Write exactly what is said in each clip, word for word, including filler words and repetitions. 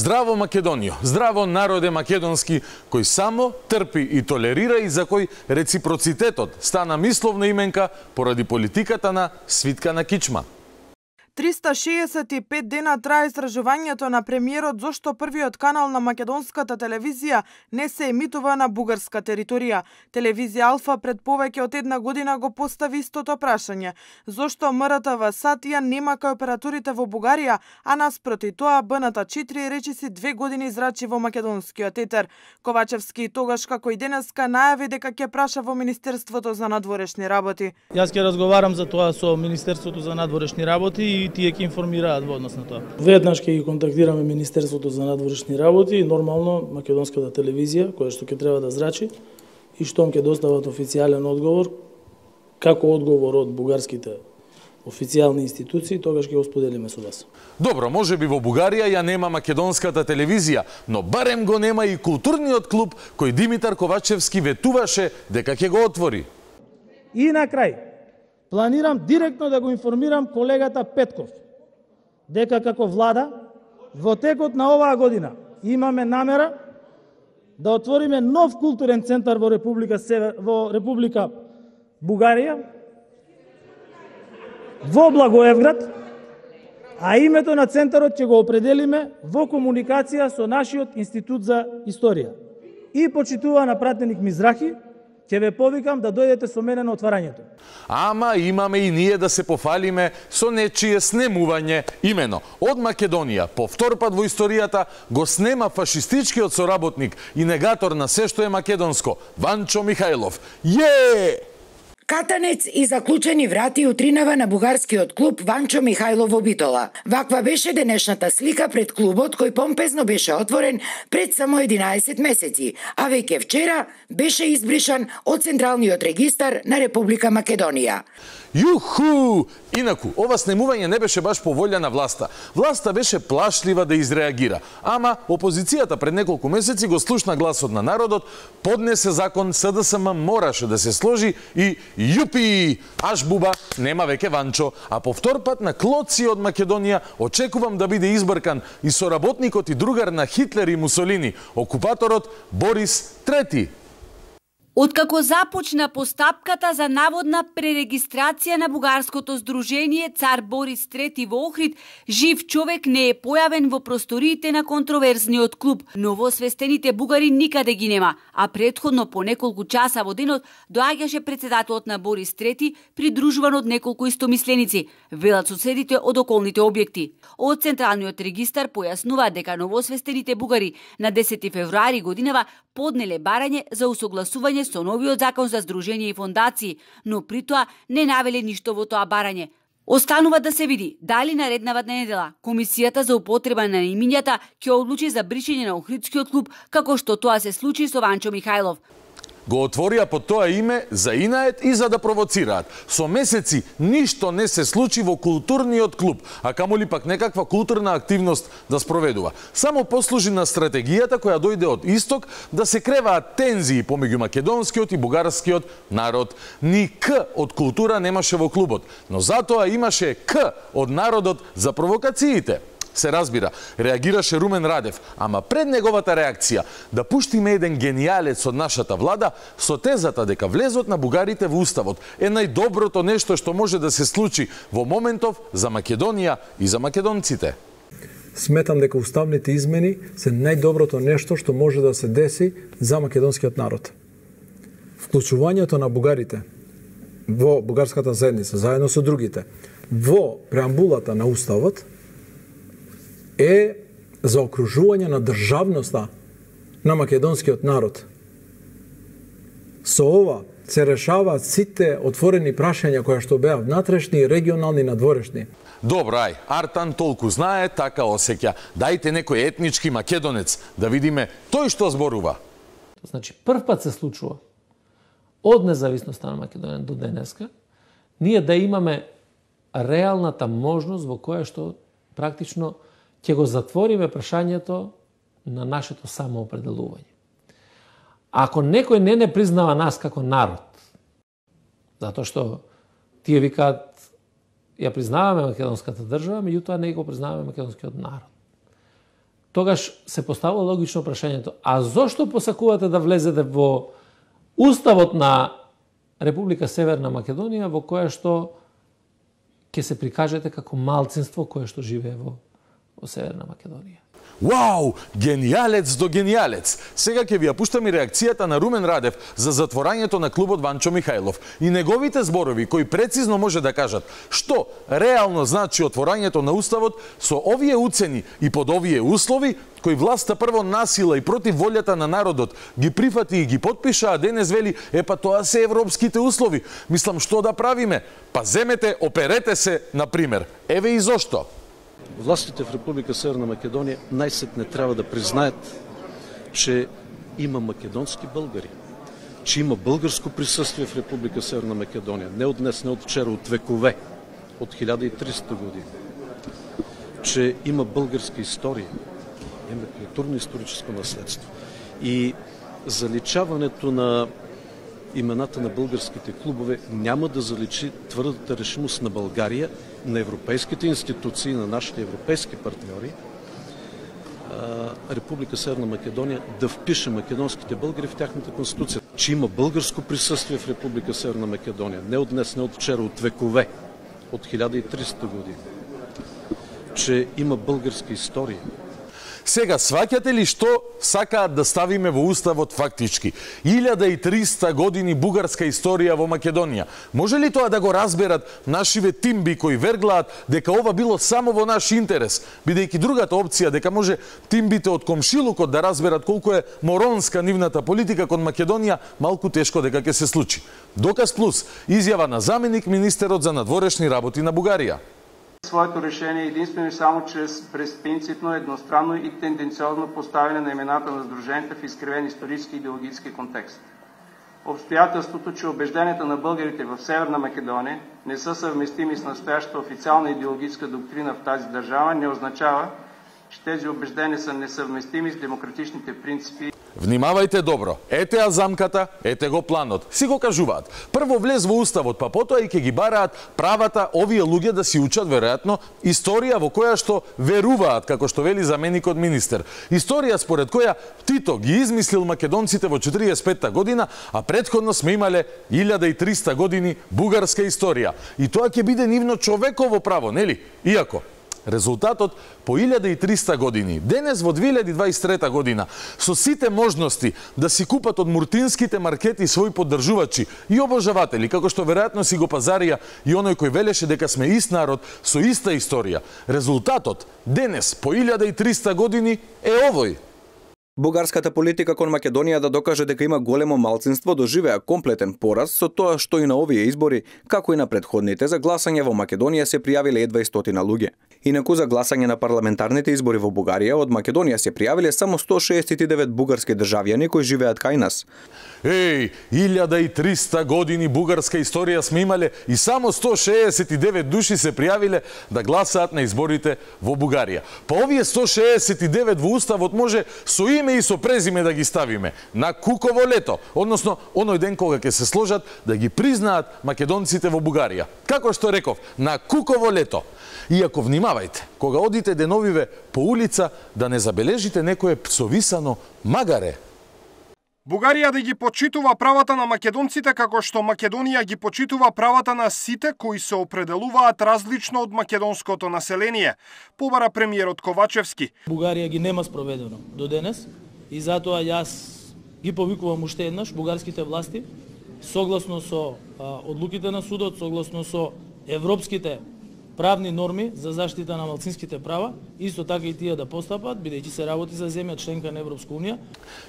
Здраво Македонијо, здраво народе македонски, кој само трпи и толерира и за кој реципроцитетот стана мисловна именка поради политиката на свитка на кичма. триста шеесет и пет дена трае истражувањето на премиерот зошто првиот канал на македонската телевизија не се емитува на бугарска територија. Телевизија Алфа пред повеќе од една година го постави истото прашање. Зошто М Р Т В САТ ја нема кај операторите во Бугарија, а наспроти тоа Б Н Т четири речиси две години зрачи во македонскиот етер. Ковачевски тогаш како и денеска најави дека ќе праша во Министерството за надворешни работи. Јас ќе разговарам за тоа со Министерството за надворешни работи и тие ќе информираат во однос на тоа. Веднаш ќе ги контактираме Министерството за надворешни работи и нормално македонската телевизија, која што ќе треба да зрачи, и штом ќе достават официјален одговор, како одговор од бугарските официјални институции, тогаш ќе го споделиме со вас. Добро, може би во Бугарија ја нема македонската телевизија, но барем го нема и културниот клуб кој Димитар Ковачевски ветуваше дека ќе го отвори. И на крај, планирам директно да го информирам колегата Петков дека како влада во текот на оваа година имаме намера да отвориме нов културен центар во Република Север, во Република Бугарија, во Благоевград, а името на центарот ќе го определиме во комуникација со нашиот Институт за историја. И почитувана пратеник Мизрахи, ќе ве повикам да дојдете со мене на отварањето. Ама имаме и ние да се пофалиме со нечие снемување. Имено, од Македонија, по втор пат во историјата, го снема фашистичкиот соработник и негатор на се што е македонско, Ванчо Михајлов. Је! Катанец и заклучени врати утринава на бугарскиот клуб Ванчо Михајлов во Битола. Ваква беше денешната слика пред клубот кој помпезно беше отворен пред само единаесет месеци, а веќе вчера беше избришан од Централниот регистар на Република Македонија. Јуху! Инаку, ова снемување не беше баш по волја на власта. Власта беше плашлива да изреагира. Ама, опозицијата пред неколку месеци го слушна гласот на народот, поднесе закон, С Д С М мораше да се сложи и јупи! Аш буба, нема веќе Ванчо. А по втор пат на клоци од Македонија очекувам да биде избркан и соработникот и другар на Хитлер и Мусолини, окупаторот Борис Трети. Откако започна постапката за наводна пререгистрација на бугарското здружение Цар Борис Трети во Охрид, жив човек не е појавен во просториите на контроверзниот клуб. Новосвестените бугари никаде ги нема, а претходно по неколку часа во денот доаѓаше председателот на Борис Трети, придружуван од неколку истомисленици, велат соседите од околните објекти. Од Централниот регистар појаснува дека новосвестените бугари на десети февруари годинава поднеле барање за усогласување со новиот закон за здружение и фондации, но при тоа не навеле ништо во тоа барање. Останува да се види дали нареднавата недела Комисијата за употреба на имињата ќе одлучи за бришење на Охридскиот клуб, како што тоа се случи со Ванчо Михајлов. Го отворија под тоа име за инает и за да провоцираат. Со месеци ништо не се случи во културниот клуб, а камоли пак некаква културна активност да спроведува. Само послужи на стратегијата која дојде од исток да се креваат тензии помеѓу македонскиот и бугарскиот народ. Ни К од култура немаше во клубот, но затоа имаше К од народот за провокациите. Се разбира, реагираше Румен Радев, ама пред неговата реакција да пуштиме еден генијалец од нашата влада со тезата дека влезот на бугарите во уставот е најдоброто нешто што може да се случи во моментов за Македонија и за македонците. Сметам дека уставните измени се најдоброто нешто што може да се деси за македонскиот народ. Вклучувањето на бугарите во бугарската заедница, заедно со другите, во преамбулата на уставот е заокружување на државноста на македонскиот народ. Со ова се решаваат сите отворени прашања кои што беа внатрешни, регионални и надворешни. Добро, ај, Артан толку знае, така осеќа. Дајте некој етнички македонец да видиме тој што зборува. Значи, прв пат се случува од независноста на Македонија до денеска, ние да имаме реалната можност во која што практично ќе го затвориме прашањето на нашето самоопределување. Ако некој не не признава нас како народ, затоа што тие викаат ја признаваме македонската држава, меѓутоа не го признаваме македонскиот народ. тогаш се поставува логично прашањето, а зошто посакувате да влезете во Уставот на Република Северна Македонија, во која што ќе се прикажете како малцинство кое што живее во, во Северна Македонија? Вау, генијалец до генијалец. Сега ќе ви ја пуштам и реакцијата на Румен Радев за затворањето на клубот Ванчо Михајлов и неговите зборови кои прецизно може да кажат што реално значи отворањето на Уставот со овие уцени и под овие услови кои власта прво насила и против волјата на народот ги прифати и ги подпиша, а денес вели, е па тоа се европските услови. Мислам, што да правиме? Па земете, оперете се, на пример. Еве и зошто. Властите в Република Северна Македонија најсетне треба да признаат, че има македонски българи, че има българско присуствие в Република Северна Македонија, не од днес, не од вчера, од векове, од хиляда и триста години, че има българска историја, има културно-историческо наследство и заличаването на имената на българските клубове няма да заличи тврдата решимост на Българија, на европейските институции, на нашите европейски партньори, Република Северна Македонија да впише македонските българи в тяхната конституција. Че има българско присуствие в Република Северна Македонија, не од днес, не од вчера, од векове, од хиляда и триста години. Че има българска историја. Сега, сваќате ли што сакаат да ставиме во Уставот фактички? илјада и триста години бугарска историја во Македонија. Може ли тоа да го разберат нашиве тимби кои верглаат дека ова било само во наш интерес, бидејќи другата опција дека може тимбите од комшилукот да разберат колку е моронска нивната политика кон Македонија, малку тешко дека ќе се случи. Доказ плюс, изјава на заменик министерот за надворешни работи на Бугарија. Своето решение единствено и само чрез безпринципно, едностранно и тенденциозно поставяне на имената на сдруженията в изкривен исторически и идеологически контекст. Обстоятелството, че убежденията на българите в Северна Македония не са съвместими с настоящата официална идеологическа доктрина в тази държава, не означава, че тези убеждения са несъвместими с демократичните принципи. Внимавајте добро. Ете ја замката, ете го планот. Си го кажуваат. Прво влез во Уставот, па потоа и ќе ги бараат правата овие луѓе да си учат веројатно историја во која што веруваат, како што вели заменикот министер. Историја според која Тито ги измислил македонците во четириесет и петта година, а претходно сме имале илјада и триста години бугарска историја. И тоа ќе биде нивно човеково право, нели? Иако резултатот по илјада и триста години, денес во две илјади дваесет и трета година, со сите можности да си купат од муртинските маркети своји поддржувачи и обожаватели, како што веројатно си го пазарија и оној кој велеше дека сме ист народ со иста историја. Резултатот денес по илјада и триста години е овој. Бугарската политика кон Македонија да докаже дека има големо малцинство доживеа комплетен пораз со тоа што и на овие избори, како и на претходните, за гласање во Македонија се пријавиле едва и стотина луѓе. Инаку за гласање на парламентарните избори во Бугарија од Македонија се пријавиле само сто шеесет и девет бугарски државјани кои живеат кај нас. Еј, илјада и триста години бугарска историја сме имале и само сто шеесет и девет души се пријавиле да гласаат на изборите во Бугарија. Па овие сто шеесет и девет во Уставот може со име и со презиме да ги ставиме на Куково лето, односно оној ден кога ќе се сложат да ги признаат македонците во Бугарија. Како што реков, на Куково лето. Иако внимавајте, кога одите деновиве по улица, да не забележите некое псовисано магаре. Бугарија да ги почитува правата на македонците како што Македонија ги почитува правата на сите кои се определуваат различно од македонското население, побара премиерот Ковачевски. Бугарија ги нема спроведено до денес и затоа јас ги повикувам уште еднаш бугарските власти, согласно со а, одлуките на судот, согласно со европските правни норми за заштита на малцинските права, исто така и тие да постапат, бидејќи се работи за земја членка на Европска унија.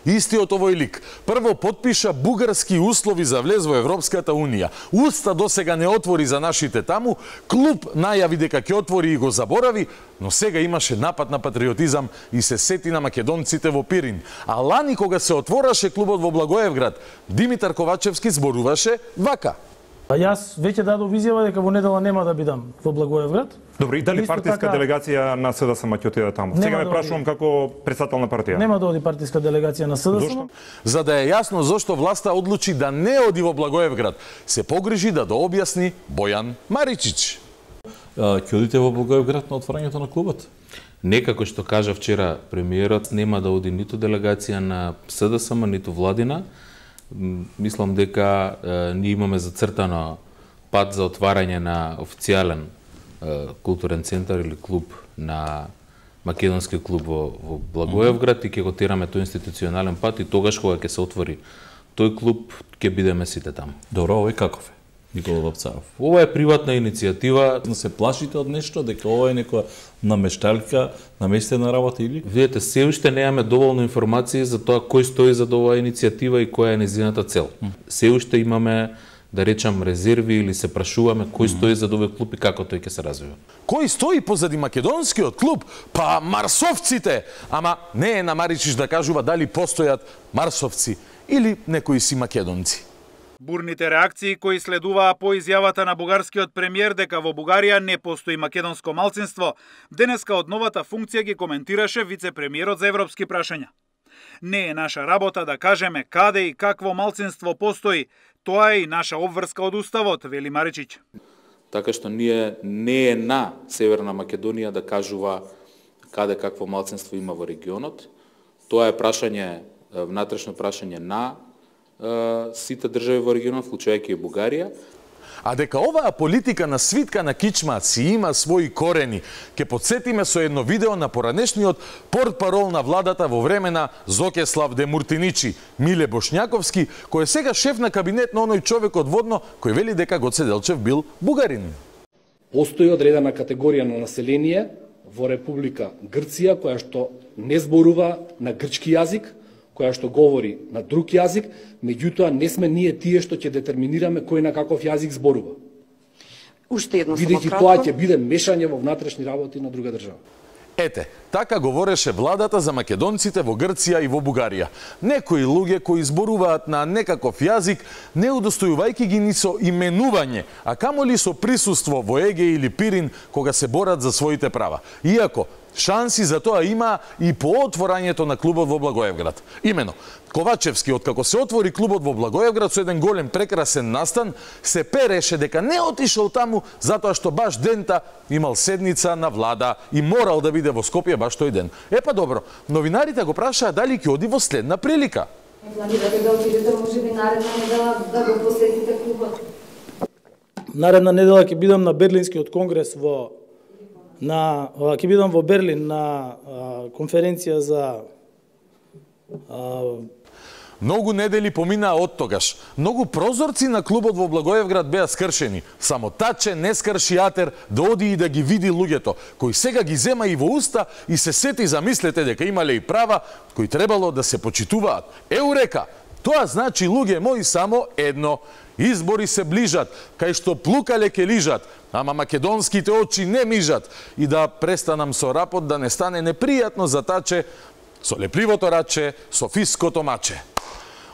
Истиот овој лик прво подпиша бугарски услови за влез во Европската унија. Уста досега не отвори за нашите таму, клуб најави дека ќе отвори и го заборави, но сега имаше напад на патриотизам и се сети на македонците во Пирин. А лани кога се отвораше клубот во Благоевград, Димитар Ковачевски зборуваше вака. А јас веќе дадов изјава дека во недела нема да бидам во Благоевград. Добро, и дали партиска така... делегација на СДСМ ќе отиде таму? Сега ме да прашувам како председател на партија. Нема да оди партиска делегација на СДСМ. Зошто? За да е јасно зошто власта одлучи да не оди во Благоевград, се погрижи да дообјасни Бојан Маричич. Ќе одите во Благоевград на отворањето на клубот? Некако што кажа вчера премиерот, нема да оди ниту делегација на СДСМ, ниту владина. Мислам дека е, ние имаме зацртано пат за отварање на официјален е, културен центар или клуб на македонски клуб во, во Благоевград и ќе го тераме тој институционален пат и тогаш кога ќе се отвори тој клуб ќе бидеме сите таму. Добро, овој каков е? Никола Вапцаров. Ова е приватна иницијатива. Но се плашите од нешто, дека ова е некоја намешталка, наместена работа или? Видете, се уште немаме доволно информации за тоа кој стои за оваа иницијатива и која е нејзината цел. Mm. Се уште имаме, да речам, резерви или се прашуваме кој mm. стои за овој клуб и како тој ќе се развива. Кој стои позади македонскиот клуб? Па марсовците! Ама не е на Маричиш да кажува дали постојат марсовци или некои си македонци. Бурните реакции кои следуваа по изјавата на бугарскиот премиер дека во Бугарија не постои македонско малцинство, денеска од новата функција ги коментираше вице-премиерот за европски прашања. Не е наша работа да кажеме каде и какво малцинство постои, тоа е и наша обврска од уставот, вели Маричич. Така што ние не е на Северна Македонија да кажува каде какво малцинство има во регионот. Тоа е прашање, внатрешно прашање на сите држави во регионот, вклучувајќи и Бугарија. А дека оваа политика на свитка на кичма си има своји корени, ќе потсетиме со едно видео на поранешниот портпарол на владата во време на Зокеслав Демуртиничи, Миле Бошњаковски, кој е сега шеф на кабинет на оној човек од Водно, кој вели дека Гоце Делчев бил бугарин. Постои одредена категорија на население во Република Грција, која што не зборува на грчки јазик, која што говори на друг јазик, меѓутоа не сме ние тие што ќе детерминираме кој на каков јазик зборува. Уште едно само Бидејќи тоа ќе биде мешање во внатрешни работи на друга држава. Ете, така говореше владата за македонците во Грција и во Бугарија. Некои луѓе кои зборуваат на некаков јазик, не удостојувајќи ги ни со именување, а камоли со присуство во Еге или Пирин кога се борат за своите права. Иако шанси за тоа има и по отворањето на клубот во Благоевград. Имено, Ковачевски, откако се отвори клубот во Благоевград со еден голем прекрасен настан, се переше дека не отишол таму затоа што баш дента имал седница на влада и морал да биде во Скопје баш тој ден. Епа добро, новинарите го прашаа дали ќе оди во следна прилика. Планирате да отидете можеби наредна недела да го посетите клубот? Наредна недела ќе бидам на Берлинскиот конгрес во на ќе бидам во Берлин на а, конференција за а... Многу недели поминаа од тогаш. Многу прозорци на клубот во Благоевград беа скршени. Само Таче не скрши атер да оди и да ги види луѓето, кои сега ги зема и во уста и се сети, замислете, дека имале и права кои требало да се почитуваат. Еурека! Тоа значи, луѓе мои, само едно. Избори се ближат, кај што плукале ке лижат, ама македонските очи не мижат. И да престанам со рапот да не стане непријатно за Таче, со лепливото раче, со фиското маче.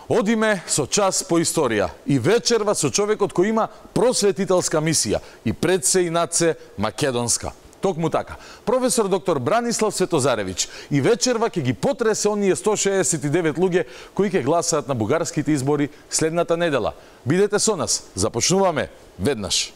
Одиме со час по историја и вечерва со човекот кој има просветителска мисија и пред се и над се македонска. Токму така. Професор доктор Бранислав Светозаревич и вечерва ќе ги потресе оние сто шеесет и девет луѓе кои ќе гласаат на бугарските избори следната недела. Бидете со нас. Започнуваме веднаш.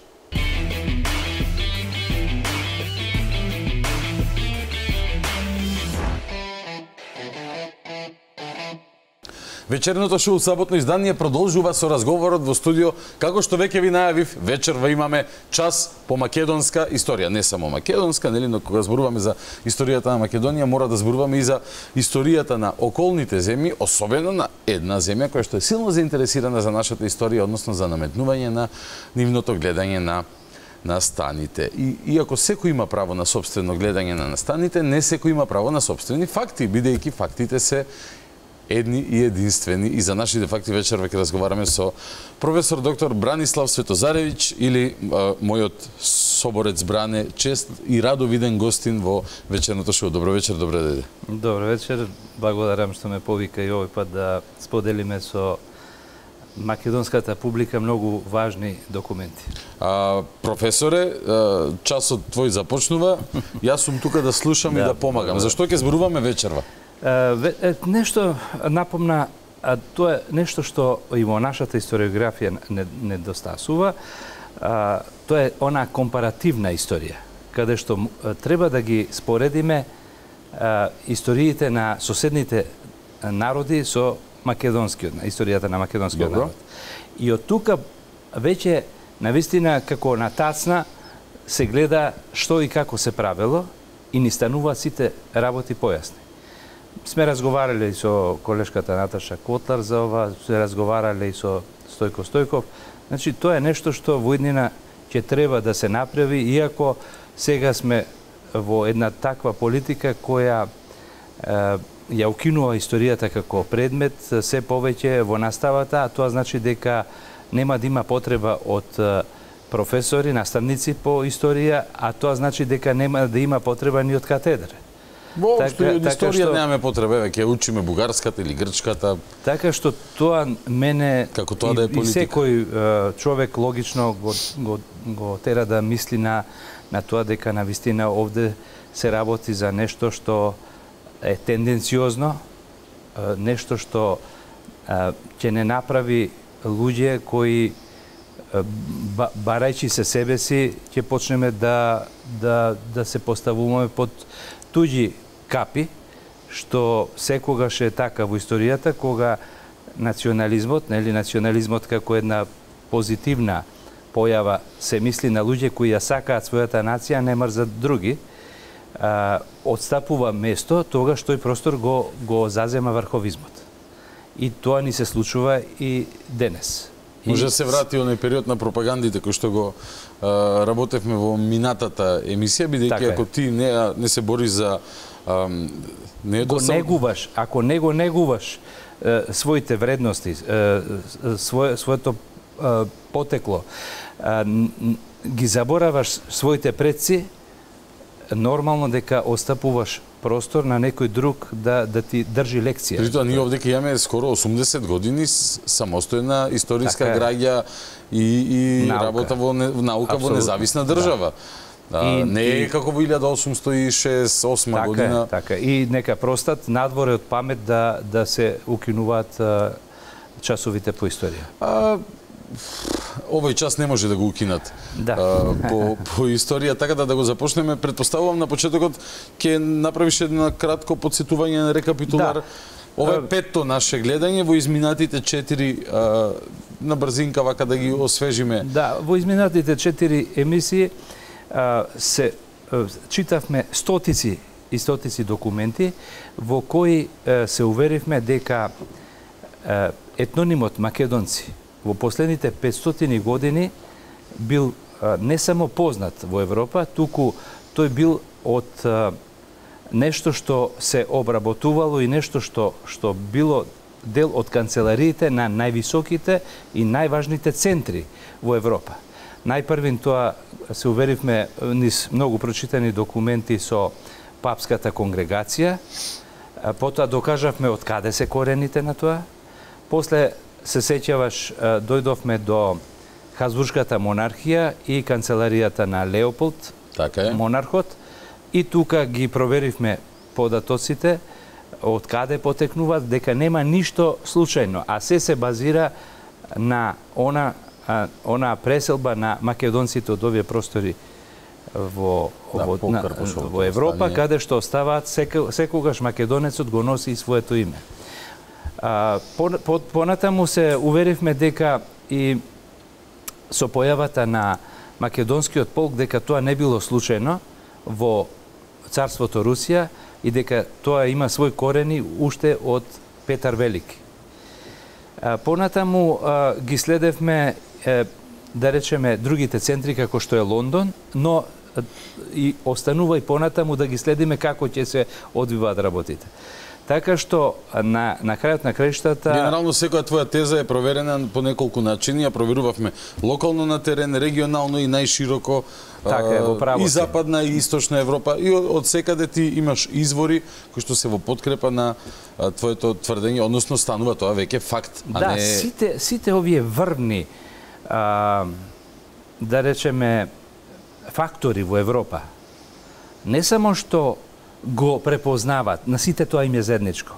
Вечерното шоу саботно издание продолжува со разговорот во студио. Како што веќе ви најавив, вечерва имаме час по македонска историја. Не само македонска, нели, но кога зборуваме за историјата на Македонија, мора да зборуваме и за историјата на околните земји, особено на една земја која што е силно заинтересирана за нашата историја, односно за наметнување на нивното гледање на настаните. И иако секој има право на сопствено гледање на настаните, не секој има право на сопствени факти, бидејќи фактите се едни и единствени. И за нашите факти вечерва ќе разговараме со професор доктор Бранислав Светозаревич или а, мојот соборец Бране, чест и радо виден гостин во вечерното шоу. Добро вечер, добре дојде. Добро вечер, благодарам што ме повика и овој пат да споделиме со македонската публика многу важни документи. А, професоре, часот твој започнува. Јас сум тука да слушам да, и да помагам. Зашто ќе зборуваме вечерва? Нешто напомна, а тоа е нешто што и во нашата историографија недостасува. Тоа е она компаративна историја, каде што треба да ги споредиме а, историите на соседните народи со македонскиот, на историјата на македонскиот Добро. народ. И од тука веќе навистина како на тацна се гледа што и како се правело и ни стануваат сите работи појасни. Сме разговарале и со колешката Наташа Котлар за ова, сме разговарале и со Стојко Стојков. Значи, тоа е нешто што во иднина ќе треба да се направи, иако сега сме во една таква политика која е, ја укинува историјата како предмет се повеќе во наставата, а тоа значи дека нема да има потреба од професори, наставници по историја, а тоа значи дека нема да има потреба ни од катедра. Воопшто Така- од така историја што- немаме потреба, еве ќе учиме бугарската или грчката. Така што тоа мене Како тоа да е и, и политика. секој е, човек логично го, го, го тера да мисли на, на тоа дека на вистина овде се работи за нешто што е тенденциозно, е, нешто што е, ќе не направи луѓе кои е, ба, барајќи се себе си ќе почнеме да, да, да се поставуваме под туѓи капи, што секогаш е така во историјата, кога национализмот, нели национализмот како една позитивна појава се мисли на луѓе кои ја сакаат својата нација, не мрзат други, а, отстапува место, тогаш тој простор го, го зазема врховизмот. И тоа ни се случува и денес. Може да се врати оној период на пропагандите кој што го а, работевме во минатата емисија, бидејќи Така е. ако ти не, не се бориш за а, не е Го досам... негуваш, ако не го негуваш е, своите вредности, е, свое, своето е, потекло, е, н- н- ги забораваш своите предци, нормално дека остапуваш простор на некој друг да, да ти држи лекција. При тоа ние овде ќе имаме скоро осумдесет години с- самостојна историска Така е. граѓа и, и Наука. работа во не, наука во Апсолутно. независна држава. А, И- не е и- како во илјада осумсто и шесдесет и осма Така година. е, така. И нека простат надвор од памет да, да се укинуваат а, часовите по историја. А, овој час не може да го укинат Да. а, по, по историја, така да да го започнеме. Предпоставувам на почетокот ќе направиш едно кратко подсетување на рекапитулар. Да. Ова е А, петто наше гледање во изминатите четири а, на брзинка вака да ги освежиме. Да, во изминатите четири емисии а, се а, читавме стотици и стотици документи во кои а, се уверивме дека а, етнонимот македонци во последните петстотини години бил а, не само познат во Европа, туку тој бил од а, нешто што се обработувало и нешто што што било дел од канцелариите на највисоките и најважните центри во Европа. Најпрвин тоа се уверивме низ многу прочитани документи со папската конгрегација, а, потоа докажавме од каде се корените на тоа. После се сеќаваш, а, дојдовме до Хазбуршката монархија и канцеларијата на Леополд, така е. монархот, и тука ги проверивме податоците од каде потекнуваат, дека нема ништо случајно, а се се базира на она а, она преселба на македонците од овие простори во Да, во, по на, Карпушовото во Европа, встание. каде што оставаат секо, секогаш македонецот го носи и своето име. А, по, по, понатаму се уверивме дека и со појавата на македонскиот полк дека тоа не било случајно во царството Русија и дека тоа има свој корени уште од Петар Велики. А, понатаму а, ги следевме е, да речеме другите центри како што е Лондон, но а, и останува и понатаму да ги следиме како ќе се одвиваат работите. Така што на на крајот на краиштата Генерално секоја твоја теза е проверена по неколку начини, ја проверувавме локално на терен, регионално и најшироко. Така е, во право и си. западна и источна Европа, и од, од секаде ти имаш извори кои што се во подкрепа на а, твоето тврдење, односно станува тоа веќе факт, а Да, не сите сите овие врвни а, да речеме фактори во Европа не само што го препознават, на сите тоа им е заедничко.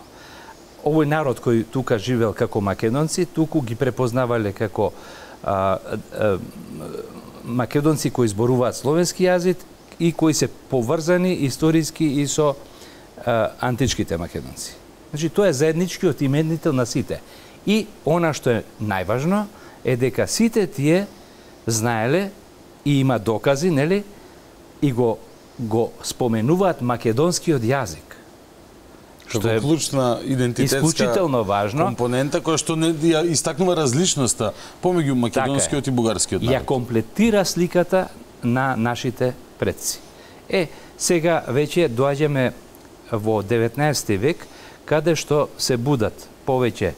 Овој народ кој тука живел како македонци, туку ги препознавале како а, а, македонци кои зборуваат словенски јазик и кои се поврзани историски и со античките македонци. Значи, тоа е заедничкиот именител на сите. И она што е најважно е дека сите тие знаеле и има докази, нели, и го го споменуваат македонскиот јазик. Што е клучна идентитетска исклучително важно компонента која што не ја истакнува различноста помеѓу македонскиот така и бугарскиот народ. Ја комплетира сликата на нашите предци. Е, сега веќе доаѓаме во деветнаесети век, каде што се будат повеќе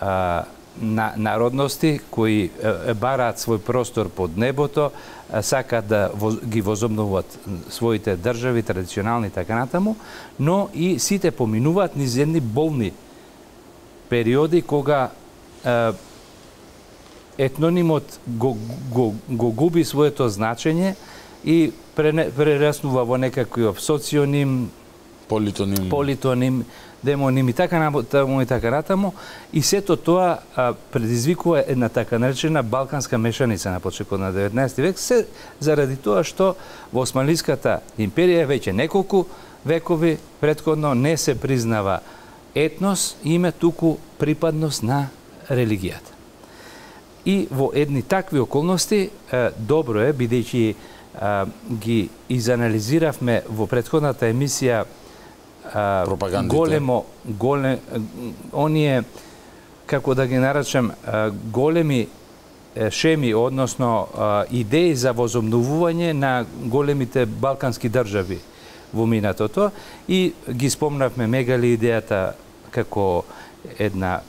а, на народности кои е, бараат свој простор под небото, сакаат да воз, ги возобновуваат своите држави, традиционални и така натаму, но и сите поминуваат низ едни болни периоди кога е, етнонимот го, го, го губи своето значење и прераснува во некаков соционим, политоним, политоним демоним и така натаму и така натаму, и сето тоа а, предизвикува една така наречена балканска мешаница на почетокот на деветнаесети век, се заради тоа што во Османлиската империја веќе неколку векови претходно не се признава етнос, име туку припадност на религијата. И во едни такви околности е, добро е, бидејќи ги изанализиравме во претходната емисија големо, голем, оние, како да ги наречем, големи шеми, односно идеи за возобновување на големите балкански држави во минатото, и ги спомнавме Мегали идејата како една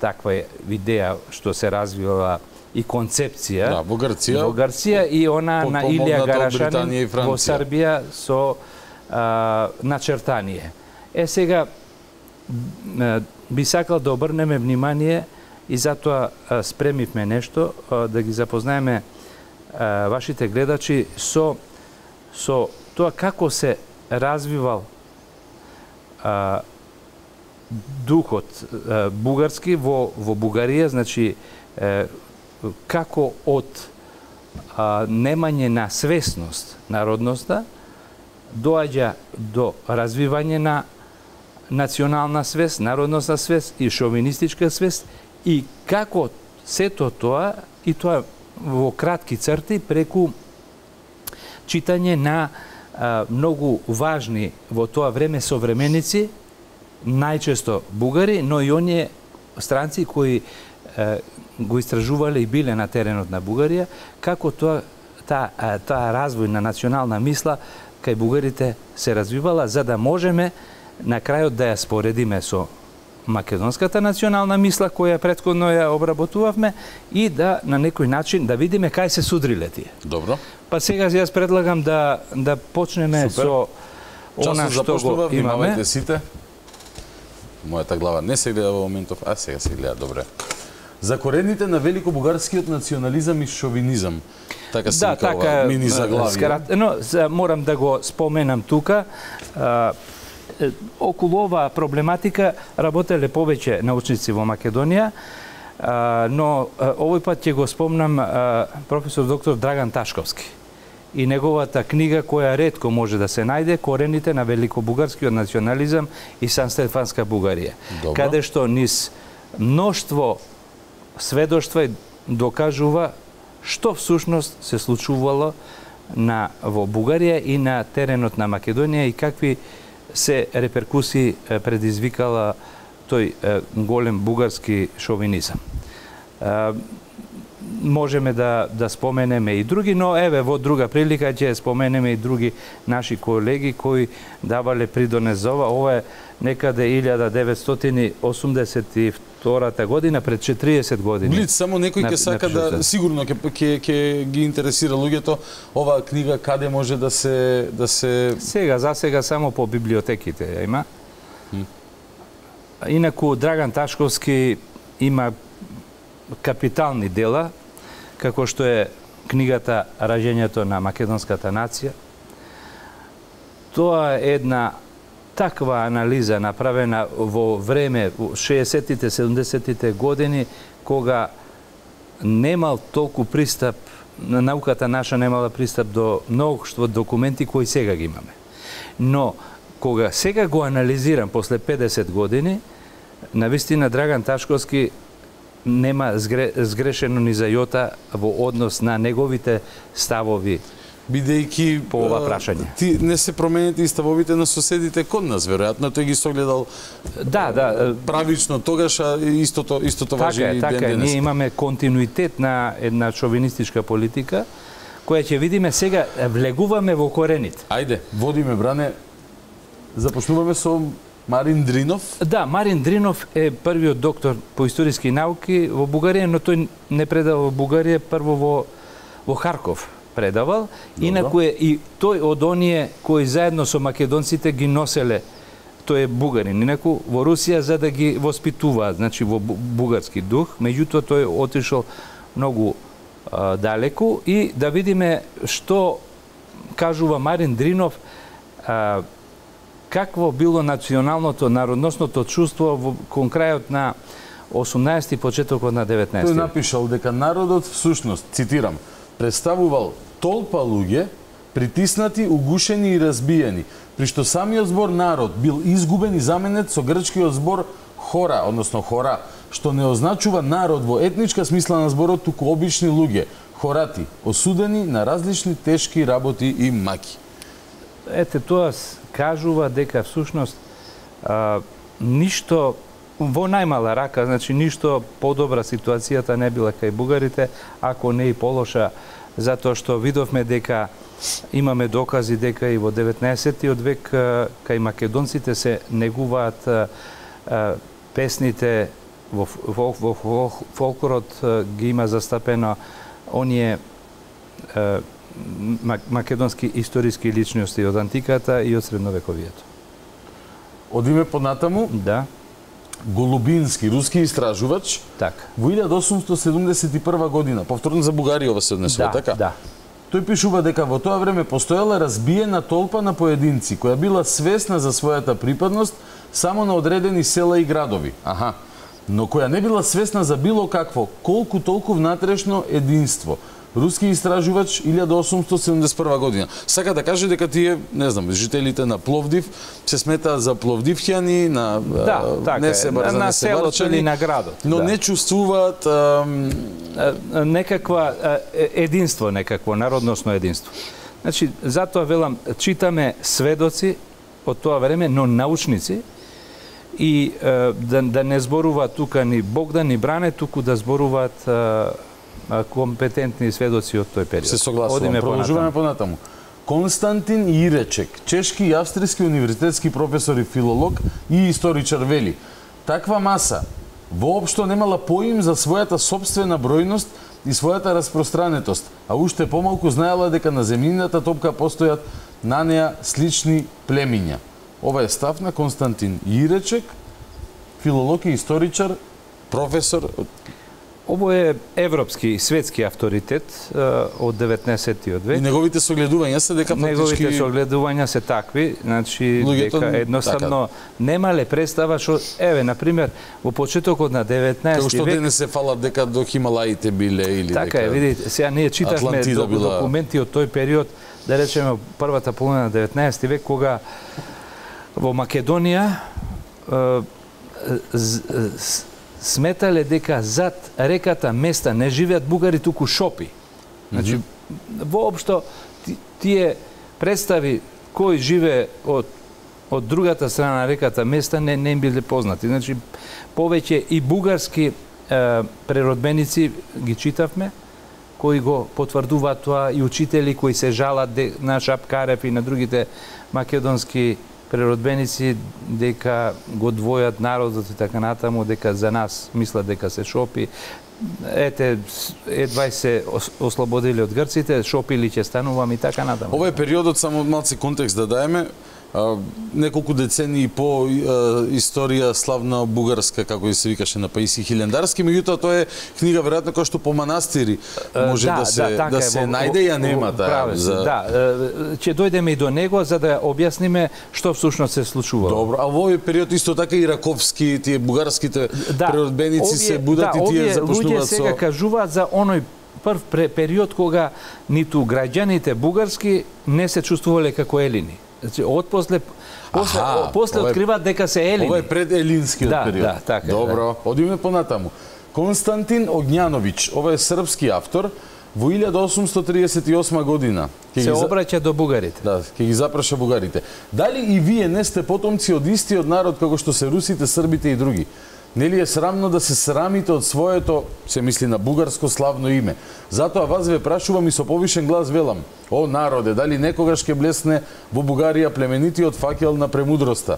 таква идеја што се развива и концепција да, во Грција, во Грција и она на Илија Гарашанин во Србија со а, начертание. Е, сега би сакал да обрнеме внимание и затоа а, спремивме нешто, а, да ги запознаеме а, вашите гледачи со, со тоа како се развивал а, духот а, бугарски во, во Бугарија, значи а, како од а, немање на свесност народноста доаѓа до развивање на национална свест, народностна свест и шовинистичка свест, и како сето тоа, и тоа во кратки црти, преку читање на а, многу важни во тоа време современици, најчесто бугари, но и оние странци кои а, го истражувале и биле на теренот на Бугарија, како тоа таа таа развој на национална мисла кај бугарите се развивала, за да можеме на крајот да ја споредиме со македонската национална мисла која претходно ја обработувавме и да на некој начин да видиме кај се судриле тие. Добро. Па сега јас предлагам да да почнеме Супер. Со она што го имаме. Сите. Мојата глава не се гледа во моментов, а сега се гледа добре. За корените на великобугарскиот национализам и шовинизам. Така се да, така, мини заглавие. Скарат, но морам да го споменам тука. А, околу оваа проблематика работеле повеќе научници во Македонија, а, но а, овој пат ќе го спомнам а, професор доктор Драган Ташковски и неговата книга која ретко може да се најде, Корените на великобугарскиот национализам и Санстефанска Бугарија. Добро. Каде што низ мноштво сведоштва докажува што всушност се случувало на во Бугарија и на теренот на Македонија и какви се реперкусии предизвикала тој голем бугарски шовинизам. Можеме да да споменеме и други, но еве во друга прилика ќе споменеме и други наши колеги кои давале придонес за ова. Ова е некаде илјада деветстотини осумдесет и втората година, пред четириесет години. Блиц, само некој ќе сака да сигурно ќе ќе ќе ги интересира луѓето оваа книга каде може да се да се Сега за сега само по библиотеките ја има. Hm. Инаку Драган Ташковски има капитални дела, како што е книгата Раѓањето на македонската нација. Тоа е една таква анализа направена во време шеесеттите, седумдесеттите години, кога немал толку пристап, науката наша немала пристап до многуштво документи кои сега ги имаме. Но кога сега го анализирам после педесет години, навистина Драган Ташковски нема згре, згрешено ни за јота во однос на неговите ставови бидејќи по ова прашање. Ти не се променети и ставовите на соседите код нас, веројатно тој ги согледал да, да, правично тогаш, а истото истото важи така, и така, ден денес. Ние имаме континуитет на една шовинистичка политика која ќе видиме сега, влегуваме во корените. Ајде, водиме, Бране, започнуваме со Марин Дринов. Да, Марин Дринов е првиот доктор по историски науки во Бугарија, но тој не предава во Бугарија, прво во, во Харков предавал. Добро. Инаку е и тој од оние кои заедно со македонците ги носеле, тој е бугарин. Инаку во Русија за да ги воспитуваат, значи во бугарски дух, меѓутоа тој отишол многу а, далеку и да видиме што кажува Марин Дринов, а, какво било националното, народносното чувство во кон крајот на осумнаесети и почетокот на деветнаесети. Тој напишал дека народот всушност, цитирам, представувал толпа луѓе, притиснати, угушени и разбиени, при што самиот збор народ бил изгубен и заменет со грчкиот збор хора, односно хора, што не означува народ во етничка смисла на зборот, туку обични луѓе, хорати, осудени на различни тешки работи и маки. Ете, тоа кажува дека всушност а, ништо во најмала рака, значи ништо подобра ситуацијата не била кај бугарите, ако не и полоша, затоа што видовме дека имаме докази дека и во деветнаесеттиот век кај македонците се негуваат а, а, песните во, во, во, во фолклорот ги има застапено оние а, македонски историски личности од антиката и од средновековието. Одиме понатаму. Да. Голубински, руски истражувач, так. Во илјада осумстотини седумдесет и прва година, повторно за Бугарија ова се однесува, да, така? Да. Тој пишува дека во тоа време постоела разбиена толпа на поединци, која била свесна за својата припадност само на одредени села и градови. Аха. Но која не била свесна за било какво, колку толку внатрешно единство. Руски истражувач илјада осумстотини седумдесет и прва година. Сака да каже дека тие, не знам, жителите на Пловдив се сметаат за пловдивќани, на да, така, не се бар, на не се селото или на градот. Но да. не чувствуваат ам... некаква единство, некакво народносно единство. Значи, затоа велам, читаме сведоци од тоа време, но научници, и да, да не зборуваат тука ни Богдан, ни Бране, туку да зборуваат компетентни сведоци од тој период. Се согласувам. Продолжуваме понатаму. Константин Иречек, чешки и австријски универзитетски професор и филолог и историчар, вели: таква маса воопшто немала поим за својата собствена бројност и својата распространетост, а уште помалку знаела дека на земјината топка постојат на неа слични племиња. Ова е став на Константин Иречек, филолог и историчар, професор. Ово е европски, светски авторитет од деветнаесеттиот век. И неговите согледувања се дека фактички неговите согледувања се такви, значи луѓето, дека едноставно така немале представа што еве на пример во почетокот на деветнаесети век. Како што денес се фалат дека до Хималаите биле или така дека. Така е, видите, сега ние читавме до, била... документи од тој период, да речеме првата половина на деветнаесети век, кога во Македонија сметале дека зад реката места не живеат бугари, туку шопи. Значи, mm -hmm. воопшто тие представи кој живее од од другата страна на реката места не не им биле познати. Значи, повеќе и бугарски е, преродбеници ги читавме, кои го потврдуваат тоа, и учители кои се жалат де, на Шапкарев и на другите македонски преродбеници дека го двојат народот и така натаму, дека за нас мислат дека се шопи. Ете, едва се ослободили од грците, шопили ќе станувам и така натаму. Ова е периодот, само малци контекст да даеме, а, неколку децении по а, историја славна бугарска, како и се викаше на Паиси Хилендарски, меѓутоа тоа е книга веројатно која што по манастири може да, да се да, да се најде, ја нема таа. За... Да, ќе дојдеме и до него за да објасниме што всушност се случува. Добро, а во овој период исто така и раковски, тие бугарските да, преродбеници се будат да, и тие започнуваат со... Луѓе сега кажуваат за оној прв период кога ниту граѓаните бугарски не се чувствувале како елини. Значи, од после, после, Аха, после ова е- откриваат дека се елини. Ова е пред елинскиот Да, период. да, така е, Добро, одиме понатаму. Константин Огњановиќ, ова е српски автор, во илјада осумстотини триесет и осма година. Ќе Се ги за- обраќа до бугарите. Да, ќе ги запраша бугарите. Дали и вие не сте потомци од истиот народ како што се русите, србите и други? Нели е срамно да се срамите од своето, се мисли на бугарско славно име? Затоа вас ве прашувам и со повишен глас велам: о народе, дали некогаш ќе блесне во Бугарија племенитиот факел на премудроста?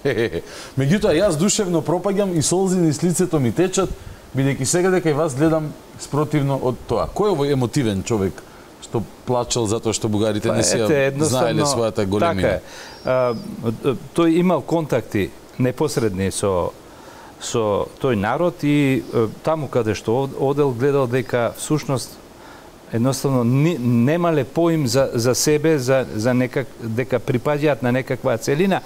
Хе-хе-хе. Меѓутоа, јас душевно пропаѓам и солзи низ лицето ми течат, бидејќи сега дека и вас гледам спротивно од тоа. Кој е овој емотивен човек што плачел затоа што бугарите не се знаеле својата големина? Така е. А, тој имал контакти непосредни со со тој народ и е, таму каде што одел гледал дека всушност едноставно ни, немале поим за, за себе, за, за некак, дека припаѓаат на некаква целина,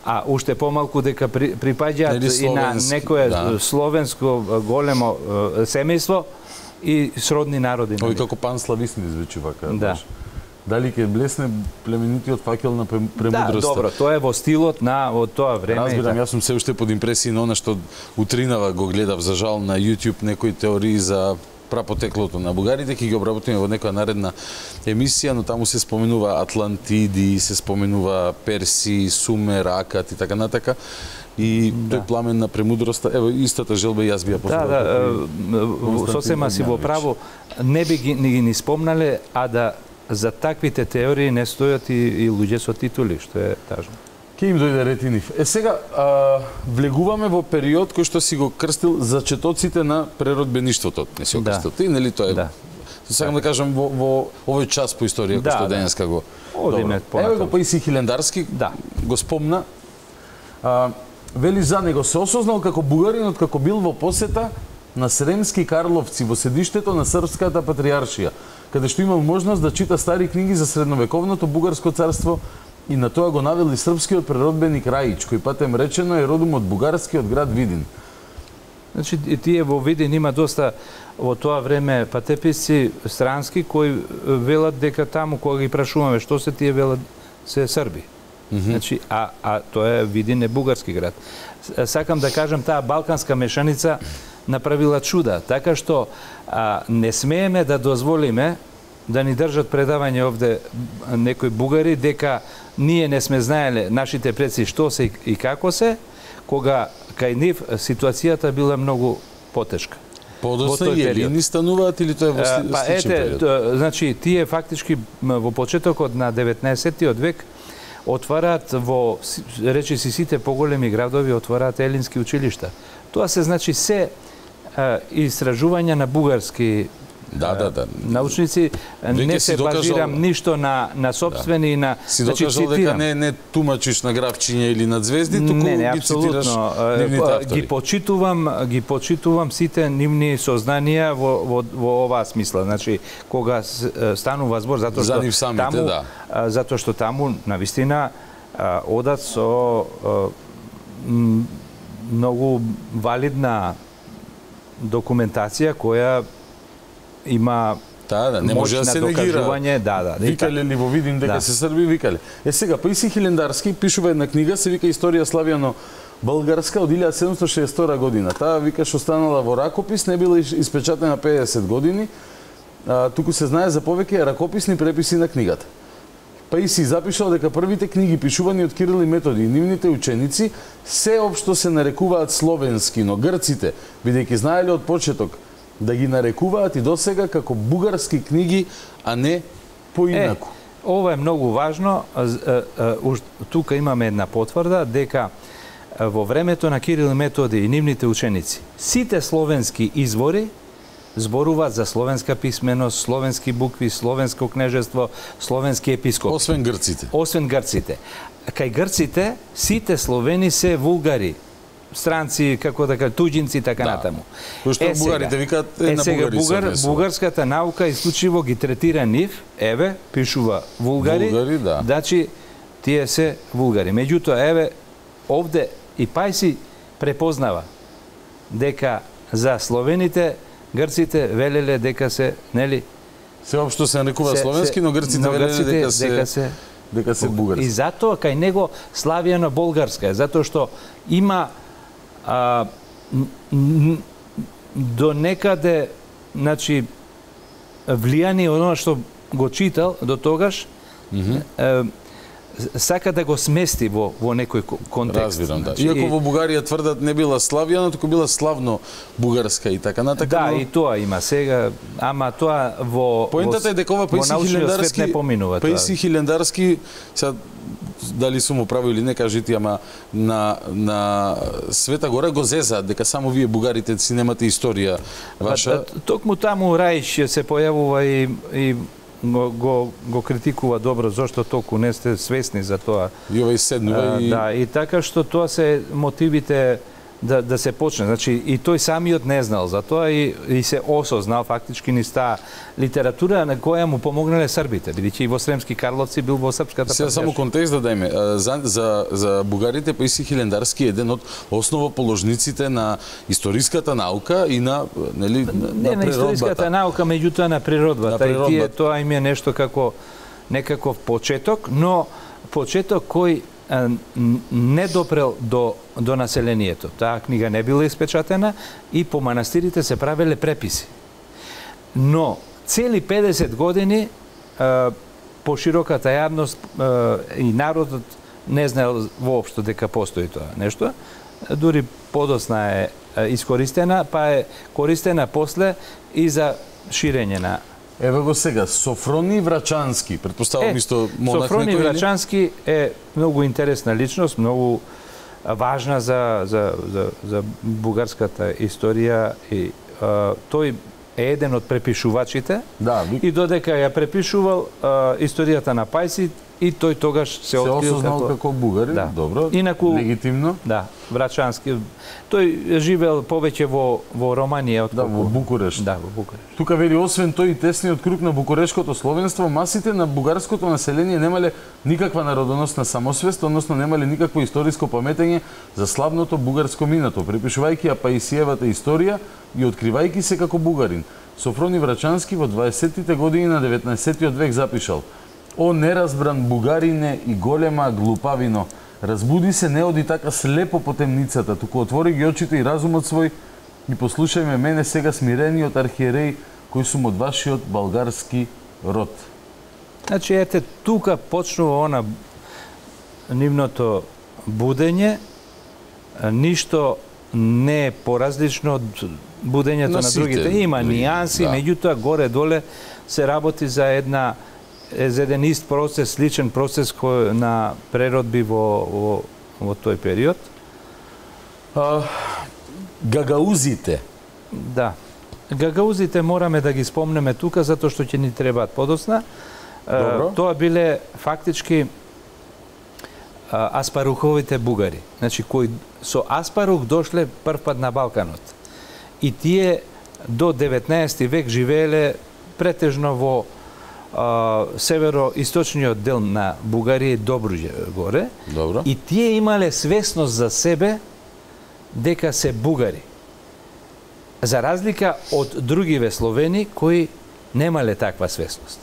а уште помалку дека при, припаѓаат и на некое да. словенско големо е, семејство и сродни народи. Ови како панслависни звучува како. Да. Дали ќе блесне племенитиот факел на премудроста? Да, добро, тоа е во стилот на од тоа време. Разбирам, и јас сум се уште под импресија на она што утринава го гледав за жал на YouTube некои теории за прапотеклото на бугарите, ќе ги обработиме во некоја наредна емисија, но таму се споменува Атлантиди, се споменува Перси, Сумер, Акат и така натака. И да. Тој пламен на премудроста, ево истата желба јас би ја поздравил. Да, да, сосема си во право, не би ги ни, ни спомнале, а да за таквите теории не стојат и, и луѓе со титули, што е тажно. Ке им дојде ред и нив. Е сега, а, влегуваме во период кој што си го крстил зачетоците на преродбеништвото. Не си го Да. крстил ти, нели тоа е? Да. Сакам да кажам во, во овој час по историја, Да, кој што да. денеска го... Одиме Добро. Ево го Паисий Хилендарски, Да. го спомна. А, вели за него се осознал како бугаринот како бил во посета на Сремски Карловци во седиштето на Српската патриаршија, каде што имал можност да чита стари книги за средновековното бугарско царство и на тоа го навели српскиот преродбеник Раич, кој патем речено е родом од бугарскиот град Видин. Значи, тие во Видин има доста во тоа време патеписци странски кои велат дека таму кога ги прашуваме што се тие велат се срби. Mm -hmm. Значи, а, а тоа е Видин е бугарски град. Сакам да кажам, таа балканска мешаница направила чуда, така што а, не смееме да дозволиме да ни држат предавање овде некои бугари дека ние не сме знаеле нашите предци што се и како се, кога кај нив ситуацијата била многу потешка. Подосна и елини стануваат или тоа е во сличен Па ете, период? значи тие фактички во почетокот на деветнаесеттиот век отвараат во речиси сите поголеми градови отвараат елински училишта. Тоа се значи се а, истражувања на бугарски Да, да, да. научници, Веќе не си се докажал- базирам ништо на на собствени и на Си значи, докажал дека цитирам. не не тумачиш на гравчиња или на звезди, туку не, не, ги цитираш апсолутно. нивните Е, автори. Ги почитувам, ги почитувам сите нивни сознанија во во во оваа смисла. Значи кога с- станува збор затоа За што нив самите, таму да. а, затоа што таму навистина а, одат со а, м, многу валидна документација која има Да, да, не може да моќ се на негира. докажување, да, да. Викале ли во Видин дека Да. се срби, викале. Е сега, Паисий Хилендарски пишува една книга, се вика Историја славјано Българска од илјада седумстотини шеесет и втора година. Таа викаш останала во ракопис, не била иш- испечатена педесет години. А, туку се знае за повеќе ракописни преписи на книгата. Паисий запишал дека првите книги пишувани од Кирил и Методи и нивните ученици се општо се нарекуваат словенски, но грците, бидејќи знаеле од почеток да ги нарекуваат и досега како бугарски книги, а не поинаку. Е, ова е многу важно. З- е, е, уж тука имаме една потврда дека е, во времето на Кирил и Методи и нивните ученици, сите словенски извори зборуваат за словенска писменост, словенски букви, словенско кнежество, словенски епископ. Освен грците. Освен грците. Кај грците сите словени се вулгари, странци, како да кажа, туѓинци, така Да. натаму. Кој што Е, сега- бугарите викаат, е, е, на сега, бугари се бугар, однесува. бугарската наука исклучиво ги третира нив, еве, пишува вулгари, Вулгари, да. значи тие се вулгари. Меѓутоа, еве, овде и Паисий препознава дека за словените, грците велеле дека се, нели, Се општо се нарекува Се- словенски, се- но грците но велеле грците дека се, дека се дека се бугарски. И затоа кај него славијано болгарска е, затоа што има а, до некаде, значи, влијание од она што го читал до тогаш, mm -hmm. е, сака да го смести во, во некој контекст. Разбирам, да. Значи, Иако во Бугарија тврдат не била славјана, туку била славно бугарска и така натака. Да, но... и тоа има сега, ама тоа во Поентата е дека ова Паиси Хилендарски не поминува тоа. Паиси Хилендарски, сега дали сум управо или не, кажите, ама на на Света Гора го зезаат дека само вие бугарите си немате историја ваша. Токму таму Рајш се појавува и и Го, го, го критикува добро, зашто толку не сте свесни за тоа. И овој седнува и... Да, и така што тоа се мотивите да, да се почне. Значи, и тој самиот не знал за тоа и, и се осознал фактички низ таа литература на која му помогнале србите, бидејќи и во Сремски Карловци бил во српската Сега само контекст да дајме. За, за, за бугарите Паиси Хилендарски е еден од основоположниците на историската наука и на, нели, на, не, на на историската наука, меѓутоа на природбата. На природбата. И тие, тоа им е нешто како некаков почеток, но почеток кој не допрел до, до населението. Таа книга не била испечатена и по манастирите се правеле преписи. Но цели педесет години по широката јавност и народот не знаел воопшто дека постои тоа нешто. Дури подосна е искористена, па е користена после и за ширење на... Еве го сега, Софрони Врачански, предпоставам е, исто монах Софрони некој, Врачански е многу интересна личност, многу важна за, за, за, за бугарската историја и а, тој е еден од препишувачите да, ви... и додека ја препишувал а, историјата на Пајси и тој тогаш се, се открил осознал како, како бугари, да. Добро, Инаку, легитимно. Да, Врачански. Тој живеел повеќе во во Романија од да, во Букурешт. Да, во Букурешт. Тука вели освен тој и тесниот круг на букурешкото словенство, масите на бугарското население немале никаква народоносна самосвест, односно немале никакво историско паметење за славното бугарско минато, припишувајќи ја Паисиевата историја и откривајќи се како бугарин. Софрони Врачански во дваесеттите години на деветнаесеттиот век запишал: "О неразбран бугарине и голема глупавино, разбуди се, не оди така слепо по темницата, туку отвори ги очите и разумот свој и послушај ме мене сега смирениот архиереј кој сум од вашиот болгарски род." Значи, ете, тука почнува она нивното будење, ништо не е поразлично од будењето на, на другите. Има нијанси, да. Меѓутоа горе-доле се работи за една за еден ист процес, личен процес кој на преродби во, во, во тој период. А, гагаузите. Да. Гагаузите мораме да ги спомнеме тука, затоа што ќе ни требаат подосна. А, тоа биле фактички а, аспаруховите бугари. Значи, кои со аспарух дошле првпат на Балканот. И тие до деветнаесети век живееле претежно во северо-источниот дел на Бугарија и Добруџа горе. Добро. И тие имале свесност за себе дека се бугари. За разлика од другиве словени кои немале таква свесност.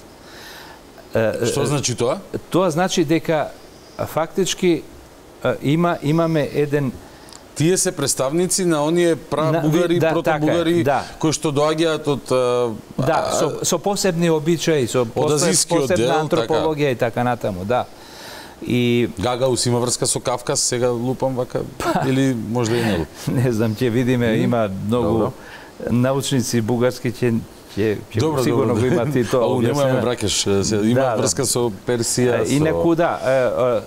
Што значи тоа? Тоа значи дека фактички има имаме еден Тие се представници на оние прабугари, да, протобугари, да. кои што доаѓаат од... Да, со, со посебни обичаи, со посебна дел, антропологија така. И така натаму, да. И... Гагаус има врска со Кавказ, сега лупам вака, или можда и не. Не знам, ќе видиме, mm. има многу добро. Научници бугарски ќе ќе ќе сигурно добро. го имат и тоа. Ау, немаме бракеш, има да, врска да. Со Персија, со... Инаку да,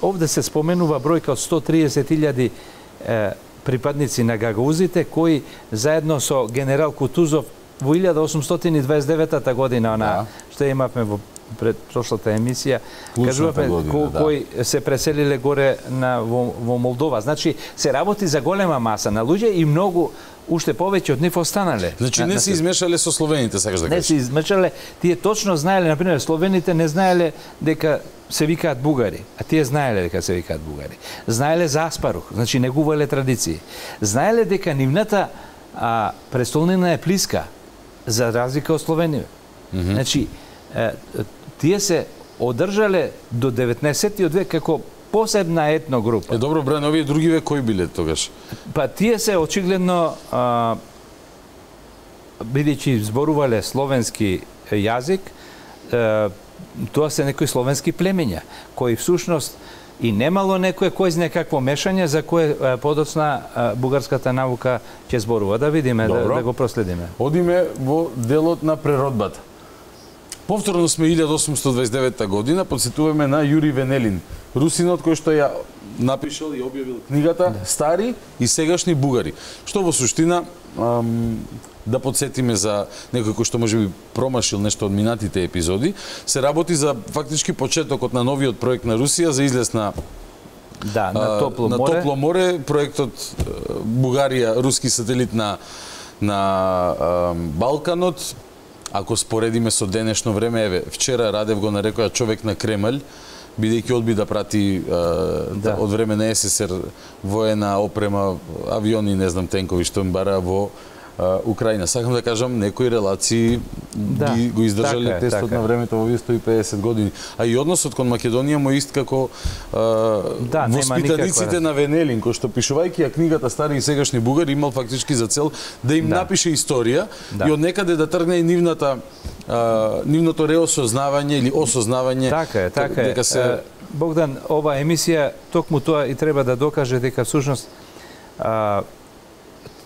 овде се споменува бројка од сто триесет илјади припадници на гагаузите кои заедно со генерал Кутузов во илјада осумстотини и дваесет и девета година, она да. Што имавме во пред прошлата емисија, кажуваме ко, да. Кои се преселиле горе на во, во Молдова. Значи се работи за голема маса на луѓе и многу уште повеќе од нив останале. Значи не се измешале со словените, сакаш да кажеш? Не се измешале, тие точно знаеле, например, словените не знаеле дека се викаат бугари, а тие знаеле дека се викаат бугари. Знаеле за аспарух, значи негувале традиции. Знаеле дека нивната а, престолнина е плиска, за разлика од словенија. Mm -hmm. Значи, е, тие се одржале до деветнаесеттиот век како посебна етно група. Е, добро, Бран, овие другиве кои биле тогаш? Па тие се очигледно, а, бидејќи зборувале словенски јазик, а, тоа се некои словенски племења, кои всушност и немало некое кој знае какво мешање за кое а, подоцна а, бугарската наука ќе зборува. Да видиме, да, да го проследиме. Одиме во делот на преродбата. Повторно сме илјада осумстотини дваесет и девета година, подсетуваме на Јури Венелин, русинот кој што ја напишал и објавил книгата Стари и сегашни бугари. Што во суштина, ам, да подсетиме за некој кој што можеби промашил нешто од минатите епизоди, се работи за фактички почетокот на новиот проект на Русија за излез на Да, на топло на море. топло море, проектот Бугарија, руски сателит на на ам, Балканот. Ако споредиме со денешно време, еве, вчера Радев го нарекоа човек на Кремљ, бидејќи одби да прати а, да. од време на Ес Ес Ер воена опрема, авиони, не знам, тенкови што им бара во а, Украина. Сакам да кажам, некои релации да. ги, го издржале така е, тестот така на времето во овие сто и педесет години. А и односот кон Македонија му ист како а, да, воспитаниците никаква... на Венелин, кој што пишувајќи ја книгата Стари и сегашни бугари, имал фактички за цел да им да. напише историја да. и од некаде да тргне и нивната а, нивното реосознавање или осознавање. Така е, така е. Дека се... Богдан, ова емисија токму тоа и треба да докаже дека всушност а,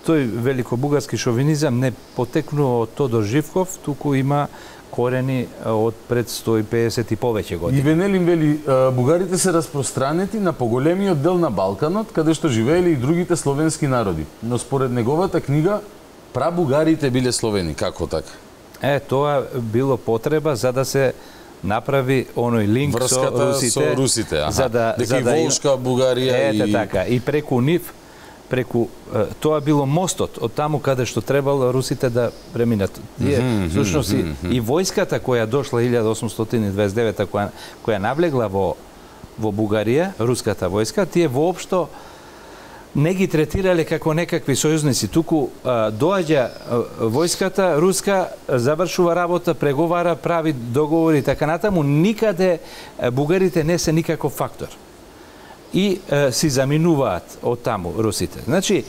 тој великобугарски шовинизам не потекнува од Тодор Живков, туку има корени од пред сто и педесет и повеќе години. И Венелин вели, бугарите се распространети на поголемиот дел на Балканот, каде што живееле и другите словенски народи. Но според неговата книга, прабугарите биле словени. Како така? Е, тоа било потреба за да се направи оној линк врската со русите, со русите, аха. За да, дека за и да Волшка, Бугарија ете, и... така, и преку нив, преку тоа било мостот од таму каде што требало русите да преминат. Тие, mm -hmm, всушност, mm -hmm. и, и војската која дошла илјада осумстотини дваесет и девета, која, која навлегла во, во Бугарија, руската војска, тие воопшто не ги третирале како некакви сојузници, туку а, доаѓа а, војската руска, завршува работа, преговара, прави договори и така натаму, никаде а, бугарите не се никаков фактор. И а, си заминуваат од таму русите. Значи,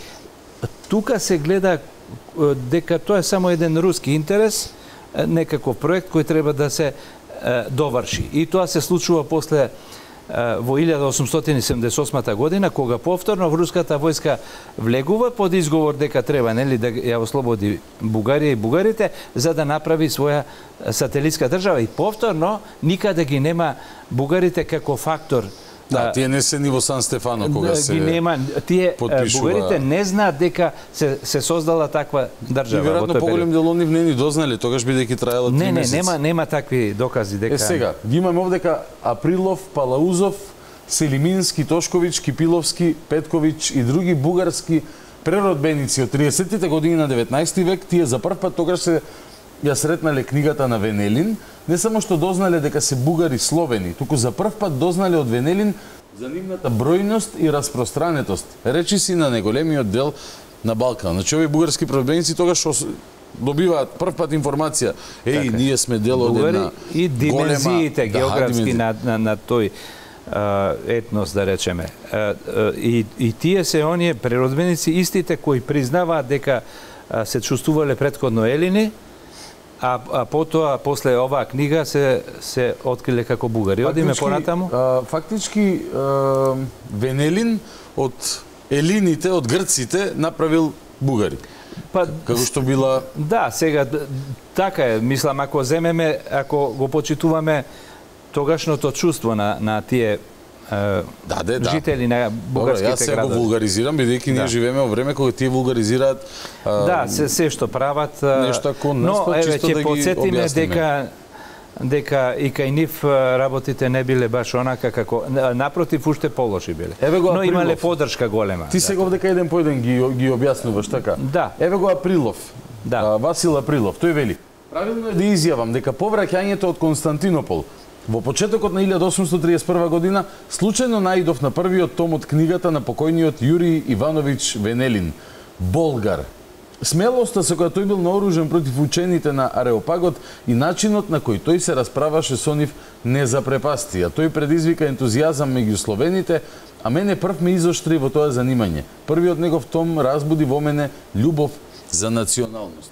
тука се гледа а, дека тоа е само еден руски интерес, а, некаков проект кој треба да се а, доврши. И тоа се случува после во илјада осумстотини седумдесет и осма година, кога повторно руската војска влегува под изговор дека треба, нели, да ја ослободи Бугарија и бугарите за да направи своја сателитска држава, и повторно никаде ги нема бугарите како фактор. Да, тие не се ни во Сан Стефано кога се ги нема, тие подпишува... бугарите не знаат дека се се создала таква држава. И веројатно поголем дел од нив не ни дознале, тогаш бидејќи траела три не, месеци. Не, нема нема такви докази дека... Е сега, ги имаме овдека Априлов, Палаузов, Селимински, Тошковиќ, Кипиловски, Петковиќ и други бугарски преродбеници од триесеттите години на деветнаесети век. Тие за прв пат тогаш се ја сретнале книгата на Венелин, не само што дознале дека се бугари словени, туку за прв пат дознале од Венелин за нивната бројност и распространетост, речиси на неголемиот дел на Балкан. Значи, овие бугарски преродбеници тогаш добиваат прв пат информација, еј, така, ние сме дел од една и димензиите голема, географски да, на, на, на тој а, етнос, да речеме. А, а, и, и тие се оние преродбеници истите кои признаваат дека а, се чувствувале претходно елини, А, а потоа, после оваа книга, се, се откриле како бугари. Одиме понатаму? А, фактички, а, Венелин од елините, од грците, направил бугари. Па, како што била... Да, сега, така е. Мислам, ако земеме, ако го почитуваме тогашното чувство на, на тие да, де, да. жители на бугарските градови. Јас се градови. го вулгаризирам, бидејќи ние да. живееме во време кога тие вулгаризираат а, да, се, се што прават. Нешто кон нас, но, еве, чисто ќе да ги подсетиме објасниме. дека дека и кај нив работите не биле баш онака како напротив уште полоши биле. Еве го но Априлов. имале подршка голема. Ти сега овдека еден по еден ги ги објаснуваш така. Да. Еве го Априлов. Да. А, Васил Априлов, тој вели: правилно е да изјавам дека повраќањето од Константинопол во почетокот на илјада осумстотини триесет и прва година случајно наидов на првиот том од книгата на покојниот Јури Ивановиќ Венелин, Болгар. смелоста со која тој бил наоружен против учените на Ареопагот и начинот на кој тој се расправаше со нив не запрепасти, а тој предизвика ентузијазам меѓу словените, а мене прв ме изоштри во тоа занимање. Првиот негов том разбуди во мене љубов за националност.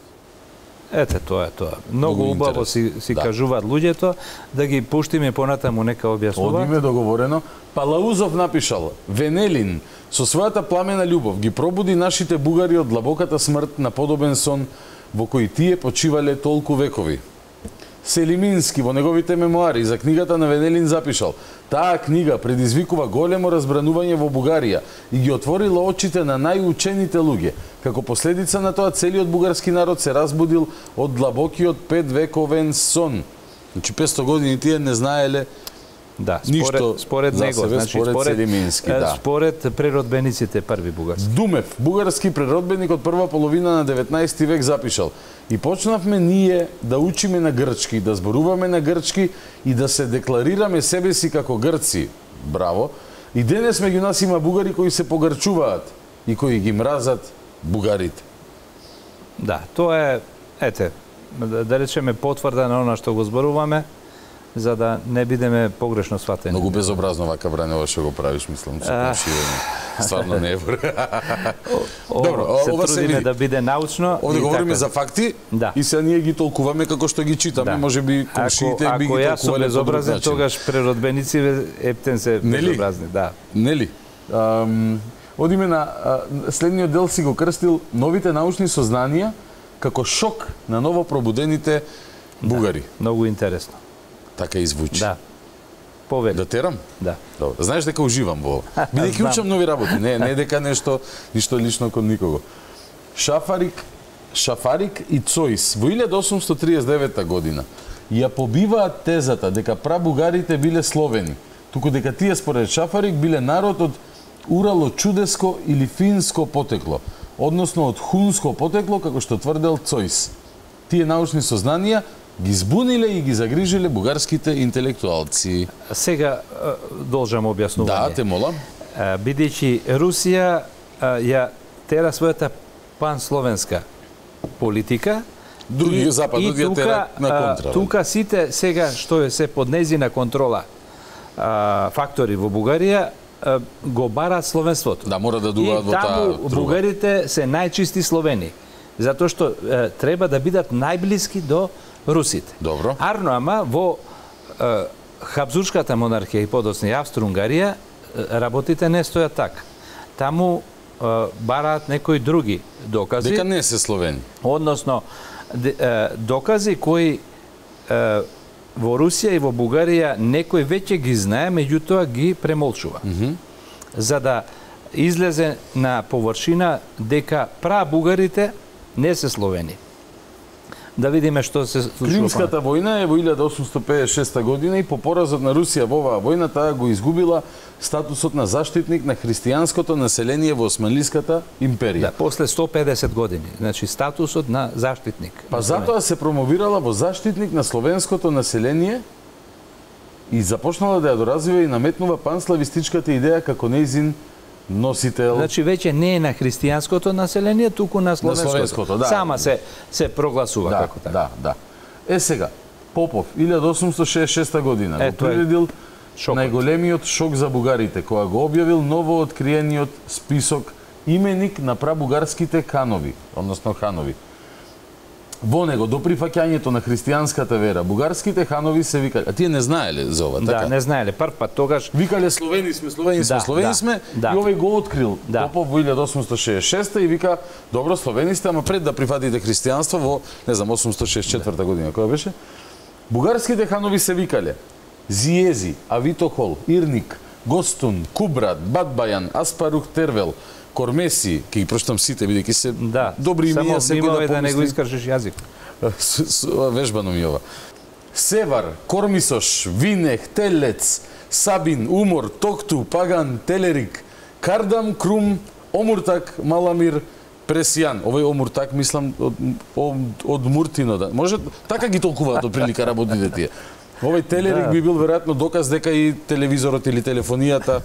Ете, тоа е тоа. Многу убаво си, си да. кажуваат луѓето, да ги пуштиме понатаму нека објаснуваат. Одиме договорено. Палаузов напишал: Венелин со својата пламена љубов ги пробуди нашите бугари од длабоката смрт на подобен сон во кој тие почивале толку векови. Селимински во неговите мемуари за книгата на Венелин запишал: таа книга предизвикува големо разбранување во Бугарија и ги отворила очите на најучените луѓе. Како последица на тоа целиот бугарски народ се разбудил од длабокиот петвековен сон. Значи петсто години тие не знаеле Да, според, ништо според за него, себе, значи според, според Селимински, да. Според преродбениците први бугарски. Думев, бугарски преродбеник од прва половина на деветнаесети век запишал: и почнавме ние да учиме на грчки, да зборуваме на грчки и да се декларираме себе си како грци. Браво! И денес меѓу нас има бугари кои се погрчуваат и кои ги мразат бугарите. Да, тоа е, ете, да, да речеме потврда на она што го зборуваме, за да не бидеме погрешно сватени. Многу безобразно вака Бранева што го правиш, мислам, со комшијање. Стварно не е. Добро, се ова трудиме се да биде научно. Овде говориме така за факти, да. И сега ние ги толкуваме како што ги читаме, да. Може би комшиите би ги толкувале. Ако јас сум безобразен, тогаш преродбеници ептен се безобразни, да. Нели? Um, одиме на uh, следниот дел си го крстил новите научни сознанија како шок на ново пробудените бугари. Да, многу интересно. Така и звучи. Да. Повели. Да терам? Да. Добро. Знаеш дека уживам во ова. Бидејќи учам нови работи, не не дека нешто ништо лично кон никого. Шафарик, Шафарик и Цоис во илјада осумстотини триесет и девета година ја побиваат тезата дека прабугарите биле словени, туку дека тие според Шафарик биле народ од урало-чудеско или финско потекло, односно од хунско потекло, како што тврдел Цоис. Тие научни сознанија ги збуниле и ги загрижиле бугарските интелектуалци. Сега должам објаснување. Да, те молам. Бидејќи Русија ја тера својата пансловенска политика, други западот ја тера на контра. Тука сите сега што е се под нејзина контрола фактори во Бугарија го бараат словенството. Да, мора да дуваат во таа друга. Бугарите се најчисти словени, затоа што е, треба да бидат најблиски до русите. Добро. Арно, ама во е, Хабзуршката монархија и подоцна Австро-Унгарија работите не стојат така. Таму е, бараат некои други докази. Дека не се словени. Односно, де, е, докази кои е, во Русија и во Бугарија некој веќе ги знае, меѓутоа ги премолчува. Mm -hmm. За да излезе на површина дека прабугарите не се словени. Да видиме што се случува. Кримската војна е во илјада осумстотини педесет и шеста година и по поразот на Русија во оваа војна таа го изгубила статусот на заштитник на христијанското население во Османлиската империја. Да, после сто и педесет години, значи статусот на заштитник. Па затоа се промовирала во заштитник на словенското население и започнала да ја доразвива и наметнува панславистичката идеја како нејзин носител. Значи веќе не е на христијанското население, туку на словенското. На словенското, да. Сама се се прогласува да, како така. Да, да. Е сега, Попов, илјада осумстотини шеесет и шеста година, е, го приредил најголемиот шок за бугарите, кога го објавил ново откриениот список именик на прабугарските канови, односно ханови. Во него, до прифаќањето на христијанската вера, бугарските ханови се викале, а тие не знаеле за ова, така? Да, не знаеле, прв пат тогаш... Викале словени сме, словени сме, да, словени да, сме, да. И овој го открил да. Попов во илјада осумстотини шеесет и шеста и вика, добро, словени сте, ама пред да прифатите христијанство во, не знам, осумстотини шеесет и четврта година, која беше? Бугарските ханови се викале Зиези, Авитохол, Ирник, Гостун, Кубрат, Батбајан, Аспарух Тервел, Кормеси, ќе ги прочитам сите, бидејќи се да, добри имија, секој да, да не го искажеш јазик. Вежбано ми ова. Севар, Кормисош, Винех, Телец, Сабин, Умор, Токту, Паган, Телерик, Кардам, Крум, Омуртак, Маламир, Пресијан. Овој Омуртак, мислам, од, од, од Муртино. Да. Може, така ги толкуваат од прилика работите тие. Овој телерик Да. би бил веројатно доказ дека и телевизорот или телефонијата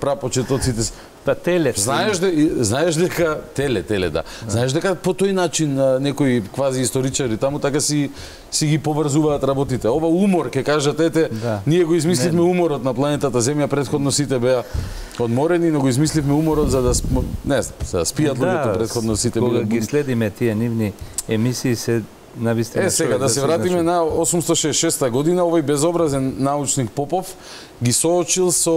прапочетоците. Па теле. Знаеш де, знаеш дека теле, теле да. Знаеш дека по тој начин а, некои квази историчари таму така си си ги поврзуваат работите. Ова умор ќе кажат ете, Да. ние го измисливме Не. уморот на планетата Земја, претходно сите беа одморени, но го измисливме уморот за да см... не знам, за да спијат луѓето, претходно сите кога биле ги следиме тие нивни емисии се навистина. Е, сега да се вратиме на осумстотини шеесет и шеста година, овој безобразен научник Попов ги соочил со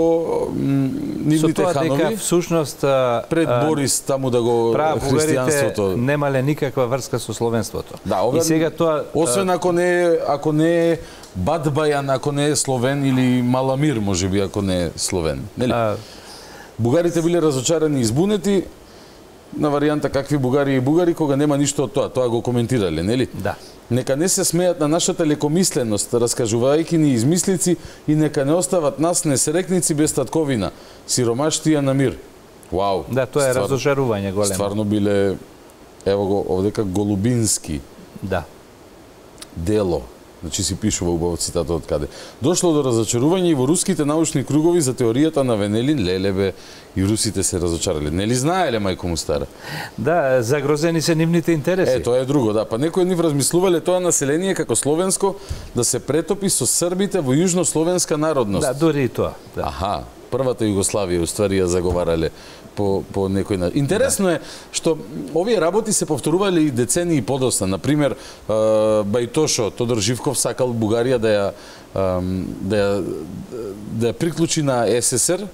м, нивните со тоа ханови дека всушност пред Борис таму да го христијанството немале никаква врска со словенството. Да, ова, и сега тоа освен ако не е, ако не е Бадбајан, ако не е словен или Маламир, можеби ако не е словен, нели? А... Бугарите биле разочарани и избунети на варијанта какви бугари и бугари кога нема ништо од тоа, тоа го коментирале, нели? Да. Нека не се смеат на нашата лекомисленост, раскажувајќи ни измислици и нека не остават нас несрекници без татковина, сиромаштија на мир. Вау. Да, тоа е ствар... разочарување големо. Стварно биле, ево го, овдека Голубински. Да. Дело. Значи си пишува убаво цитат од каде. Дошло до разочарување и во руските научни кругови за теоријата на Венелин, лелебе, и русите се разочарале. Нели знаеле мајко му стара? Да, загрозени се нивните интереси. Е, тоа е друго, да. Па некои од нив размислувале тоа население како словенско да се претопи со србите во јужнословенска народност. Да, дури и тоа. Да. Аха, првата Југославија уствари ја заговарале по по некој начин. Интересно е што овие работи се повторувале и децении подосна. Например, Бајтошо Тодор Живков сакал Бугарија да ја да ја да ја приклучи на СССР.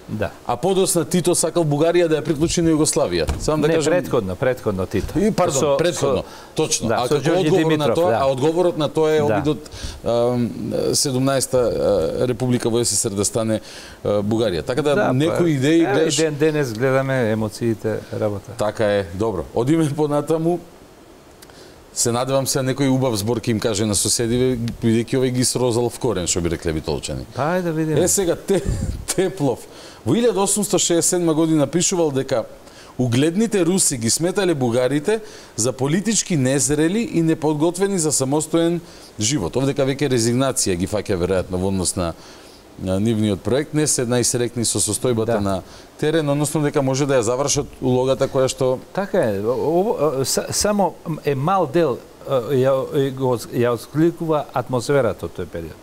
Да. А подосна Тито сакал Бугарија да ја приклучи на Југославија. Сам да не, кажам... предходно, предходно Тито. И пардон, со, предходно. Со... Точно. Да, а со како Ѓорѓи одговор Димитров, на тоа, да. а одговорот на тоа е Да. обидот седумнаесета република во СССР да стане Бугарија. Така да, да некои идеи е, гледаш... ден денес гледаме емоциите работа. Така е, добро. Одиме понатаму. Се надевам се некој убав збор ќе им каже на соседиве, бидејќи овој ги срозал в корен, што би рекле битолчани. Па, ајде да видиме. Е, сега, те, Теплов. Во илјада осумстотини шеесет и седма година пишувал дека угледните руси ги сметале бугарите за политички незрели и неподготвени за самостоен живот. Овдека веќе резигнација ги фаќа веројатно во однос на на нивниот проект, не се најсрекни со состојбата да. на терен, односно дека може да ја завршат улогата која што... Така е, ово, само е мал дел ја, ја откликува атмосферата од тој период.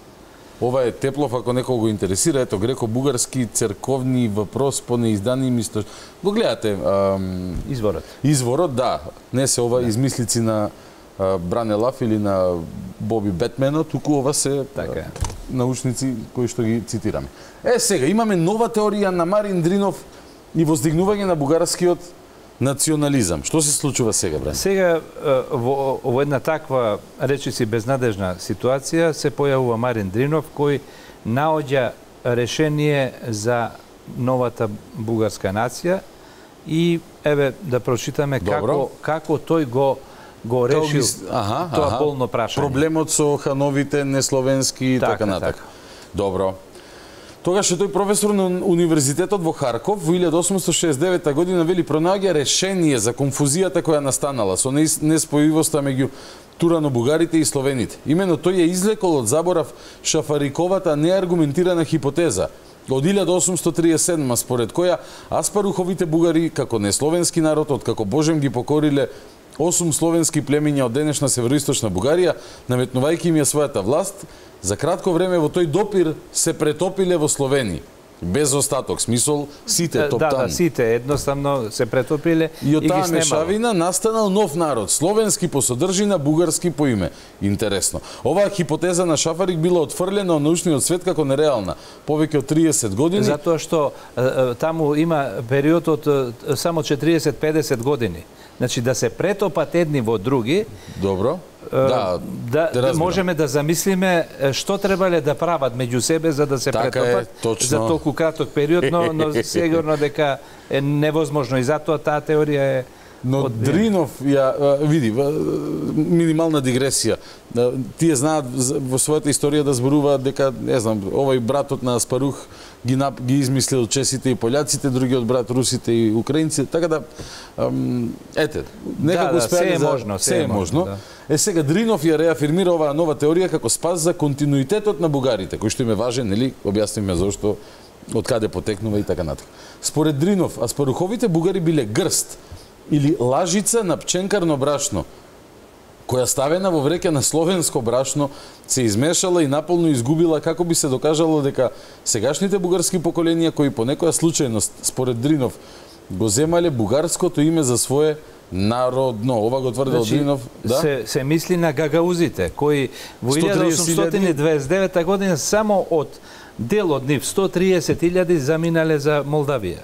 Ова е Теплов, ако некој го интересира, ето греко-бугарски црковни въпрос по неиздани мисто. Го гледате... Ам... Изворот. Изворот, да. Не се ова да. измислици на а, Бране Лаф или на Боби Бетмено, туку ова се така е. научници кои што ги цитираме. Е, сега, имаме нова теорија на Марин Дринов и воздигнување на бугарскиот национализам. Што се случува сега, Бране? Сега, во, во една таква, речиси, безнадежна ситуација, се појавува Марин Дринов, кој наоѓа решение за новата бугарска нација и, еве, да прочитаме како, како тој го го решил ги... аха, тоа аха. болно прашање. Проблемот со хановите, несловенски и така, така натака. Така. Добро. Тогаш е тој професор на Универзитетот во Харков во илјада осумстотини шеесет и девета година вели пронаоѓа решение за конфузијата која настанала со неспојивоста меѓу турано-бугарите и словените. Имено тој ја извлекол од заборав Шафариковата неаргументирана хипотеза од илјада осумстотини триесет и седма според која Аспаруховите бугари како несловенски народ откако Божем ги покориле осум словенски племиња од денешна североисточна Бугарија, наметнувајќи им ја својата власт, за кратко време во тој допир се претопиле во Словени. Без остаток, смисол сите топтани. Да, да, сите едноставно се претопиле и, и од ги таа снемало. мешавина настанал нов народ, словенски по содржина, бугарски по име. Интересно. Оваа хипотеза на Шафарик била отфрлена од научниот свет како нереална повеќе од триесет години. Затоа што таму има период од само четириесет до педесет години. Значи да се претопат едни во други. Добро. Да, да, да можеме да замислиме што требале да прават меѓу себе за да се така претопат е, за толку краток период, но, но сигурно дека е невозможно и затоа таа теорија е Но Дринов ја види минимална дигресија. Тие знаат во својата историја да зборуваат дека, не знам, овој братот на Аспарух ги нап, ги измислил чесите и пољаците, другиот брат русите и украинците, така да ете, некако успеа да, се е за, можно, се е можно. Да. Е сега Дринов ја реафирмира оваа нова теорија како спас за континуитетот на бугарите, кој што им е важен, нели? Објаснивме зошто, од каде потекнува и така натаму. Според Дринов, Аспаруховите бугари биле грст или лажица на пченкарно брашно, која ставена во вреќа на словенско брашно се измешала и наполно изгубила, како би се докажало дека сегашните бугарски поколенија кои по некоја случајност, според Дринов, го земале бугарското име за свое народно. Ова го тврдел значи, Дринов. Да? Се, се мисли на гагаузите, кои во илјада осумстотини дваесет и девета година само од дел од нив сто триесет илјади заминале за Молдавија.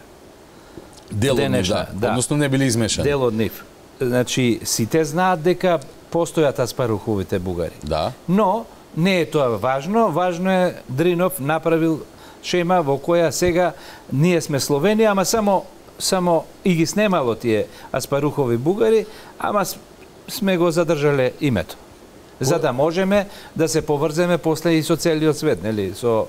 Дел од нив, да. да. Односно не биле измешани. Дел од нив. Значи, сите знаат дека постојат Аспаруховите бугари. Да. Но, не е тоа важно. Важно е Дринов направил шема во која сега ние сме Словенија, ама само само и ги снемало тие Аспарухови бугари, ама сме го задржале името. За да можеме да се поврземе после и со целиот свет, нели? Со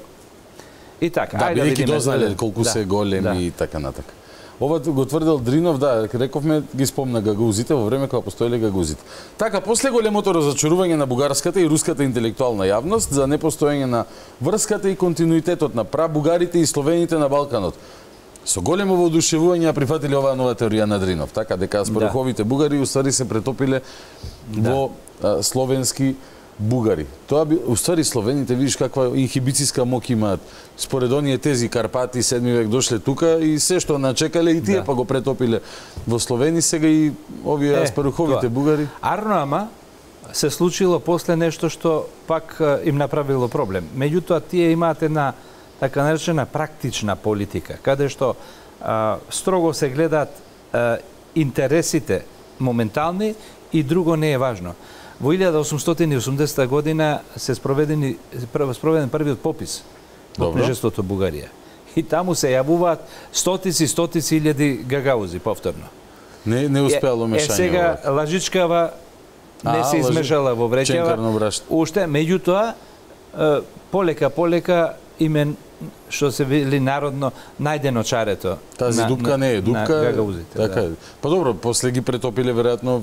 и така. Да, ајде бидејќи дознале колку да. се големи да. и така натака. Ова го тврдел Дринов, да, рековме, ги спомна гагаузите во време кога постоеле гагаузите. Така, после големото разочарување на бугарската и руската интелектуална јавност за непостоење на врската и континуитетот на прабугарите и словените на Балканот, со големо воодушевување ја прифатиле оваа нова теорија на Дринов, така дека Аспаруховите да. бугари уствари се претопиле да. во а, словенски бугари. Тоа би уствари словените, видиш каква инхибициска мок имаат. Според оние тези Карпати седми век дошле тука и се што начекале и тие да. па го претопиле во Словени, сега и овие е, Аспаруховите тоа. бугари. Арно ама се случило после нешто што пак им направило проблем. Меѓутоа тие имаат една така наречена практична политика, каде што а, строго се гледаат а, интересите моментални и друго не е важно. Во илјада осумстотини и осумдесета година се спроведени спроведен првиот попис во княжеството Бугарија. И таму се јавуваат стотици стотици илјади гагаузи повторно. Не не успеало мешање. Е сега лажичкава не а, се измешала во вреќава. Уште меѓутоа полека полека имен што се вели народно најдено чарето. Тази на, дупка не е дупка. На гагаузите, така да. Па добро, после ги претопиле веројатно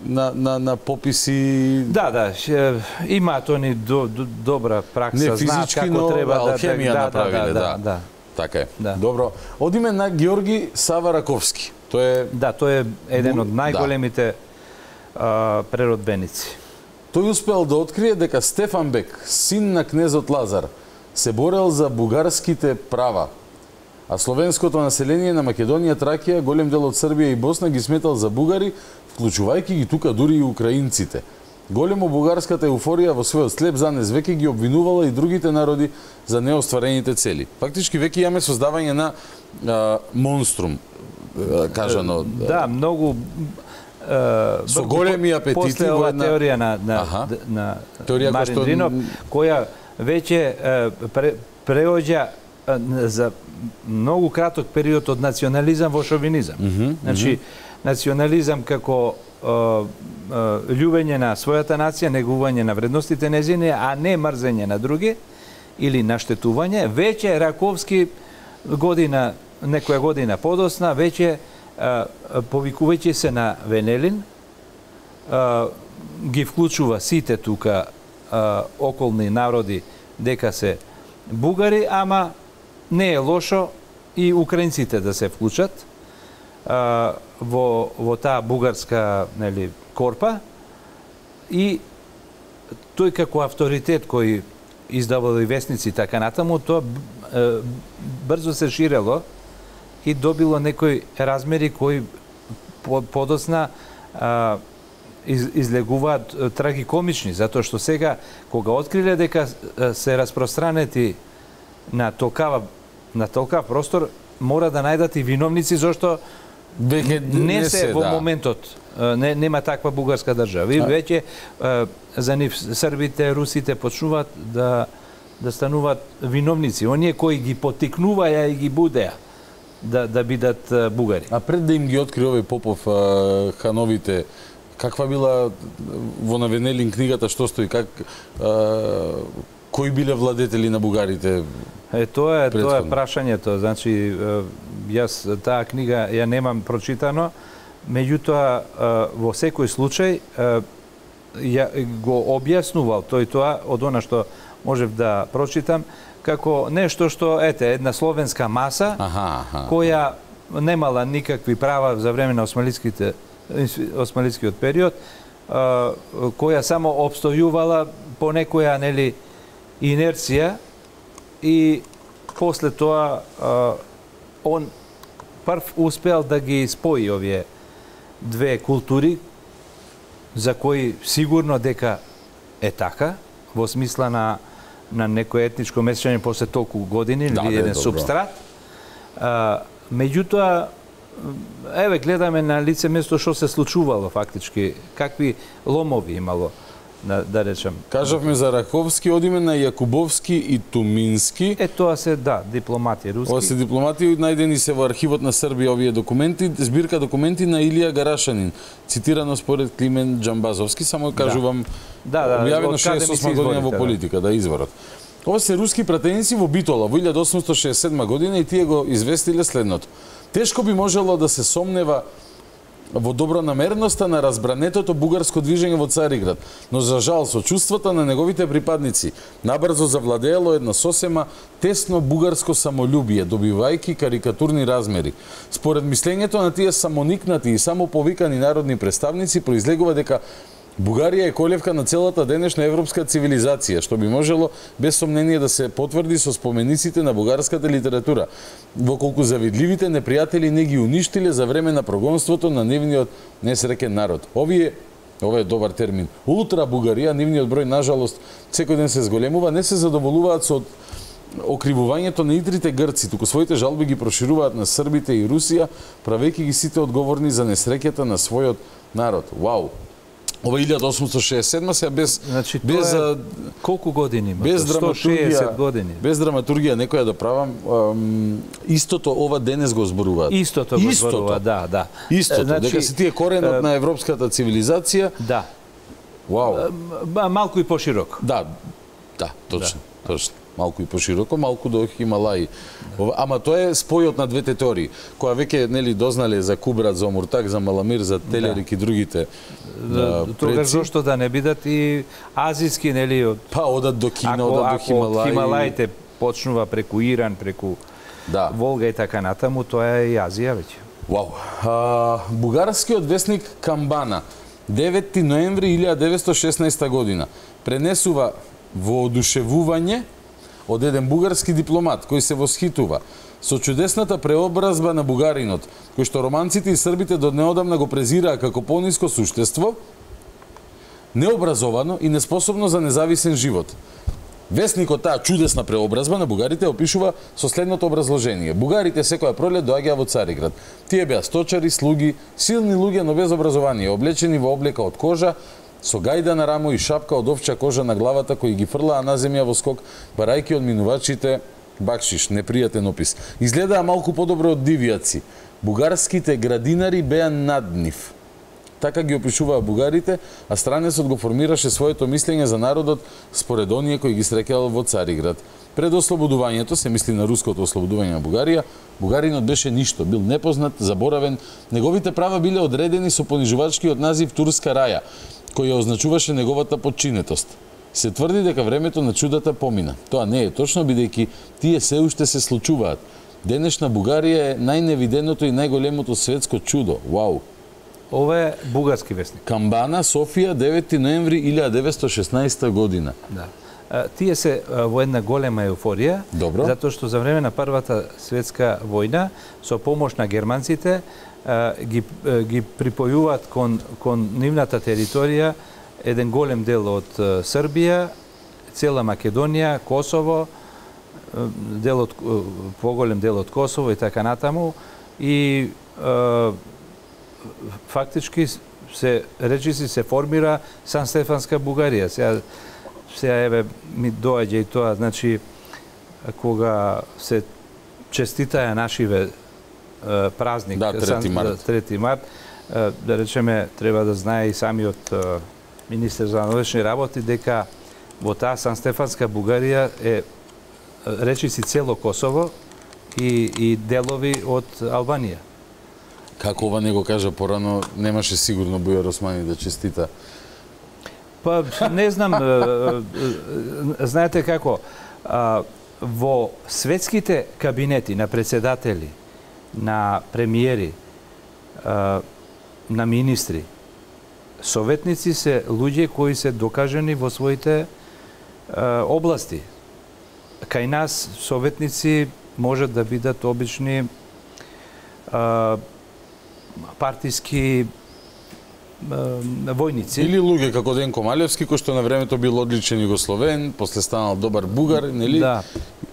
на на на пописи. Да, да, ше, имаат они до, до, добра пракса, не, знаат како но, треба да алхемија да, направиле, да, да, да, да. Така е. Да. Добро. Одиме на Георги Савараковски. Тој е Да, тој е еден од најголемите да. преродбеници. Тој успел да открие дека Стефан Бек, син на кнезот Лазар, се борел за бугарските права, а словенското население на Македонија, Тракија, голем дел од Србија и Босна ги сметал за бугари, вклучувајќи ги тука дури и украинците. Големо бугарската еуфорија во својот слеп занес веќе ги обвинувала и другите народи за неостварените цели. Фактички веќе имаме создавање на а, монструм, а, кажано. Да, многу со големи апетити после ова една... теорија на на Аха. на теорија Марин што... Дринов, која веќе пре, преоѓа за многу краток период од национализам во шовинизам. Mm -hmm, значи mm -hmm. национализам како љубење на својата нација, негување на вредностите незини, а не мрзење на други или наштетување. Веќе Раковски година, некоја година подосна, веќе повикувајќи се на Венелин, ги вклучува сите тука околни народи дека се бугари, ама не е лошо и украинците да се вклучат во во таа бугарска, нели, корпа, и тој како авторитет кој издавал и вестници така натаму, тоа брзо се ширело и добило некои размери кои подосна а, из, излегуваат трагикомични, затоа што сега кога откриле дека се распространети на толкава на толкав простор, мора да најдат и виновници зашто Веќе не се, се во да. моментот, не, нема таква бугарска држава. И веќе за нив србите, русите почнуваат да да стануваат виновници, оние кои ги потикнуваја и ги будеа да да бидат бугари. А пред да им ги откри овој Попов а, хановите, каква била во Навенелин книгата што стои, как а, кои биле владетели на бугарите? Е тоа е предходно? тоа е прашањето, значи јас таа книга ја немам прочитано, меѓутоа во секој случај ја го објаснувал тој тоа од она што можев да прочитам како нешто што ете една словенска маса аха, аха. која немала никакви права за време на османлиските османлискиот период, која само обстојувала по некоја нели инерција и после тоа он прв успеал да ги спои овие две култури за кои сигурно дека е така во смисла на на некое етничко месење после толку години да, или еден добро. субстрат. А, меѓутоа еве гледаме на лице место што се случувало фактички, какви ломови имало, да, да речем. Кажавме за Раковски, одиме на Јакубовски и Тумински. Е, тоа се, да, дипломати руски. Ова се дипломати, најдени се во архивот на Србија овие документи, збирка документи на Илија Гарашанин, цитирано според Климен Џамбазовски, само кажувам, да, да, објавено од каде ми се шеесет и осма година во изворите, политика, да, изворот. Ова се руски пратеници во Битола во илјада осумстотини шеесет и седма година и тие го известиле следното. Тешко би можело да се сомнева во добронамерноста на разбранетото бугарско движење во Цариград, но за жал со чувствата на неговите припадници набрзо завладеело една сосема тесно бугарско самолюбие, добивајќи карикатурни размери. Според мислењето на тие самоникнати и самоповикани народни представници произлегува дека Бугарија е колевка на целата денешна европска цивилизација, што би можело без сомнение да се потврди со спомениците на бугарската литература, во колку завидливите непријатели не ги уништиле за време на прогонството на нивниот несреќен народ. Овие, ова е добар термин, ултра Бугарија, нивниот број нажалост секој ден се зголемува, не се задоволуваат со окривувањето на итрите грци, туку своите жалби ги прошируваат на србите и Русија, правејќи ги сите одговорни за несреќата на својот народ. Вау! Ова илјада осумстотини шеесет и седма се без значи, без за колку години има? Без сто шеесет драматургија, години. Без драматургија некоја да правам, ам, истото ова денес го зборуваат. Истото го зборува, да, да. Истото, значи, дека си тие коренот е, на европската цивилизација. Да. Вау. Ба, малку и пошироко. Да, да, точно, да. точно. Малку и пошироко, малку до Хималаи. Да. Ама тоа е спојот на двете теории, која веќе нели дознале за Кубрат, за Омуртак, за Маламир, за Телерик да. и другите. Да, тогаш зошто да не бидат и азиски нели од па одат до Кина, ако, одат до Хималаи. Хималаи. Хималаите почнува преку Иран, преку да. Волга и така натаму, тоа е и Азија веќе. Вау. А, бугарскиот весник Камбана, деветти ноември илјада деветстотини и шеснаесета година, пренесува воодушевување од еден бугарски дипломат кој се восхитува со чудесната преобразба на бугаринот, кој што романците и србите до неодамна го презираа како пониско суштество, необразовано и неспособно за независен живот. Весникот таа чудесна преобразба на бугарите опишува со следното образложение. Бугарите секоја пролет доаѓаа во Цариград. Тие беа сточари, слуги, силни луѓе, но без образование, облечени во облека од кожа, со гајда на рамо и шапка од овча кожа на главата кои ги фрлаа на земја во скок, барајќи од минувачите бакшиш, непријатен опис. Изгледаа малку подобро од дивјаци. Бугарските градинари беа над нив. Така ги опишуваа бугарите, а странецот го формираше своето мислење за народот според оние кои ги среќал во Цариград. Пред ослободувањето, се мисли на руското ослободување на Бугарија, бугаринот беше ништо, бил непознат, заборавен, неговите права биле одредени со понижувачкиот назив Турска раја, кој ја означуваше неговата подчинетост. Се тврди дека времето на чудата помина. Тоа не е точно, бидејќи тие се уште се случуваат. Денешна Бугарија е најневиденото и најголемото светско чудо. Вау! Ова е бугарски вестник. Камбана, Софија, деветти ноември илјада деветстотини и шеснаесета година. Да. Тие се во една голема еуфорија, Добро. затоа што за време на Првата светска војна, со помош на германците, ги, ги припојуваат кон, кон нивната територија еден голем дел од Србија, цела Македонија, Косово, дел од, поголем дел од Косово и така натаму, и е, фактички се речиси се формира Сан Стефанска Бугарија. Сега, сега еве ми доаѓа и тоа, значи кога се честитаја нашиве празник, да, трети март. трети март, да речеме, треба да знае и самиот министер за внатрешни работи дека во таа Сан-Стефанска Бугарија е речиси цело Косово и, и делови од Албанија. Како ова не го кажа порано, немаше сигурно Бујар Османи да честита. Па, не знам, знаете како, во светските кабинети на председатели, на премиери, на министри, советници се луѓе кои се докажани во своите области. Кај нас советници можат да бидат обични партиски војници. Или луѓе како Денко Малевски, кој што на времето бил одличен југословен, после станал добар бугар, нели? Да.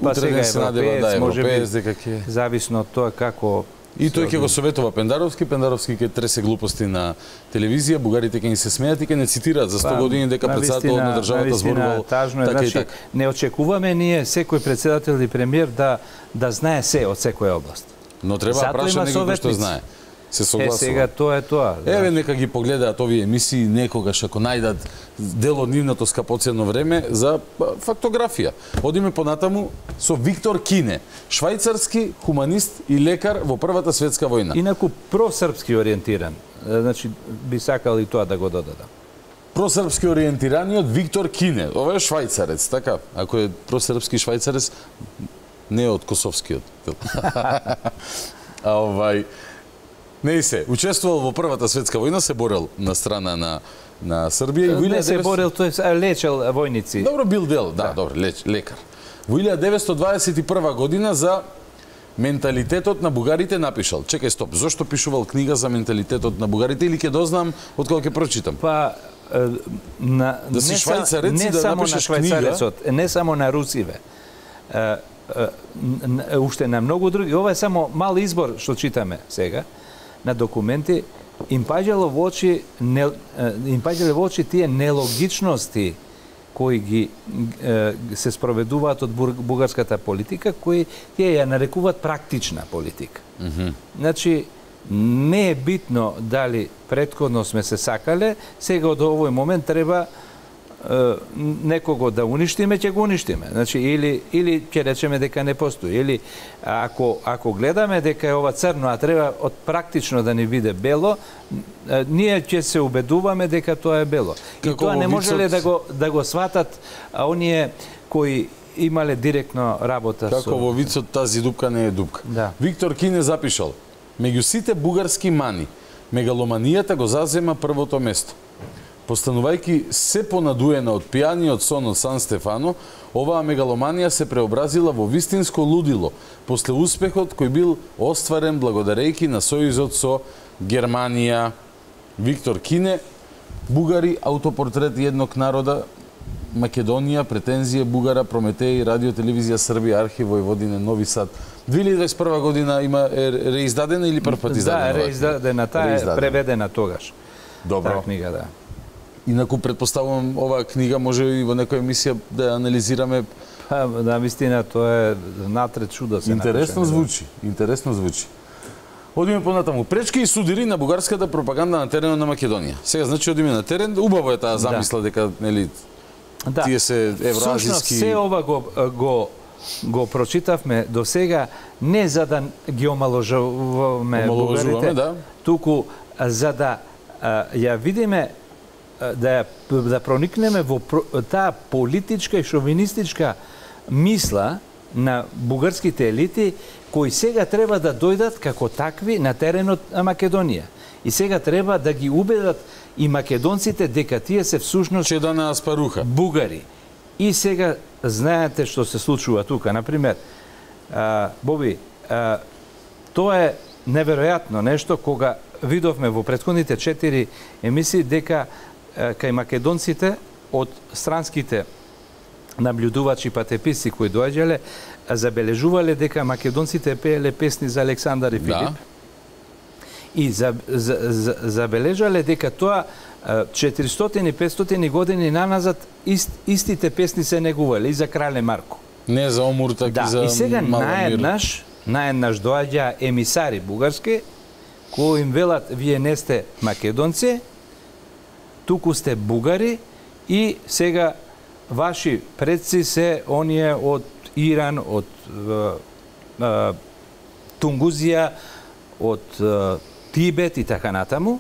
Па сега европеец, да, може би, дека ќе зависно од тоа како. И тој ќе го советува Пендаровски, Пендаровски ќе тресе глупости на телевизија, бугарите ќе ни се смеат и ќе не цитираат за сто години дека председателот на државата зборувал така и така. Не очекуваме ние секој председател и премиер да да знае се од секоја област. Но треба да праша некој што знае. Се согласува. Е, сега тоа е тоа. Еве, нека ги погледаат овие емисии некогаш, ако најдат дел од нивното скапоцено време за фактографија. Одиме понатаму со Виктор Кине, швајцарски хуманист и лекар во Првата светска војна. Инаку просрпски ориентиран. Значи, би сакал и тоа да го додадам. Просрпски ориентираниот Виктор Кине. Ова е швајцарец, така? Ако е просрпски швајцарец, не е од косовскиот. А овај... Не се, учествувал во Првата светска војна, се борел на страна на на Србија и во не се борел, тој е лечел војници. Добро, бил дел, да, да. добро, леч, лекар. Во илјада деветстотини дваесет и прва година за менталитетот на бугарите напишал. Чекај, стоп, зошто пишувал книга за менталитетот на бугарите или ќе дознам од кога ќе прочитам? Па на да си швајцарец и да напишеш книга, не само на русиве. Уште на многу други. Ова е само мал избор што читаме сега на документи, им паѓало во очи не, им паѓале во очи тие нелогичности кои ги се спроведуваат од бугарската политика, кои тие ја нарекуваат практична политика. Mm -hmm. Значи, не е битно дали претходно сме се сакале, сега од овој момент треба некого да уништиме, ќе го уништиме. Значи, или, или ќе речеме дека не постои. Или ако, ако гледаме дека е ова црно, а треба од практично да ни биде бело, ние ќе се убедуваме дека тоа е бело. И како тоа не можеле да го, да го сватат а оние кои имале директно работа како со... Како во вицот тази дупка не е дупка. Да. Виктор Кине запишал: меѓу сите бугарски мани, мегаломанијата го зазема првото место. Постанувајќи се понадуена од пијаниот сон од Сан Стефано, оваа мегаломанија се преобразила во вистинско лудило после успехот кој бил остварен благодарејќи на сојузот со Германија. Виктор Кине, бугари, аутопортрет едног народа, Македонија, претензија Бугара, Прометеј, радио, телевизија Србија, архив Војводине, Нови Сад. две илјади дваесет и прва година има е реиздадена или прв пат издадена? Да, реиздадена, таа е преведена тогаш. Добро. Таа книга, да. Инаку предпоставувам оваа книга може и во некоја емисија да ја анализираме. Па, да, вистина, тоа е натред чудо се интересно напишено. звучи, интересно звучи. Одиме понатаму. Пречки и судири на бугарската пропаганда на теренот на Македонија. Сега значи одиме на терен, убаво е таа замисла да. дека нели да. тие се евроазиски. Всушност се ова го го го прочитавме до сега не за да ги омаложуваме бугарите, да. туку за да а, ја видиме да да проникнеме во таа политичка и шовинистичка мисла на бугарските елити кои сега треба да дојдат како такви на теренот на Македонија. И сега треба да ги убедат и македонците дека тие се всушност че да не аспаруха бугари. И сега знаете што се случува тука, на пример, а, Боби, а, тоа е неверојатно нешто кога видовме во претходните четири емисии дека а, кај македонците од странските наблюдувачи патеписци кои доаѓале забележувале дека македонците пееле песни за Александар и Филип. Да. И за, за, за, забележале дека тоа четиристотини петстотини години наназад ист, истите песни се негувале и за крале Марко. Не за Омуртак да, и за и сега Маламир. наеднаш наеднаш доаѓа емисари бугарски, кои им велат, вие не сте македонци, туку сте бугари и сега ваши предци се оние од Иран, од е, е, Тунгузија, од е, Тибет и така натаму.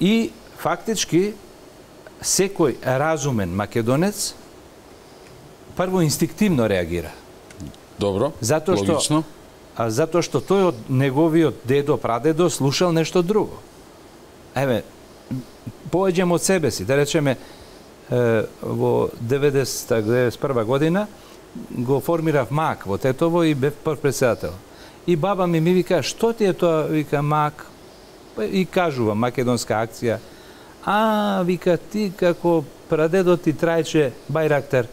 И фактички секој разумен македонец прво инстинктивно реагира. Добро, затоа што, логично. А затоа што тој од неговиот дедо, прадедо слушал нешто друго. Еве, поеđем од себе си, да речеме, е, во деветдесета деветдесет и прва година го формирав МАК во Тетово и бев прв председател. И баба ми ми вика, што ти е тоа? Вика, МАК. И кажува, македонска акција. А, вика, ти како прадедо ти Трајче Бајрактар,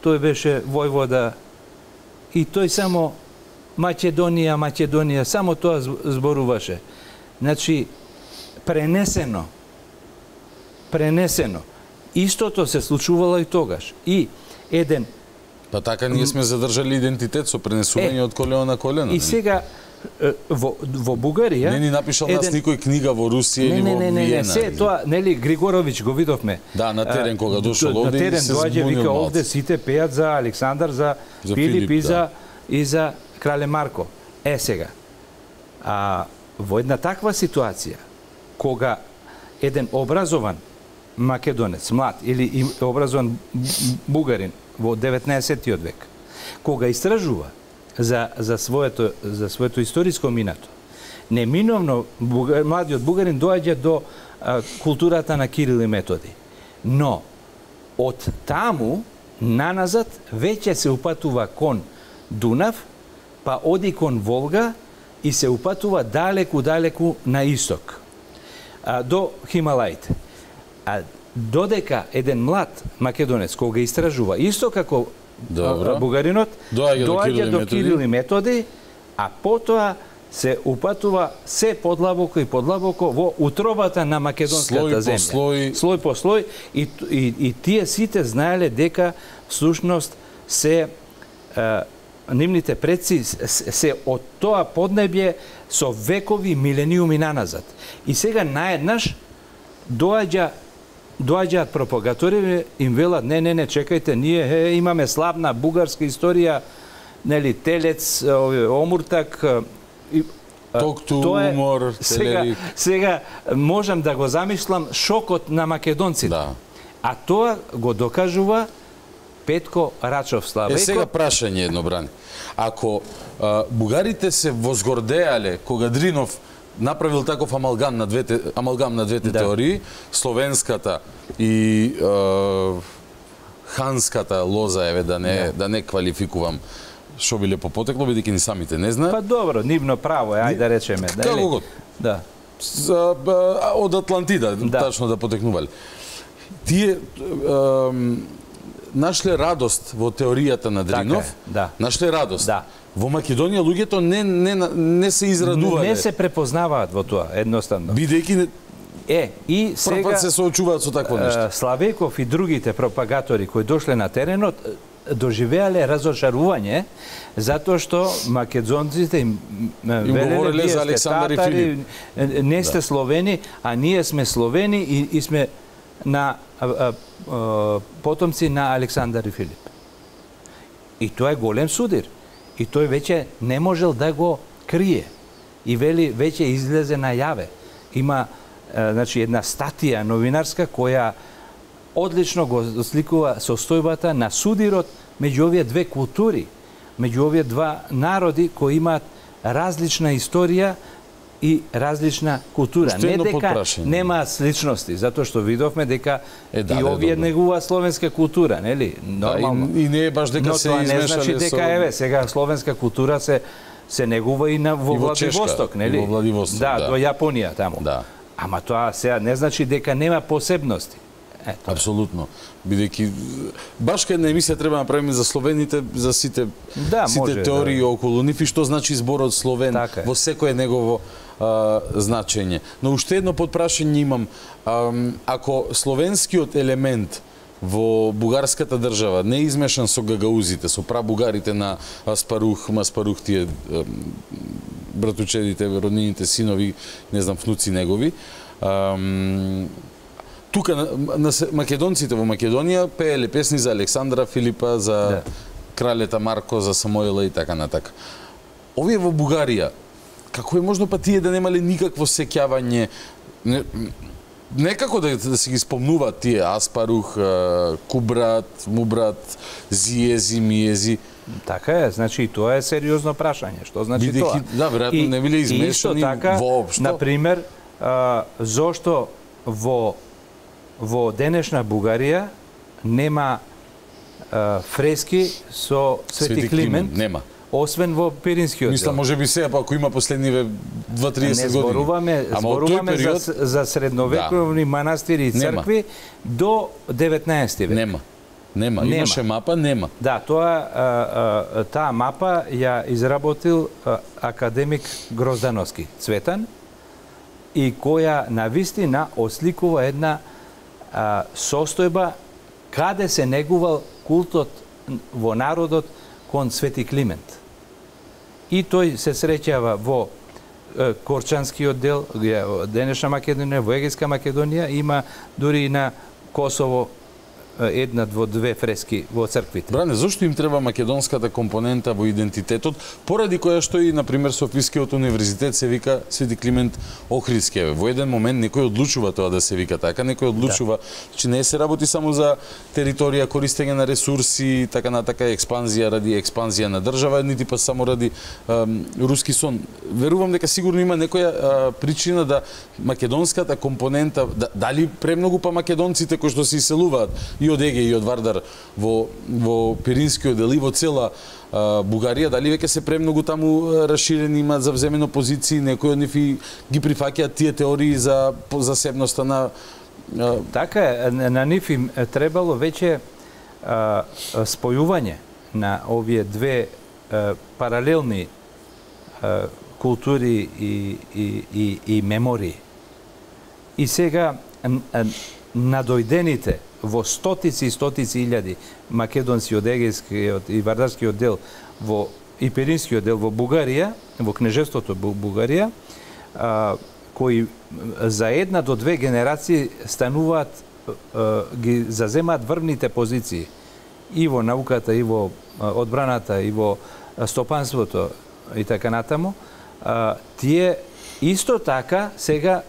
тој беше војвода и тој само Македонија, Македонија, само тоа зборуваше. Значи, пренесено, пренесено. Истото се случувало и тогаш. И еден... Па така ние сме задржали идентитет со пренесување е, од колено на колено. И сега, во, во Бугарија... Не ни напишал еден... нас никој книга во Русија или во Виена. Не, не, не, не, се тоа, нели, Григорович го видовме. Да, на терен кога дошол овде и се збунил малце. Вика, овде сите пеат за Александар, за, за Филип, Филип и, за, да. и за Крале Марко. Е, сега, а, во една таква ситуација, кога еден образован македонец, млад, или образован бугарин во деветнаесеттиот век, кога истражува за, за, своето, за своето историско минато, неминовно бугар, младиот бугарин доаѓа до а, културата на Кирил и Методи. Но, од таму, наназад, веќе се упатува кон Дунав, па оди кон Волга и се упатува далеку-далеку на исток, а, до Хималаите. А додека еден млад македонец кога истражува, исто како Добро. бугаринот, доаѓа, доаѓа до Кирил и Методи, а потоа се упатува се подлабоко и подлабоко во утробата на македонската слој земја. По слој. слој по слој. И, и, и тие сите знаеле дека всушност се е, нивните предци се од тоа поднебје со векови, милениуми наназад. И сега наеднаш доаѓа доаѓаат пропагатори, им велат, не, не, не, чекајте, ние е, имаме славна бугарска историја, нели, Телец, Омуртак, и, Токту, тоа е, умор, сега, сега можам да го замислам шокот на македонците. Да. А тоа го докажува Петко Рачов Славејко. Е, сега прашање едно, Брани. Ако а, бугарите се возгордеале кога Дринов направил таков амалгам на двете амалгам на двете да. теории, словенската и е, ханската лоза, еве да не да, да не квалификувам што биле по потекло, бидејќи ни самите не знаат. Па добро, нивно право е, ајде да речеме, да. Како год. Да. За, од Атлантида, да. тачно да потекнувале. Тие е, нашле радост во теоријата на Дринов, така е, да. нашле радост. Да. Во Македонија луѓето не, не, не се израдувале. Не се препознаваат во тоа, едноставно. Бидејќи Е, и сега се соочуваат со такво нешто. Славеков и другите пропагатори кои дошле на теренот доживеале разочарување затоа што македонците им, им велеле вие сте татари, не сте да. словени, а ние сме словени и, и сме на а, а, а, потомци на Александар и Филип. И тоа е голем судир. И тој веќе не можел да го крие. И вели веќе излезе најаве. Има е, значи една статија новинарска која одлично го сликува состојбата на судирот меѓу овие две култури, меѓу овие два народи кои имаат различна историја и различна култура. Не дека нема сличности, затоа што видовме дека е, да, и овие негува словенска култура, нели? Нормално. Да, и, и не е баш дека но се тоа измешале не значи дека со... еве сега словенска култура се се негува и на во Владивосток, нели? И во Владивосток, да, да, до Јапонија таму. Да. Ама тоа сега не значи дека нема посебности. Ето. Апсолутно. Бидејќи баш кај една емисија треба да направиме за словените, за сите да, сите може, теории да. околу нив и што значи зборот словен така во секое негово а, значење. Но уште едно подпрашање имам. А, ако словенскиот елемент во бугарската држава, не измешан со гагаузите, со прабугарите на Аспарух, Маспарух, тие братучедите, роднините синови, не знам, внуци негови. Тука на, на македонците во Македонија пееле песни за Александра Филипа, за да. кралета Марко, за Самоила и така натака. Овие во Бугарија, како е можно па тие да немале никакво сеќавање, не, некако да, да се ги спомнуваат тие Аспарух, Кубрат, Мубрат, Зиези, Миези. Така е, значи тоа е сериозно прашање. Што значи Бидејќи, тоа? Да, веројатно не биле измешани така, воопшто. Например, а, зошто во во денешна Бугарија нема а, фрески со Свети, Свети Климент, Климент, нема. Освен во Пиринскиот дел. Мислам, може би сега, па ако има последниве дваесет години. Не зборуваме, зборуваме период... за, за средновековни да. манастири и цркви нема. До деветнаесети век. Нема. Нема. Нема. Имаше мапа, нема. Да, тоа а, а, таа мапа ја изработил а, академик Гроздановски Цветан и која навистина осликува една а, состојба каде се негувал култот во народот кон Свети Климент. И тој се среќава во е, Корчанскиот дел, денешна Македонија, во Егејска Македонија, има дури и на Косово една во две фрески во црквите. Бране, зошто им треба македонската компонента во идентитетот, поради која што и, например, Софискиот универзитет се вика Свети Климент Охридски. Во еден момент некој одлучува тоа да се вика така, некој одлучува, да. Че не се работи само за територија, користење на ресурси, така натака експанзија ради експанзија на држава, нити па само ради ем, руски сон. Верувам дека сигурно има некоја а, причина да македонската компонента, да, дали премногу па македонците кои што се иселуваат и од Еге и од Вардар во, во Пиринскиот дел и во цела а, Бугарија, дали веќе се премногу таму расширени, имаат завземено позиции, некои од нив ги прифаќаат тие теории за засебноста на... А... Така е, на нив им требало веќе а, спојување на овие две а, паралелни а, култури и, и, и, и мемории. И сега надојдените во стотици и стотици илјади македонци од Егејскиот и Вардарскиот дел во и Пиринскиот дел во Бугарија, во кнежеството Бугарија, а, кои за една до две генерации стануваат, а, ги заземаат врвните позиции и во науката, и во одбраната, и во стопанството и така натаму, а, тие исто така сега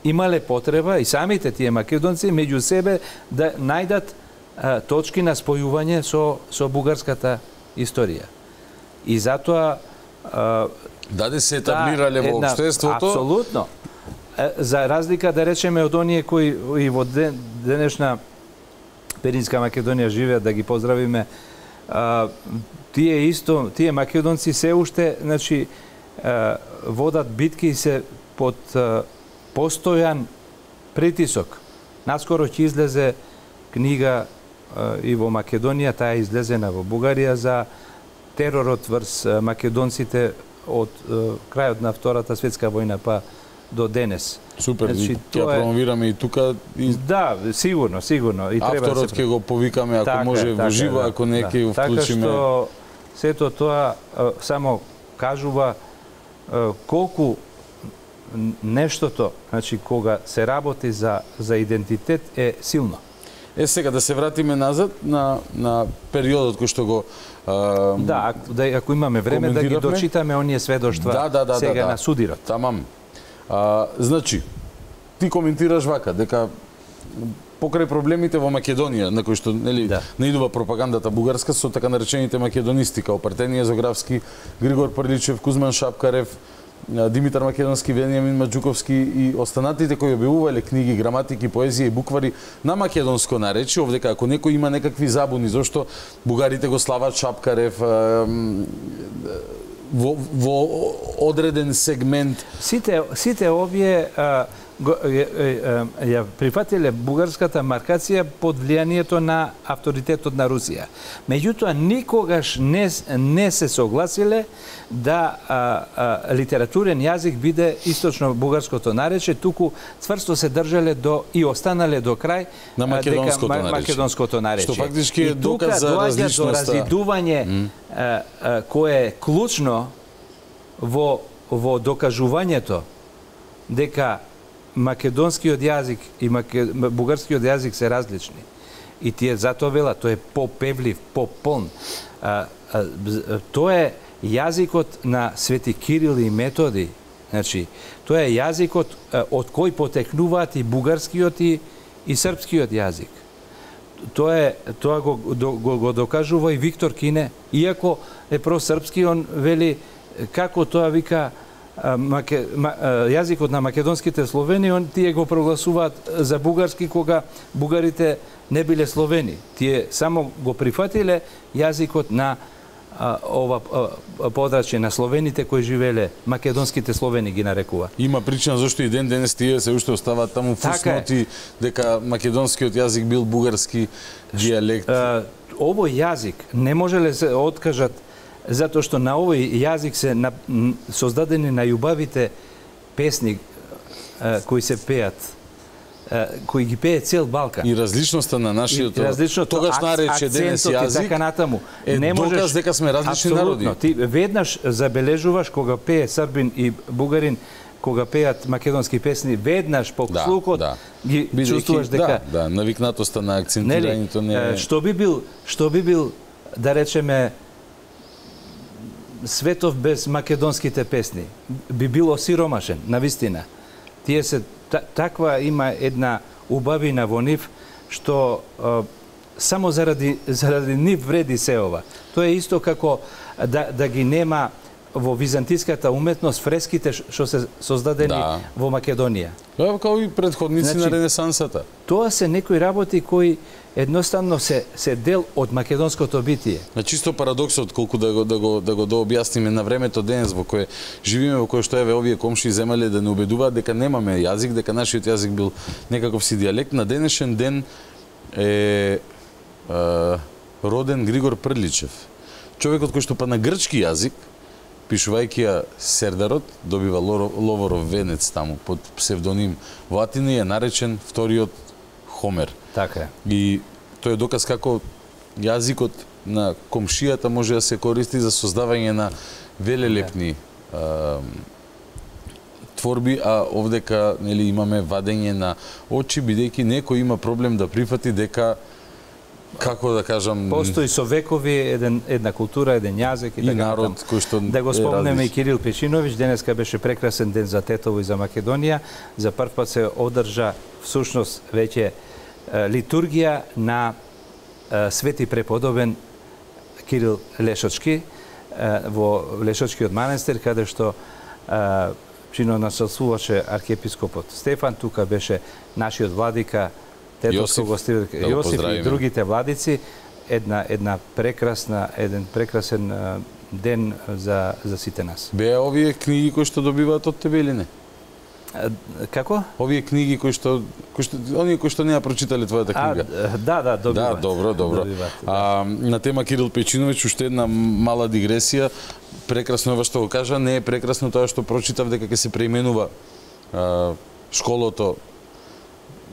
имале потреба и самите тие македонци меѓу себе да најдат а, точки на спојување со со бугарската историја. И затоа а, даде се етаблирале во општеството. Апсолутно. За разлика да речеме од оние кои и во ден, денешна Пиринска Македонија живеат, да ги поздравиме, а, тие исто, тие македонци се уште, значи, а, водат битки и се под а, постојан притисок. Наскоро ќе излезе книга а, и во Македонија, таа е излезена во Бугарија, за теророт врз македонците од а, крајот на Втората светска војна па до денес. Супер, значи, ќе ја промовираме и тука. И... Да, сигурно, сигурно. И треба авторот ќе се... го повикаме, ако така, може, така, во живо, да, ако не ќе да. Го вклучиме. Така што сето тоа а, само кажува а, колку нештото, значи, кога се работи за, за идентитет, е силно. Е, сега да се вратиме назад на, на периодот кој што го а, да, ако, да, ако имаме време да ги дочитаме оние сведоштва да, да, да, сега да, да. на судирот. Тамам. А, значи, ти коментираш вака, дека покрај проблемите во Македонија, на кои што нели да. наидува пропагандата бугарска со така наречените македонисти, као Партенија Зографски, Григор Прличев, Кузман Шапкарев, Димитар Македонски, Вениамин Маджуковски и останатите кои објавувале книги, граматики, поезија и буквари на македонско наречие, овдека ако некој има некакви забуни зошто бугарите го слават Шапкарев во, во одреден сегмент. Сите, сите овие а, ја прифатиле бугарската маркација под влијанието на авторитетот на Русија. Меѓутоа, никогаш не, не се согласиле да а, а, литературен јазик биде источно бугарското нарече, туку цврсто се држале до и останале до крај на македонското, дека, нарече. македонското нарече. Што фактички е доказ за различноста. До разидување mm. а, а, кое е клучно во во докажувањето дека македонскиот јазик и маке... бугарскиот јазик се различни. И тие затоа велат, тој е попевлив, пополн. А, а, тоа е јазикот на Свети Кирил и Методи. Значи, тоа е јазикот а, од кој потекнуваат и бугарскиот и, и српскиот јазик. Тоа е тоа го, го, го докажува и Виктор Кине, иако е просрпски, он вели како тоа вика Маке, ма, јазикот на македонските словени, он тие го прогласуваат за бугарски кога бугарите не биле словени. Тие само го прифатиле јазикот на а, ова а, подрачје на словените кои живеле, македонските словени ги нарекува. Има причина зашто и ден денес тие се уште оставаат таму фусноти дека македонскиот јазик бил бугарски дијалект. А, овој јазик не можеле се откажат затоа што на овој јазик се на, создадени најубавите песни а, кои се пеат, а, кои ги пее цел Балкан. И различноста на нашиот тогаш нарече денес јазик така натаму. Е не можеш, доказ дека сме различни народи. Ти веднаш забележуваш кога пее србин и бугарин, кога пеат македонски песни, веднаш по да, слухот да. ги Бидејќи, чувствуваш дека да, да, навикнатоста на акцентирањето не е... Што би бил, што би бил да речеме светов без македонските песни, би бил осиромашен, навистина. Тие се таква има една убавина во нив што а, само заради заради нив вреди се ова. Тоа е исто како да да ги нема во византиската уметност фреските што се создадени да. во Македонија. Да, како и предходници значи, на Ренесансата. Тоа се некои работи кои едноставно се се дел од македонското битие. На чисто парадоксот колку да го да го да го дообјасниме на времето денес во кое живиме, во кое што еве овие комши земале да не убедуваат дека немаме јазик, дека нашиот јазик бил некаков си дијалект. На денешен ден е, е роден Григор Прличев. Човекот кој што па на грчки јазик, пишувајќи ја Сердарот, добива Ловоров венец таму под псевдоним во Атина, е наречен вториот Хомер. Така е. И тој е доказ како јазикот на комшијата може да се користи за создавање на велелепни а, творби, а овдека нели имаме вадење на очи, бидејќи некој има проблем да прифати дека како да кажам, постои со векови еден една култура, еден јазик и, и така народ кој што да го спомнеме и Кирил Печиновиќ. Денеска беше прекрасен ден за Тетово и за Македонија. За прв пат се одржа всушност веќе литургија на свети преподобен Кирил Лешочки во Лешочкиот манастир, каде што чино населствуваше архиепископот Стефан. Тука беше нашиот владика Тетовско гостиле да Јосиф и другите владици. Една една прекрасна еден прекрасен ден за за сите нас. Беа овие книги кои што добиваат од тебе или не? Како? Овие книги кои што кои што оние кои што не ја прочитале твојата книга. А, да, да, добиваат. Да, добро, добро. Добиваат, да. А, на тема Кирил Печиновиќ уште една мала дигресија. Прекрасно е ова што го кажа, не е прекрасно тоа што прочитав дека ќе се преименува а, школото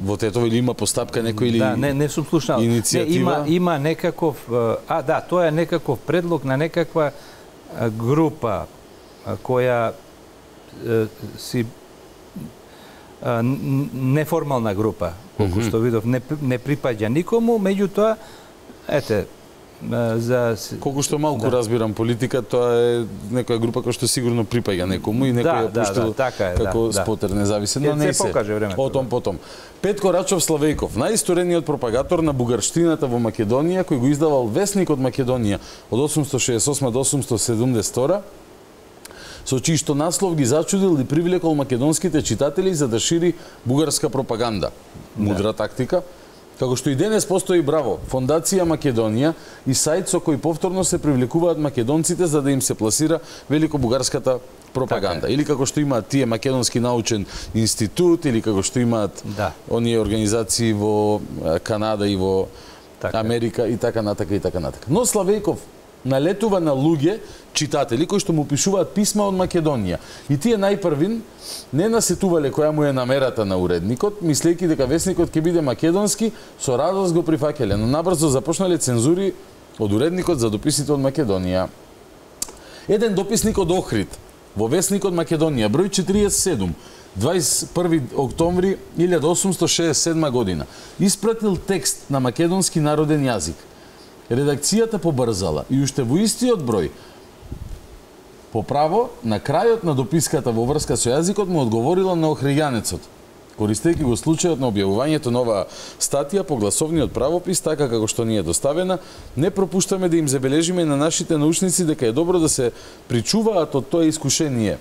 во Тетово, или има постапка некој или да, не не сум слушнал. Иницијатива? Не, има има некаков а да, тоа е некаков предлог на некаква група која си неформална група, колку mm -hmm. што видов, не не припаѓа никому, меѓутоа ете за колку што малку да. разбирам политика, тоа е некоја група која што сигурно припаѓа некому и некој ја да, пуштил да, така е, како да, спотер независен, но не се. Покаже времето. Потом, потом. Петко Рачов Славејков, најисторениот пропагатор на бугарштината во Македонија, кој го издавал Весникот Македонија од осумстотини шеесет и осма до осумстотини седумдесет и втора, со чиј што наслов ги зачудил и привлекол македонските читатели за да шири бугарска пропаганда. Мудра да. тактика. Како што и денес постои Браво, Фондација Македонија и сајт со кој повторно се привлекуваат македонците за да им се пласира великобугарската пропаганда. Така. Или како што имаат тие Македонски научен институт, или како што имаат да. оние организации во Канада и во така. Америка и така натака и така натака. Но Славејков налетува на луѓе, читатели, кои што му пишуваат писма од Македонија. И тие најпрвин не насетувале која му е намерата на уредникот, мислејќи дека весникот ќе биде македонски, со радост го прифаќале, но набрзо започнале цензури од уредникот за дописите од Македонија. Еден дописник од Охрид, во весникот Македонија, број четириесет и седум, дваесет и први октомври илјада осумсто шеесет и седма година, испратил текст на македонски народен јазик. Редакцијата побрзала и уште во истиот број по право на крајот на дописката во врска со јазикот му одговорила на охријанецот, користејќи го случајот на објавувањето на оваа статија по гласовниот правопис, така како што ни е доставена, не пропуштаме да им забележиме на нашите научници дека е добро да се причуваат од тоа искушение,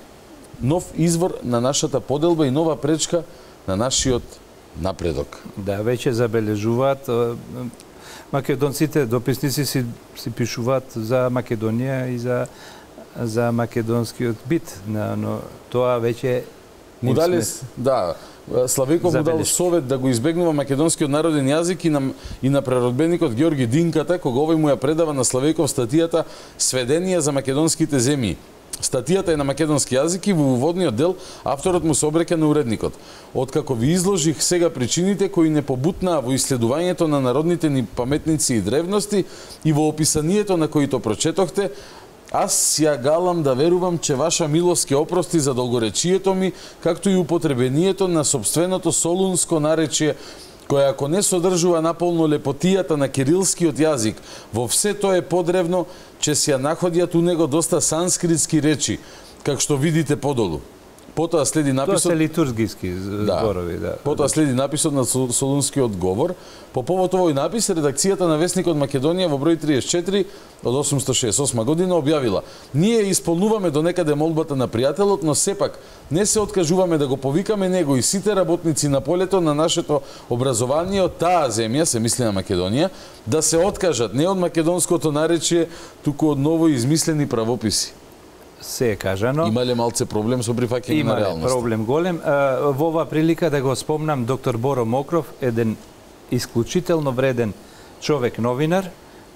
нов извор на нашата поделба и нова пречка на нашиот напредок. Да, веќе забележуваат. Македонците, дописници си, си пишуваат за Македонија и за за македонскиот бит, но тоа веќе му дали, да, Славејков му дал совет да го избегнува македонскиот народен јазик и на и на преродбеникот Ѓорги Динката, кога овој му ја предава на Славејков статијата Сведенија за македонските земји. Статијата е на македонски јазик и во уводниот дел авторот му се обреќа на уредникот. Откако ви изложих сега причините кои не побутнаа во исследувањето на народните ни паметници и древности и во описанието на кои то прочетохте, аз ја галам да верувам че ваша милост ќе опрости за долгоречието ми, както и употребението на собственото солунско наречие, која ако не содржува наполно лепотијата на кирилскиот јазик, во все тоа е подревно, че се ја находјат у него доста санскритски речи, как што видите подолу. Потоа следи написот... Тоа се литургиски зборови, да. Потоа следи написот на Солунскиот говор. По повод овој напис, редакцијата на Весникот Македонија во број триесет и четири од осумсто шеесет и осма година објавила: ние исполнуваме до некаде молбата на пријателот, но сепак не се откажуваме да го повикаме него и сите работници на полето на нашето образование од таа земја, се мисли на Македонија, да се откажат не од македонското наречие, туку од ново измислени правописи. Се е кажано. Имале малце проблем со прифаќање на реалноста? Имале проблем голем. Во оваа прилика да го спомнам доктор Боро Мокров, еден исклучително вреден човек новинар,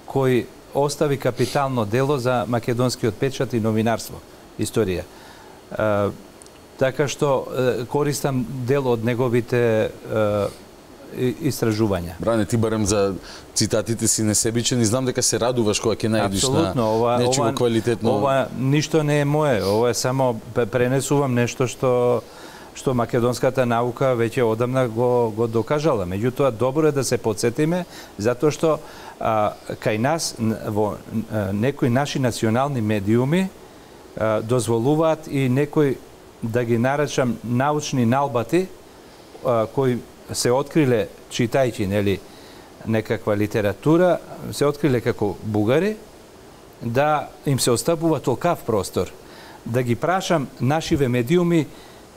кој остави капитално дело за македонскиот печат и новинарство, историја. Така што користам дел од неговите истражувања. Бране, ти барем за цитатите си несебичен и знам дека се радуваш кога ќе најдиш на нечего квалитетно. Ова ништо не е мое, ова е само пренесувам нешто што што македонската наука веќе одамна го го докажала. Меѓутоа добро е да се потсетиме затоа што а, кај нас во а, некои наши национални медиуми а, дозволуваат и некои, да ги наречам, научни налбати а, кои се откриле читајќи, нели, некаква литература, се откриле како бугари, да им се остапува толкав простор. Да ги прашам нашиве медиуми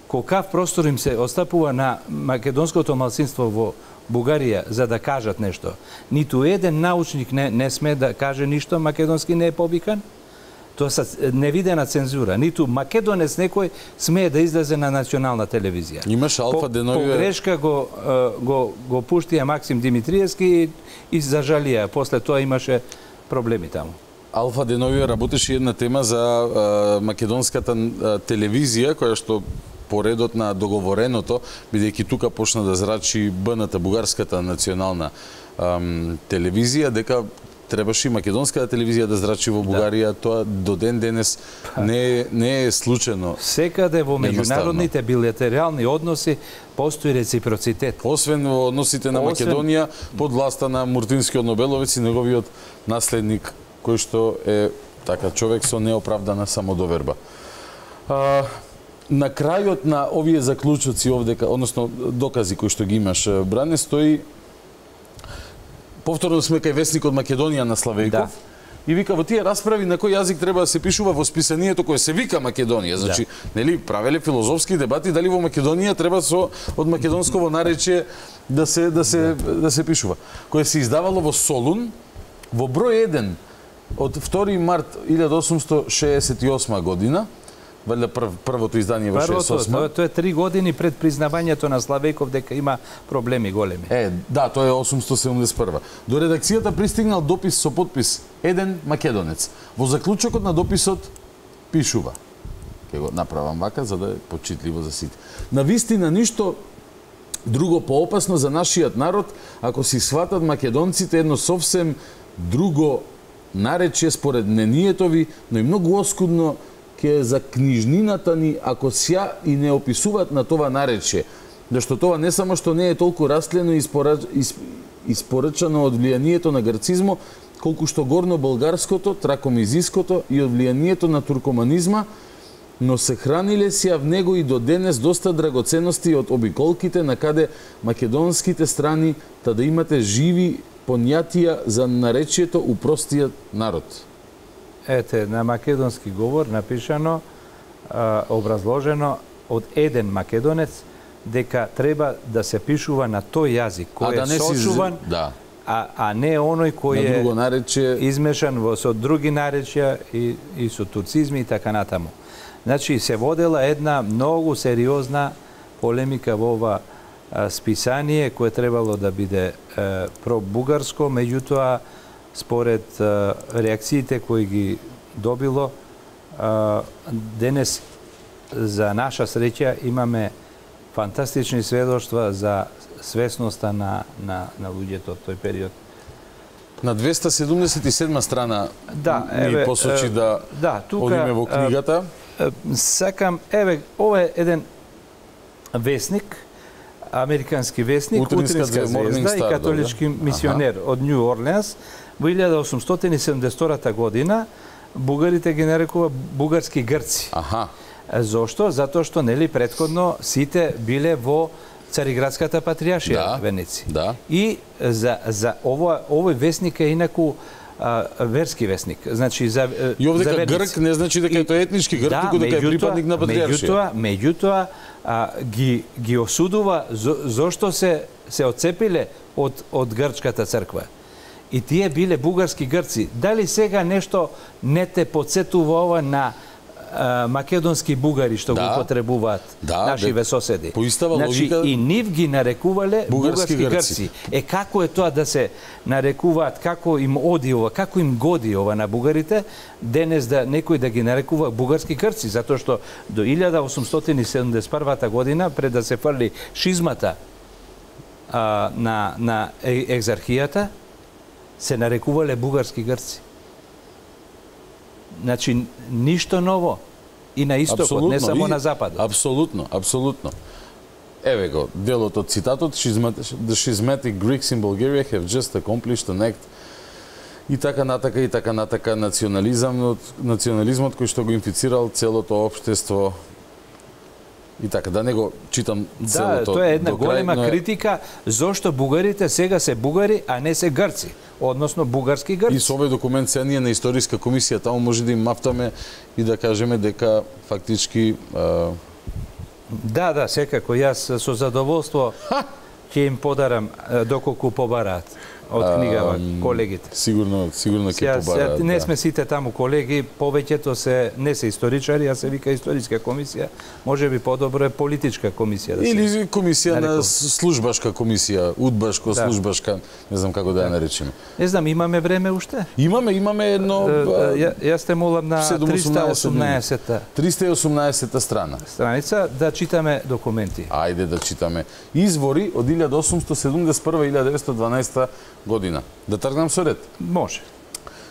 колкав простор им се остапува на македонското малцинство во Бугарија за да кажат нешто. Ниту еден научник не, не сме да каже ништо македонски не е побикан. Тоа са невидена цензура. Ниту македонец некој смее да излезе на национална телевизија. Имаш Алфа Деновија... По грешка го, го, го пуштија Максим Димитриевски и, и зажалија. После тоа имаше проблеми таму. Алфа Деновија работеше една тема за а, македонската а, телевизија, која што по редот на договореното, бидејќи тука почна да зрачи Б Н Т, бугарската национална ам, телевизија, дека требаше и македонската телевизија да зрачи во Бугарија, да. Тоа до ден денес не е, не е случајно. Секаде во меѓународните билатерални односи постои реципроцитет. Освен во односите на Освен... Македонија под власта на Муртинскиот Нобеловец и неговиот наследник, кој што е така човек со неоправдана самодоверба. А, на крајот на овие заклучоци овдека, односно докази кои што ги имаш, Бране, стои повторно сме кај Весникот Македонија на Славејков, да. И вика во тие расправи на кој јазик треба да се пишува во списанието кое се вика Македонија. Значи, да. Нели, правеле филозофски дебати дали во Македонија треба со од македонсково наречие да се да се да, да се пишува. Кое се издавало во Солун во број еден од втори март илјада осумсто шеесет и осма година, валјда прв, првото издание во шеесет и осма. Првото, тоа е три години пред признавањето на Славејков дека има проблеми големи. Е, да, тоа е осумстотини седумдесет и прва. До редакцијата пристигнал допис со подпис еден македонец. Во заклучокот на дописот пишува. Ке го направам вака за да е почитливо за сите. На вистина ништо друго поопасно за нашиот народ, ако си сватат македонците едно совсем друго наречие според мнението ви, но и многу оскудно ке за книжнината ни ако сја и не описуваат на това наречие. Зашто тоа не само што не е толку растлено и испорачано од влијанието на грцизмо, колку што горно болгарското, тракомизиското и од влијанието на туркоманизма, но се храниле сија в него и до денес доста драгоценности од обиколките на каде македонските страни, та да имате живи понятија за наречието у простиот народ. Ете, на македонски говор напишано, а, образложено од еден македонец, дека треба да се пишува на тој јазик кој да е сочуван, си... да. а, а не оној кој на друго наречие... е измешан во со други наречја и, и со турцизми и така натаму. Значи, се водела една многу сериозна полемика во ова а, списание, кое требало да биде а, пробугарско, меѓутоа, според а, реакциите кои ги добило, а, денес, за наша среќа, имаме фантастични сведоштва за свесноста на, на, на луѓето од тој период. На двеста седумдесет и седма страна да, ми еве, посочи да, да тука, одиме во книгата. Сакам, еве, ова е еден весник, американски весник, Утринска, Утринска звезда и католички да, мисионер аха. Од Нью Орлеанс. Во илјада осумстотини и седумдесет и втора година бугарите ги нарекува бугарски грци. Аха. Зошто? Затоа што нели претходно сите биле во Цариградската патријаршија да, Венеција. Да. И за за ова овој весник е инаку а, верски весник. Значи за и овдека грк не значи дека е тоа етнички грк, туку да, дека е припадник на патријаршија. Меѓутоа, меѓутоа а, ги ги осудува зо, зошто се се отцепиле од од грчката црква. И тие биле бугарски грци. Дали сега нешто не те подсетува ова на а, македонски бугари што да, го потребуваат да, нашиве соседи? По истава значи, логика и нив ги нарекувале бугарски, бугарски грци. грци. Е како е тоа да се нарекуваат, како им оди ова, како им годи ова на бугарите, денес да некој да ги нарекува бугарски грци, затоа што до илјада осумстотини и седумдесет и прва година, пред да се фрли шизмата а, на, на екзархијата, се нарекувале бугарски грци. Значи, ништо ново. И на истокот, абсолютно, не само и, на западот. Апсолутно, апсолутно. Еве го, делот од цитатот, The schismatic Greeks in Bulgaria have just accomplished an act и така натака, и така натака, национализмот, национализмот кој што го инфицирал целото општество. И така, да не го читам целото. Да, тоа е една голема крај, но... критика зошто бугарите сега се бугари, а не се грци, односно бугарски грци. И со овој документ се ние на историска комисија таму може да им мафтаме и да кажеме дека фактички а... Да, да, секако јас со задоволство ќе им подарам доколку побараат од книгава колегите. Сигурно, сигурно ќе побараат. Не сме сите таму колеги, повеќето се не се историчари, а се вика историска комисија. Можеби подобро е политичка комисија да се. Или комисија на службашка комисија, удбашко, да. службашка, не знам како да ја наречеме. Не знам, имаме време уште? Имаме, имаме едно Ја, јас те молам на триста и осумнаесетта триста и осумнаесетта страна. Страница да читаме документи. Ајде да читаме. Извори од илјада осумстотини седумдесет и прва до илјада деветстотини и дванаесетта година. Да тргнам со ред? Може.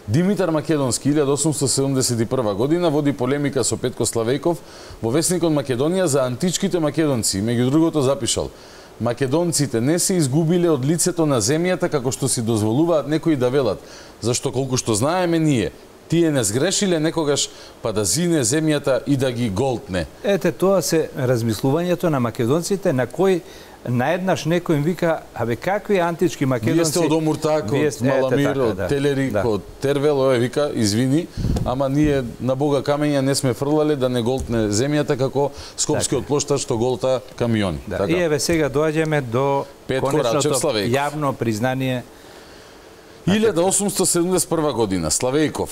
Димитар Македонски, илјада осумстотини седумдесет и прва година, води полемика со Петко Славејков во весникот Македонија за античките македонци. Меѓу другото запишал: македонците не се изгубиле од лицето на земјата како што си дозволуваат некои да велат, зашто колку што знаеме ние, тие не сгрешиле некогаш па да зине земјата и да ги голтне. Ете, тоа се размислувањето на македонците на кои наеднаш некој им вика: абе какви антички македонци? Вие сте од Омуртак, од Маламир, од да, Телерик, да. од Тервел, овој вика: извини, ама ние на Бога камења не сме фрлале да не голтне земјата како скопскиот плоштар што голта камиони. Да. Така. И еве сега доаѓаме до Петко конечното Славејков. јавно признание. илјада осумстотини седумдесет и прва година, Славејков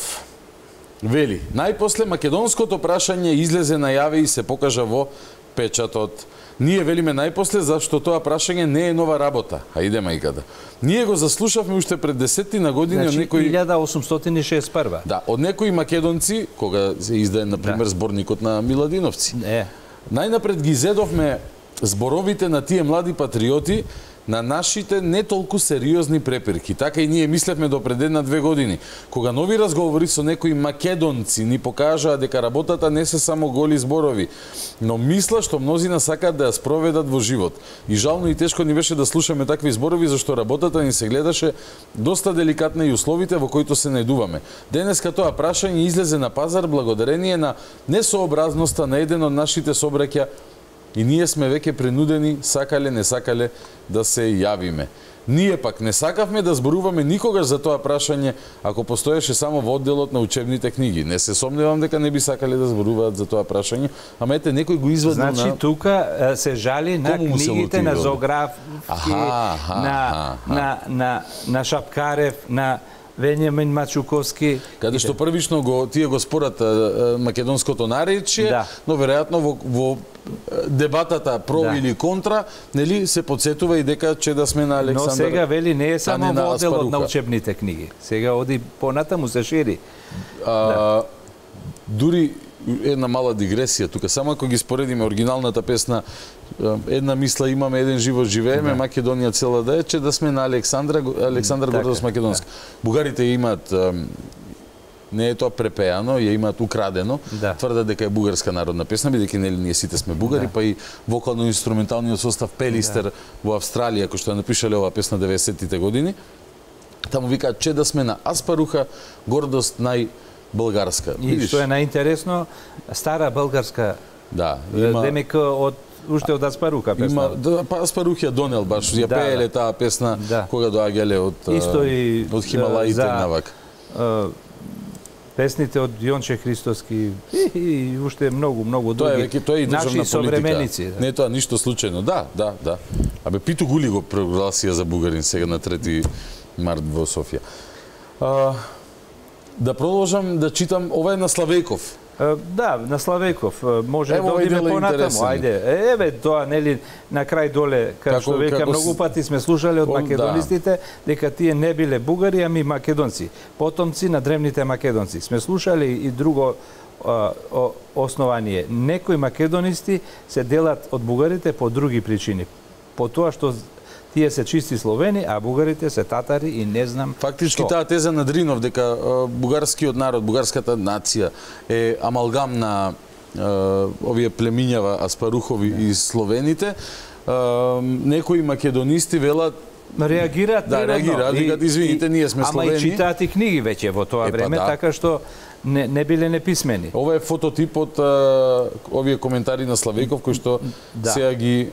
Вели, најпосле македонското прашање излезе најаве и се покажа во печатот. Ние велиме најпосле зашто тоа прашање не е нова работа, а иде мајката. Ние го заслушавме уште пред десетина години значи, од некои илјада осумстотини шеесет и прва. Да, од некои македонци кога се издаде на пример да. зборникот на Миладиновци. Не. Најнапред ги зедовме зборовите на тие млади патриоти на нашите не толку сериозни препирки. Така и ние мислевме до пред една-две години, кога нови разговори со некои македонци ни покажаа дека работата не се само голи зборови, но мисла што мнозина сакаат да ја спроведат во живот. И жално и тешко ни беше да слушаме такви зборови, зашто работата ни се гледаше доста деликатна и условите во кои се најдуваме. Денеска тоа прашање излезе на пазар благодарение на несообразноста на еден од нашите собраќа и ние сме веќе принудени, сакале, не сакале, да се јавиме. Ние пак не сакавме да зборуваме никогаш за тоа прашање ако постоеше само во одделот на учебните книги. Не се сомневам дека не би сакале да зборуваат за тоа прашање, ама ете некој го извадил значи, на... Значи тука се жали на книгите на Зографски, на, на, на, на, на Шапкарев, на Вениамин Мачуковски. Каде што првично го тие го спорат македонското наречие, да. но веројатно во, во дебатата про да. или контра, нели се подсетува и дека че да сме на Александар. Но сега вели не е само во одделот на учебните книги. Сега оди понатаму се шири. А, да. Дури една мала дигресија тука, само ако ги споредиме оригиналната песна една мисла имаме, еден живот живееме, да. Македонија цела да е, че да сме на Александра, Александар така, гордост македонска. Да. Бугарите имаат, не е тоа препеано, ја имаат украдено, да. Тврдат дека е бугарска народна песна, бидејќи нели ние сите сме бугари, да. Па и вокално-инструменталниот состав Пелистер да. Во Австралија, кој што ја напишале оваа песна деветдесеттите години, таму викаат че да сме на Аспаруха, гордост нај Българска. И видиш? Што е најинтересно, стара българска, да, има... демек од уште од Аспаруха песна. Има, да, па Аспарух ја донел баш, ја да, пееле таа песна да. Кога доаѓале од исто и од Хималаите навак. Песните од Јонче Христоски и, и уште многу многу други. Тоа е веќе тоа е и државна политика. Да. Не е тоа ништо случајно. Да, да, да. Абе Пито Гули го прогласија за бугарин сега на трети март во Софија. А, да продолжам да читам, ова е на Славејков. Да, на Славејков. Може да одиме понатаму. Ајде. Еве тоа нели на крај доле како што веќе многу пати сме слушале од македонистите дека тие не биле бугари, ами македонци, потомци на древните македонци. Сме слушале и друго а, о, основание. Некои македонисти се делат од бугарите по други причини. По тоа што тие се чисти словени, а бугарите се татари и не знам фактички што. Таа теза на Дринов дека бугарскиот народ, бугарската нација е амалгам на е, овие племињава Аспарухови да. И словените, е, некои македонисти велат реагираат да реагираат, викаат извините, ние сме словени. Ама и читаат и книги веќе во тоа е, време, да. Така што не, не биле неписмени. Ова е фототип од е, овие коментари на Славејков кои што да. Сега ги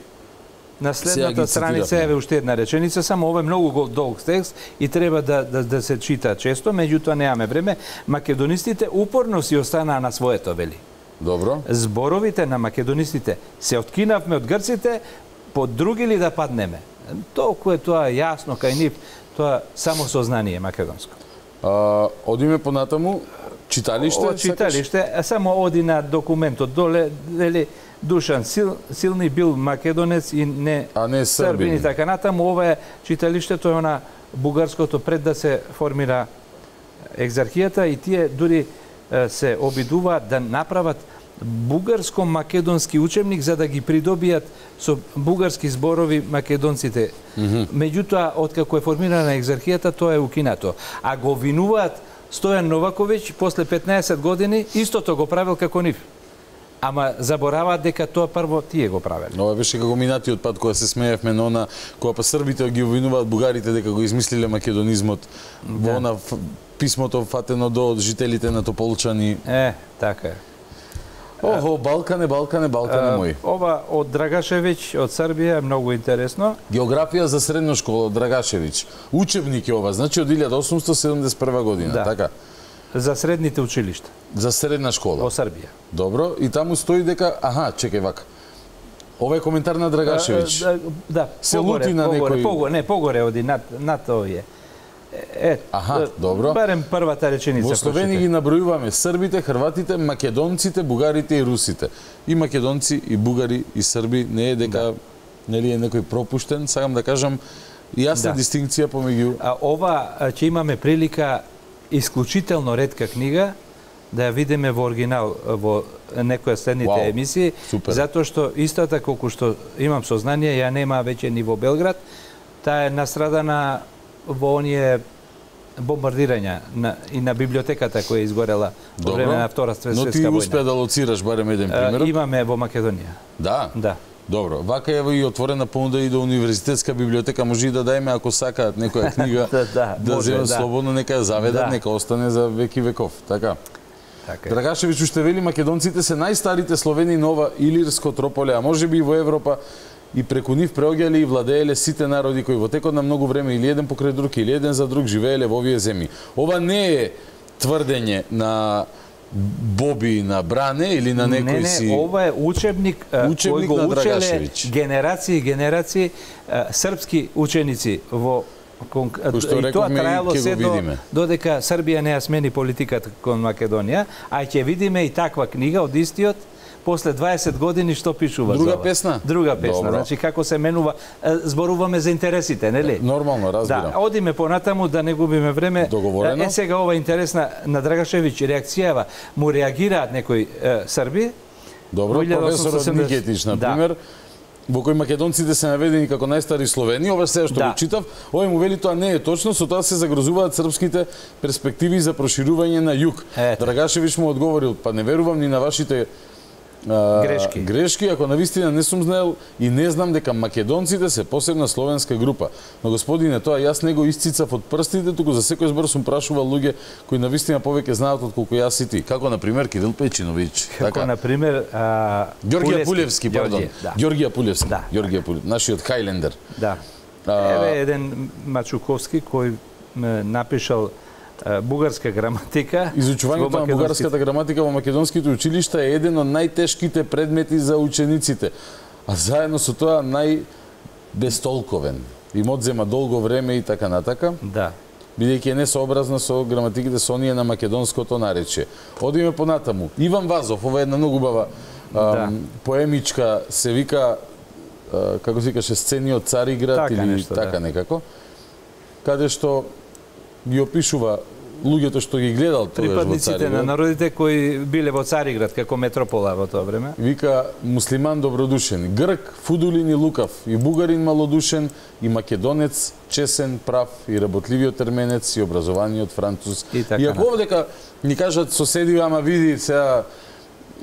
на следната страница е уште една реченица, само ова е многу долг текст и треба да, да, да се чита често, меѓутоа немаме време. Македонистите упорно си останаа на своето, вели. Добро. Зборовите на македонистите се откинавме од грците, по други ли да паднеме? Толку е тоа јасно кај нив, тоа само сознание македонско. А, одиме понатаму, читалиште? Од читалиште, само оди на документот доле, вели, Душан Сил, Силни бил македонец и не, а не србин и така натаму. Ова е читалиштето е на бугарското пред да се формира екзархијата и тие дури се обидуваат да направат бугарско-македонски учебник за да ги придобијат со бугарски зборови македонците. Mm -hmm. Меѓутоа, откако е формирана екзархијата, тоа е укинато. А го винуваат Стојан Новаковиќ после петнаесет години, истото го правил како нив. Ама забораваат дека тоа прво тие го правеле. Ова беше како минатиот пат кога се смеевме на она, кога па србите ги обвинуваат бугарите дека го измислиле македонизмот. Да. Во она писмото фатено до жителите на Тополчани. Е, така е. Охо, Балкане, Балкане, Балкане мој. Ова од Драгашевиќ од Србија е многу интересно. Географија за средна школа од Драгашевиќ. Учебник е ова, значи од илјада осумстотини седумдесет и прва година, да. Така? За средните училишта. За средна школа. Во Србија. Добро, и таму стои дека, аха, чекај вака. Ова е коментар на Драгашевиќ. Да, да се лути на погоре, некој. Погоре, не, погоре оди над над овие. Е, Аха, добро. Барем првата реченица. Во Словенија ги набројуваме србите, хрватите, македонците, бугарите и русите. И македонци, и бугари, и срби, не е дека да. Нели е некој пропуштен, сакам да кажам јасна да. Дистинкција помеѓу. А ова ќе имаме прилика исклучително ретка книга да ја видиме во оригинал во некоја следните wow. емисии, Супер. Затоа што истата колку што имам сознание, ја нема веќе ни во Белград, таа е настрадана во оние бомбардирања на, и на библиотеката која е изгорела во време на Втора светска војна. Но ти успеа да лоцираш барем еден пример? Uh, имаме во Македонија. Да? Да. Добро, вака е и отворена понуда и до универзитетска библиотека, може и да дајме ако сакаат некоја книга да, да земат да. Слободно, нека ја заведат, да. Нека остане за веки веков, така. Така. Драгашевиќ уште вели македонците се најстарите Словени нова Илирско трополе, а можеби и во Европа, и преку нив преоѓале и владееле сите народи кои во текот на многу време или еден покрај друг или еден за друг живееле во овие земји. Ова не е тврдење на Боби на Бране или на некој не, не, си... Не, ова е учебник, учебник кој го учеле генерации и генерации српски ученици во и тоа траело се до, додека Србија не ја смени политиката кон Македонија, а ќе видиме и таква книга од истиот после дваесет години што пишува Друга за ова. песна? Друга песна, Добро. Значи како се менува, зборуваме за интересите, нели? Нормално, разбирам. Да, одиме понатаму да не губиме време. Договорено. Е сега ова интересна на Драгашевиќ реакцијава, му реагираат некои е, срби. Добро, професорот Никетич, на пример, да. Во кој македонците се наведени како најстари Словени, ова се што да. Го читав, овој му вели тоа не е точно, со тоа се загрозуваат српските перспективи за проширување на југ. Драгашевиќ му одговорил, па не верувам ни на вашите а, грешки. грешки, ако навистина не сум знаел и не знам дека македонците се посебна словенска група. Но господине, тоа јас не го исцицав од прстите, туку за секој збор сум прашувал луѓе кои навистина повеќе знаат од колку јас и ти. Како на пример Кирил Пејчиновиќ. Како така? На пример а... Ѓоргија Пулевски, пардон. Да. Ѓоргија Пулевски. Да. Ѓоргија Пулевски, нашиот Хајлендер. Да. А... Еве еден Мачуковски кој напишал бугарска граматика. Изучувањето на бугарската граматика во македонските училишта е еден од најтешките предмети за учениците, а заедно со тоа најбестолковен. Им одзема долго време и така натака. Да. Бидејќи е несообразна со граматиките со оние на македонското наречие. Одиме понатаму. Иван Вазов, ова е една многу убава да. поемичка, се вика, а, како се викаше, сцени од Цариград така или нешто, така да. некако, каде што ги опишува луѓето што ги гледал тогаш во Цариград. Припадниците на народите кои биле во Цариград како метропола во тоа време. Вика муслиман добродушен, грк, фудулин и лукав, и бугарин малодушен, и македонец, чесен, прав, и работливиот терменец, и образованиот француз. И, така и ако овдека ни кажат соседи, ама види сега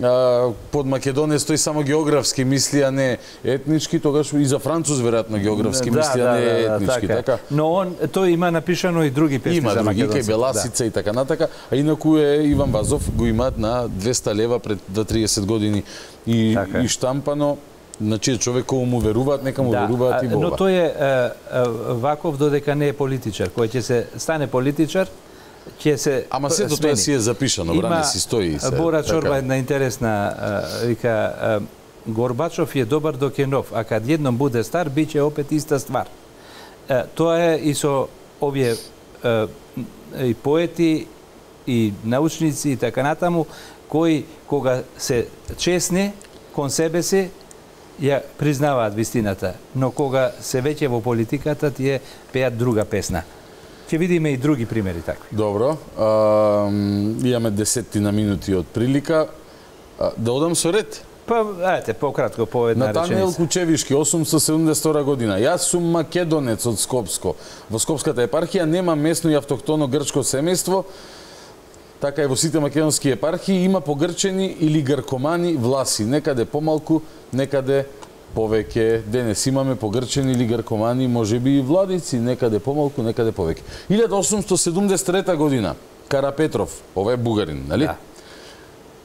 а, под македонец тој само географски мисли, а не етнички, тогаш и за француз веројатно географски да, мисли, да, а не да, етнички. така. Така. Но он тој има напишано и други песни има за други, македонци. Кај Беласица да. И така натака, а инаку е Иван Вазов го имаат на двеста лева пред триесет години и, така. И штампано. Значи човек кој му веруваат, нека му да, веруваат и во ова. Но тој е, е, е ваков додека не е политичар, кој ќе се стане политичар, ќе се Ама сето тоа си е запишано, бране си стои се. Бора Чорба така. Една интересна, е, вика, е, Горбачов е добар док е нов, а кад едном буде стар, биќе опет иста ствар. Е, тоа е и со овие е, и поети, и научници, и така натаму, кои кога се честни кон себе си, ја признаваат вистината, но кога се веќе во политиката, тие пеат друга песна. Ќе видиме и други примери такви. Добро. А, имаме десетина минути од прилика. А, да одам со ред? Па, ајте, пократко, по една реченица. Натаниел Кучевишки, осумстотини седумдесет и втора година. Јас сум македонец од Скопско. Во Скопската епархија нема местно и автохтоно грчко семејство, така и во сите македонски епархии има погрчени или гркомани власи, некаде помалку, некаде повеќе. Денес имаме погрчени или гркомани, можеби и владици, некаде помалку, некаде повеќе. илјада осумстотини седумдесет и трета година, Карапетров, ова е бугарин, нали? Да.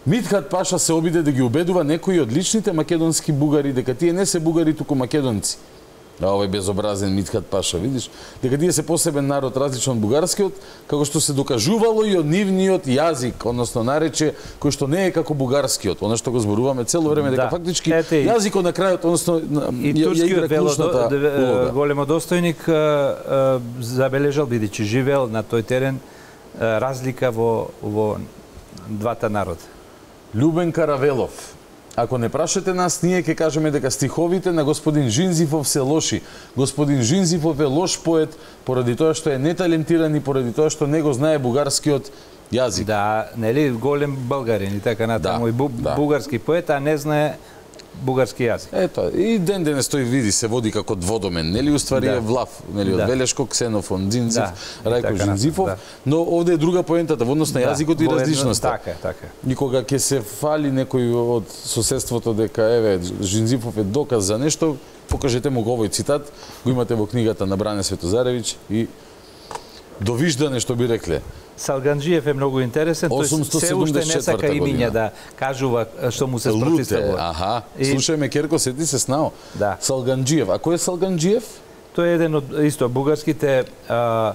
Митхат Паша се обиде да ги убедува некои од личните македонски бугари дека тие не се бугари, туку македонци. а овој безобразен Митхат Паша, видиш, дека тие се посебен народ различен од бугарскиот, како што се докажувало и од нивниот јазик, односно нарече кој што не е како бугарскиот, она што го зборуваме цело време дека да. Фактички Ете, јазикот на крајот, односно и турскиот вело големодостојник забележал бидејќи живеел на тој терен разлика во во двата народа. Љубен Каравелов. Ако не прашате нас, ние ќе кажеме дека стиховите на господин Жинзифов се лоши. Господин Жинзифов е лош поет поради тоа што е неталентиран и поради тоа што не го знае бугарскиот јазик. Да, нели голем българин и така натаму, да, и бу, да. бугарски поет, а не знае бугарски јазик. Ето, и ден денес тој види се води како дводомен, нели уствари да. Е влав, нели од да. Велешко, Ксенофон, Дзинзив, да. Рајко Жинзифов, да. Но овде е друга поентата во однос на да. Јазикот и различноста. Така, така. И кога ќе се фали некој од соседството дека еве Жинзифов е доказ за нешто, покажете му го овој цитат, го имате во книгата на Бране Светозаревиќ и довиждане што би рекле. Салганџиев е многу интересен, тој се уште не сака имиња да кажува што му се спротивставува. Аха, и... слушајме Керко, сети се снао. Да. Салганџиев, а кој е Салганџиев? Тој е еден од исто бугарските а,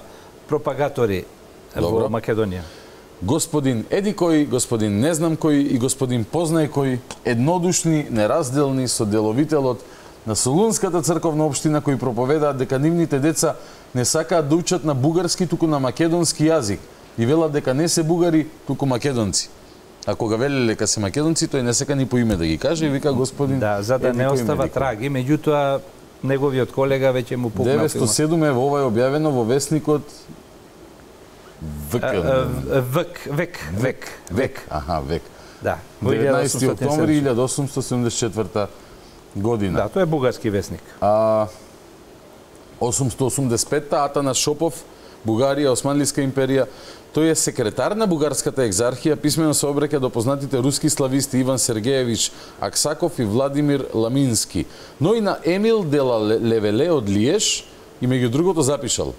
пропагатори Добро. Во Македонија. Господин еди кој, господин не знам кој и господин познај кој, еднодушни, неразделни со деловителот на Солунската црковна општина кои проповедаат дека нивните деца не сакаат да учат на бугарски, туку на македонски јазик. И велат дека не се бугари, туку македонци. А кога велеле дека се македонци, тој не сека ни по име да ги каже и вика господин... Да, за да не остава траги, меѓутоа неговиот колега веќе му пукнал. деветстотини и седум е ова е објавено во весникот Век, век, век, век, век. Аха, век. Да, деветнаесети октомври илјада осумстотини седумдесет и четврта година. Да, тој е бугарски весник. А осумстотини осумдесет и петта Атанас Шопов, Бугарија, Османлиска империја. Тој е секретар на бугарската екзархија, писмено се обраќа до познатите руски слависти Иван Сергеевич Аксаков и Владимир Ламински, но и на Емил Дела Левеле од Лиеш и меѓу другото запишал: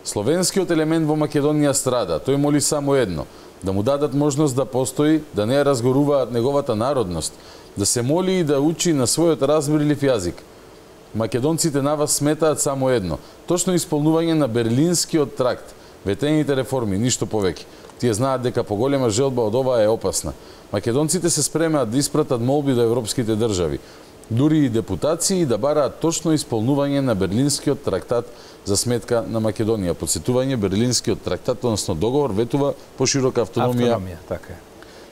словенскиот елемент во Македонија страда. Тој моли само едно: да му дадат можност да постои, да не ја разгоруваат неговата народност, да се моли и да учи на својот разбирлив јазик. Македонците на вас сметаат само едно: точно исполнување на Берлинскиот тракт, ветените реформи, ништо повеќе. Тие знаат дека поголема желба од ова е опасна. Македонците се спремаат да испратат молби до европските држави, дури и депутации, да бараат точно исполнување на Берлинскиот трактат за сметка на Македонија. Подсетување, Берлинскиот трактат, односно договор, ветува поширока автономија. Автономија, така е.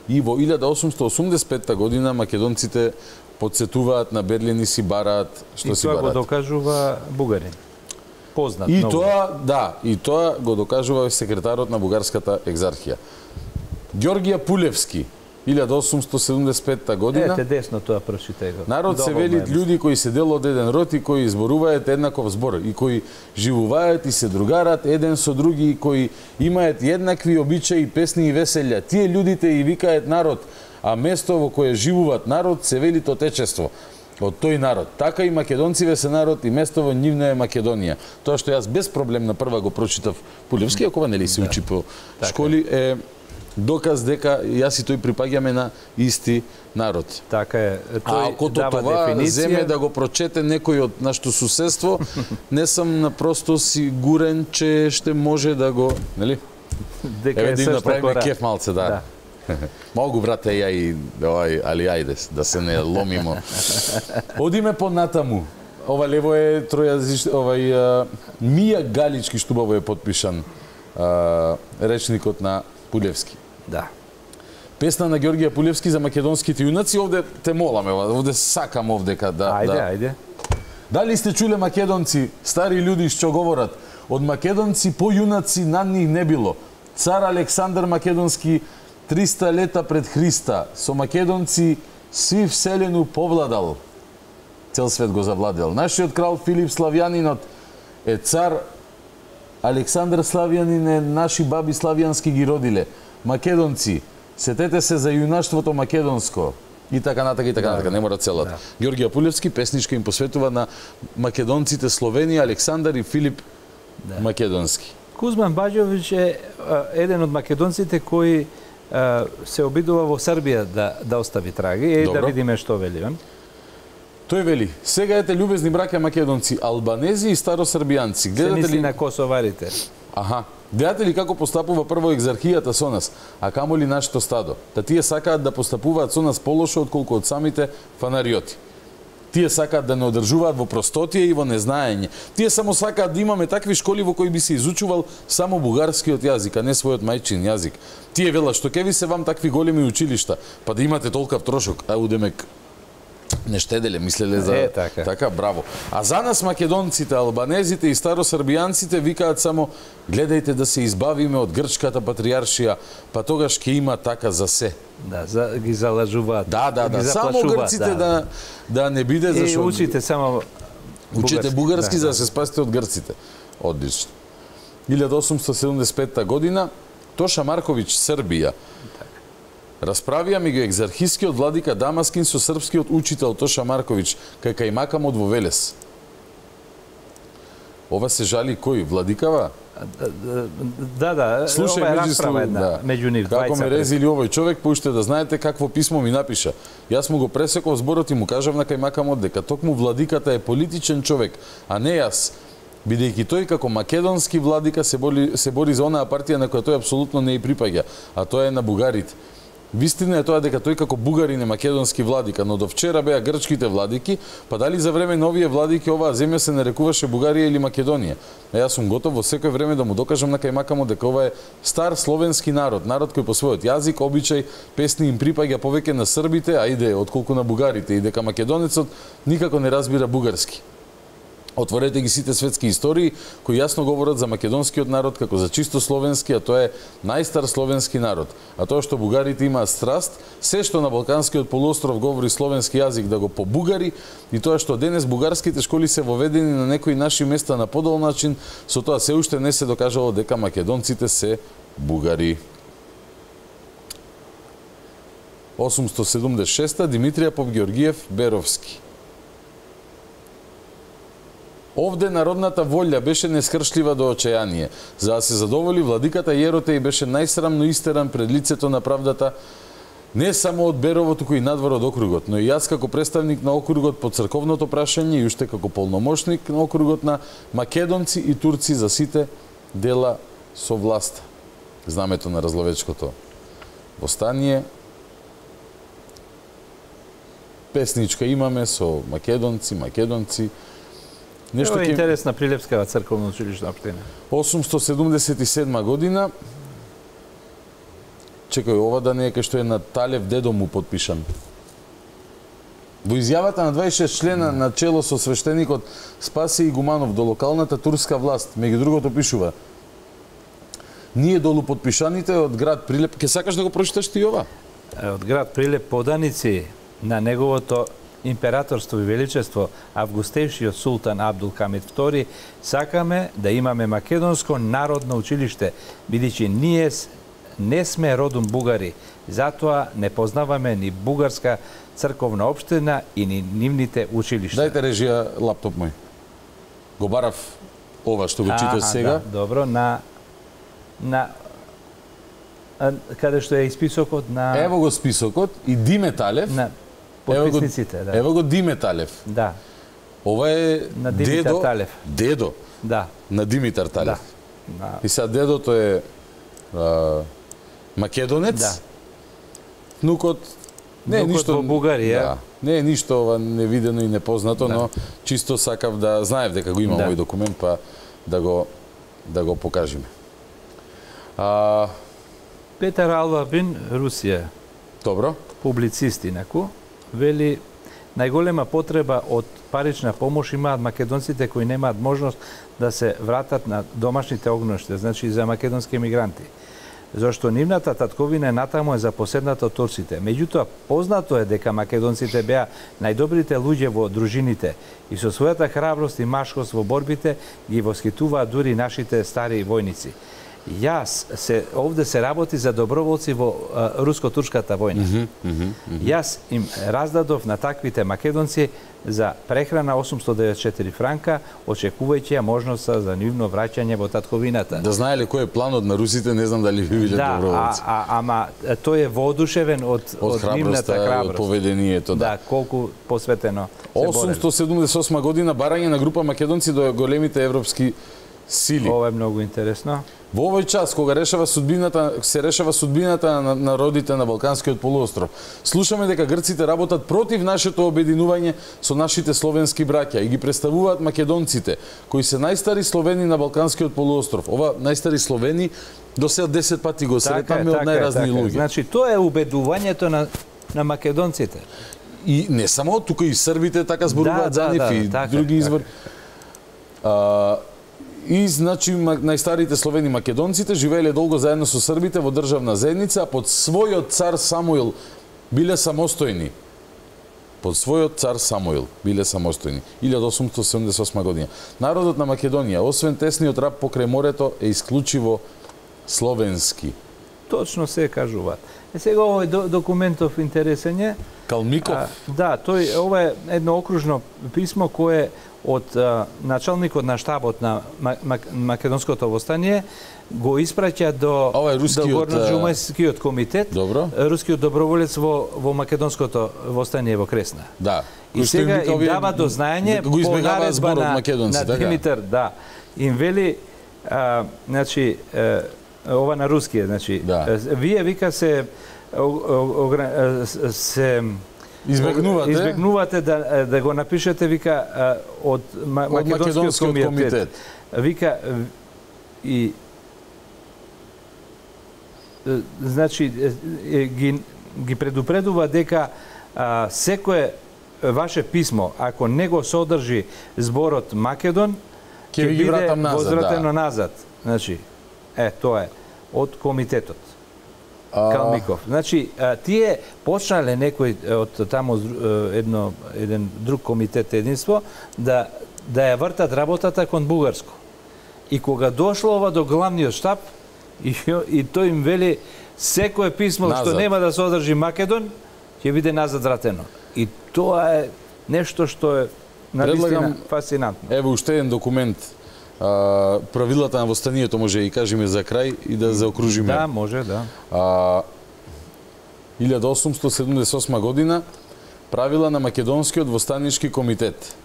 И во илјада осумстотини осумдесет и петта година македонците подсетуваат на Берлин и си бараат што си бараат. И тоа го докажува бугарин. Познат и много. тоа, да, и тоа го докажува секретарот на бугарската екзархија. Ѓоргија Пулевски, илјада осумстотини седумдесет и петта година. Ете десно тоа прочитај го. Народ се велит луѓе кои се дел од еден род и кои зборуваат еднаков збор и кои живуваат и се другарат еден со други и кои имаат еднакви обичаи, песни и веселја. Тие луѓите и викаат народ, а место во кое живуваат народ се вели отечество. Од тој народ. Така и македонциве се народ и место во нивна е Македонија. Тоа што јас без проблем на прва го прочитав Пулевски, ако нели се учи по школи, е доказ дека јас и тој припаѓаме на исти народ. Така е. Тој а ако това дефиниција... земе да го прочете некој од нашето суседство, не сум напросто сигурен че ще може да го, нели? Дека Еве е да им направиме кеф малце, да. да. Могу, брате, ја и овај, али ајде, да се не ломимо. Одиме понатаму. Ова лево е тројазич, овај а, Мија Галички штубаво е подпишан а, речникот на Пулевски. Да. Песна на Ѓоргија Пулевски за македонските јунаци. Овде те моламе, овде сакам овдека да... Ајде, да. ајде. Дали сте чуле македонци, стари луѓе што говорат, од македонци по јунаци над нив не било. Цар Александар Македонски триста лета пред Христа со македонци сви вселену повладал. Цел свет го завладел. Нашиот крал Филип Славјанинот е цар, Александар Славјанин е наши баби славјански ги родиле. Македонци, сетете се за јунаштвото македонско. И така натака, и така натака, не мора целата. Да. Ѓоргија Пулевски песничка им посветува на македонците Словенија, Александар и Филип да. Македонски. Кузман Баџовиќ е еден од македонците кои се обидува во Србија да, да остави траги. Е, да видиме што вели он. Тој вели: "Сега ете љубезни браќа македонци, албанези и старосрбијанци, гледате ли на косоварите?" Аха. Гледате ли како постапува прво екзархијата со нас, а камо ли нашето стадо? Та тие сакаат да постапуваат со нас полошо отколку од самите фанариоти. Тие сакаат да не одржуваат во простотие и во незнаење. Тие само сакаат да имаме такви школи во кои би се изучувал само бугарскиот јазик, а не својот мајчин јазик. Тие велат: "Што ќе ви се вам такви големи училишта, па да имате толкав трошок?" А удемек не штеделе, мислеле за е, така. така, браво. А за нас македонците, албанезите и старосрбијанците викаат само: "Гледајте да се избавиме од грчката патријаршија, па тогаш ќе има така за се." Да, за, ги залажуваат. Да, да, да, ги само грците да, да, да не биде зашо. зашо. И учите само Учите бугарски, бугарски да, за да да се спасите од грците. Одлично. илјада осумстотини седумдесет и петта година, Тоша Марковиќ, Србија. Расправија меѓу екзархискиот владика Дамаскин со српскиот учител Тоша Марковиќ кај кајмакамот во Велес. Ова се жали кој? Владикава? Да, да, слушај, ова е меѓу расправа една да. меѓу нив Како двајца. ме резили овој човек, поуште да знаете какво писмо ми напиша. Јас му го пресеков зборот и му кажав на кајмакамот дека токму владиката е политичен човек, а не јас, бидејќи тој како македонски владика се бори, се бори за онаа партија на која тој апсолутно не и припаѓа, а тоа е на бугарите. Вистина е тоа дека тој како бугарин е македонски владика, но до вчера беа грчките владики, па дали за време на овие владики оваа земја се нарекуваше Бугарија или Македонија? А јас сум готов во секој време да му докажам на кајмакамо дека ова е стар словенски народ, народ кој по својот јазик, обичај, песни им припаѓа повеќе на србите, ајде, отколку на бугарите, и дека македонецот никако не разбира бугарски. Отворете ги сите светски истории кои јасно говорат за македонскиот народ како за чисто словенски, а тоа е најстар словенски народ. А тоа што бугарите имаат страст, се што на Балканскиот полуостров говори словенски јазик да го побугари, и тоа што денес бугарските школи се воведени на некои наши места на подол начин, со тоа се уште не се докажало дека македонците се бугари. осумстотини седумдесет и шеста Димитрија Попгеоргиев Беровски. Овде народната волја беше нескршлива до очајание. За да се задоволи, владиката Јеротеј беше најсрамно истеран пред лицето на правдата, не само од Берово, туку и надвор од округот, но и јас како представник на округот по црковното прашање и уште како полномошник на округот на македонци и турци за сите дела со власта. Знамето на Разловечкото востание. Песничка имаме со македонци, македонци. Нешто е интересна Прилепскава црковна училишна општина. осумстотини седумдесет и седма година. Чекај, ова да не е кај што е на Талев дедо му подпишан. Во изјавата на дваесет и шест члена на чело со свештеникот Спаси Игуманов до локалната турска власт, меѓу другото пишува: "Ние долу подпишаните од град Прилеп..." Ке сакаш да го прочиташ ти ова? Од град Прилеп поданици на неговото императорство и величество августевшиот султан Абдул Хамид втори, сакаме да имаме македонско народно училиште, бидејќи ние не сме родом бугари, затоа не познаваме ни бугарска црковна општина и ни нивните училишта. Дајте режија лаптоп мој. Го барав ова што го читаш сега. Да, добро, на на а, каде што е списокот на... Ево го списокот и Диме Талев. На подписниците, да. Ево го Диме Талев. Да. Ова е на Димитар дедо, Талев. Дедо. Да. На Димитар Талев. Да. Да. И сега дедото е а, македонец. Да. Внукот не е ништо во Бугарија. Да. Не е ништо ова невидено и непознато, да, но чисто сакав да знаев дека го има да. овој документ, па да го да го покажеме. А... Петар Албабин, Русија. Добро. Публицист инаку, вели најголема потреба од парична помош имаат македонците кои немаат можност да се вратат на домашните огништа, значи за македонски емигранти. Зошто нивната татковина натаму е запоседната од турците. Меѓутоа, познато е дека македонците беа најдобрите луѓе во дружините и со својата храброст и машкост во борбите ги восхитуваат дури нашите стари војници. Јас се овде се работи за доброволци во руско-турската војна. Mm -hmm, mm -hmm, mm -hmm. Јас им раздадов на таквите македонци за прехрана осумстотини деветдесет и четири франка, очекувајќи ја можноста за нивно враќање во татковината. Да знаеле кој е планот на русите, не знам дали ви биле да, доброволци. А, а, ама тој е воодушевен од, од, од нивната храброст. Од поведението, да. Да, колку посветено се бореле. осумстотини седумдесет и осма година барање на група македонци до големите европски сили. Ова е многу интересно. Во овој час, кога решава судбината, се решава судбината на народите на Балканскиот полуостров, слушаме дека грците работат против нашето обединување со нашите словенски браќа и ги представуваат македонците, кои се најстари словени на Балканскиот полуостров. Ова најстари словени до сега десет пати го сретаме од најразни луѓе. Значи, тоа е убедувањето на, на македонците. И не само, тука и србите така зборуваат да, за нив да, и така, други извори. Така. И, значи, најстарите словени македонците живееле долго заедно со србите во државна заедница, а под својот цар Самуил биле самостојни. Под својот цар Самуил биле самостојни. илјада осумстотини седумдесет и осма година. Народот на Македонија, освен тесниот раб покрај морето, е исклучиво словенски. Точно се кажуваат. Е сега овој документов интересен е. Калмиков? А, да, тој ова е едно окружно писмо кое од а, началникот на штабот на Македонското востание го испраќа до до Горноџумајскиот комитет, добро. Рускиот доброволец во во Македонското востание во Кресна. Да. И сега им дава до знаење по наредба на, на Димитар, да. Им вели а, значи а, ова на руски, значи да. Вие вика се се избегнувате избегнувате да да го напишете вика од, ма, од Македонскиот комитет. комитет. Вика и значи ги ги предупредува дека а, секое ваше писмо, ако не го содржи зборот Македон, ќе биде возвратено да. назад. Значи, е, тоа е од комитетот. Калмиков. Значи, тие почнале некој од таму едно еден друг комитет единство да да ја вртат работата кон бугарско. И кога дошло ова до главниот штаб и, и тој им вели секое писмо назад, што нема да содржи Македон, ќе биде назад вратено. И тоа е нешто што е навистина фасцинантно. Ево уште еден документ. А, правилата на востанието може и кажеме за крај и да заокружиме. Да, може, да. А, илјада осумстотини седумдесет и осма година правила на Македонскиот востанички комитет.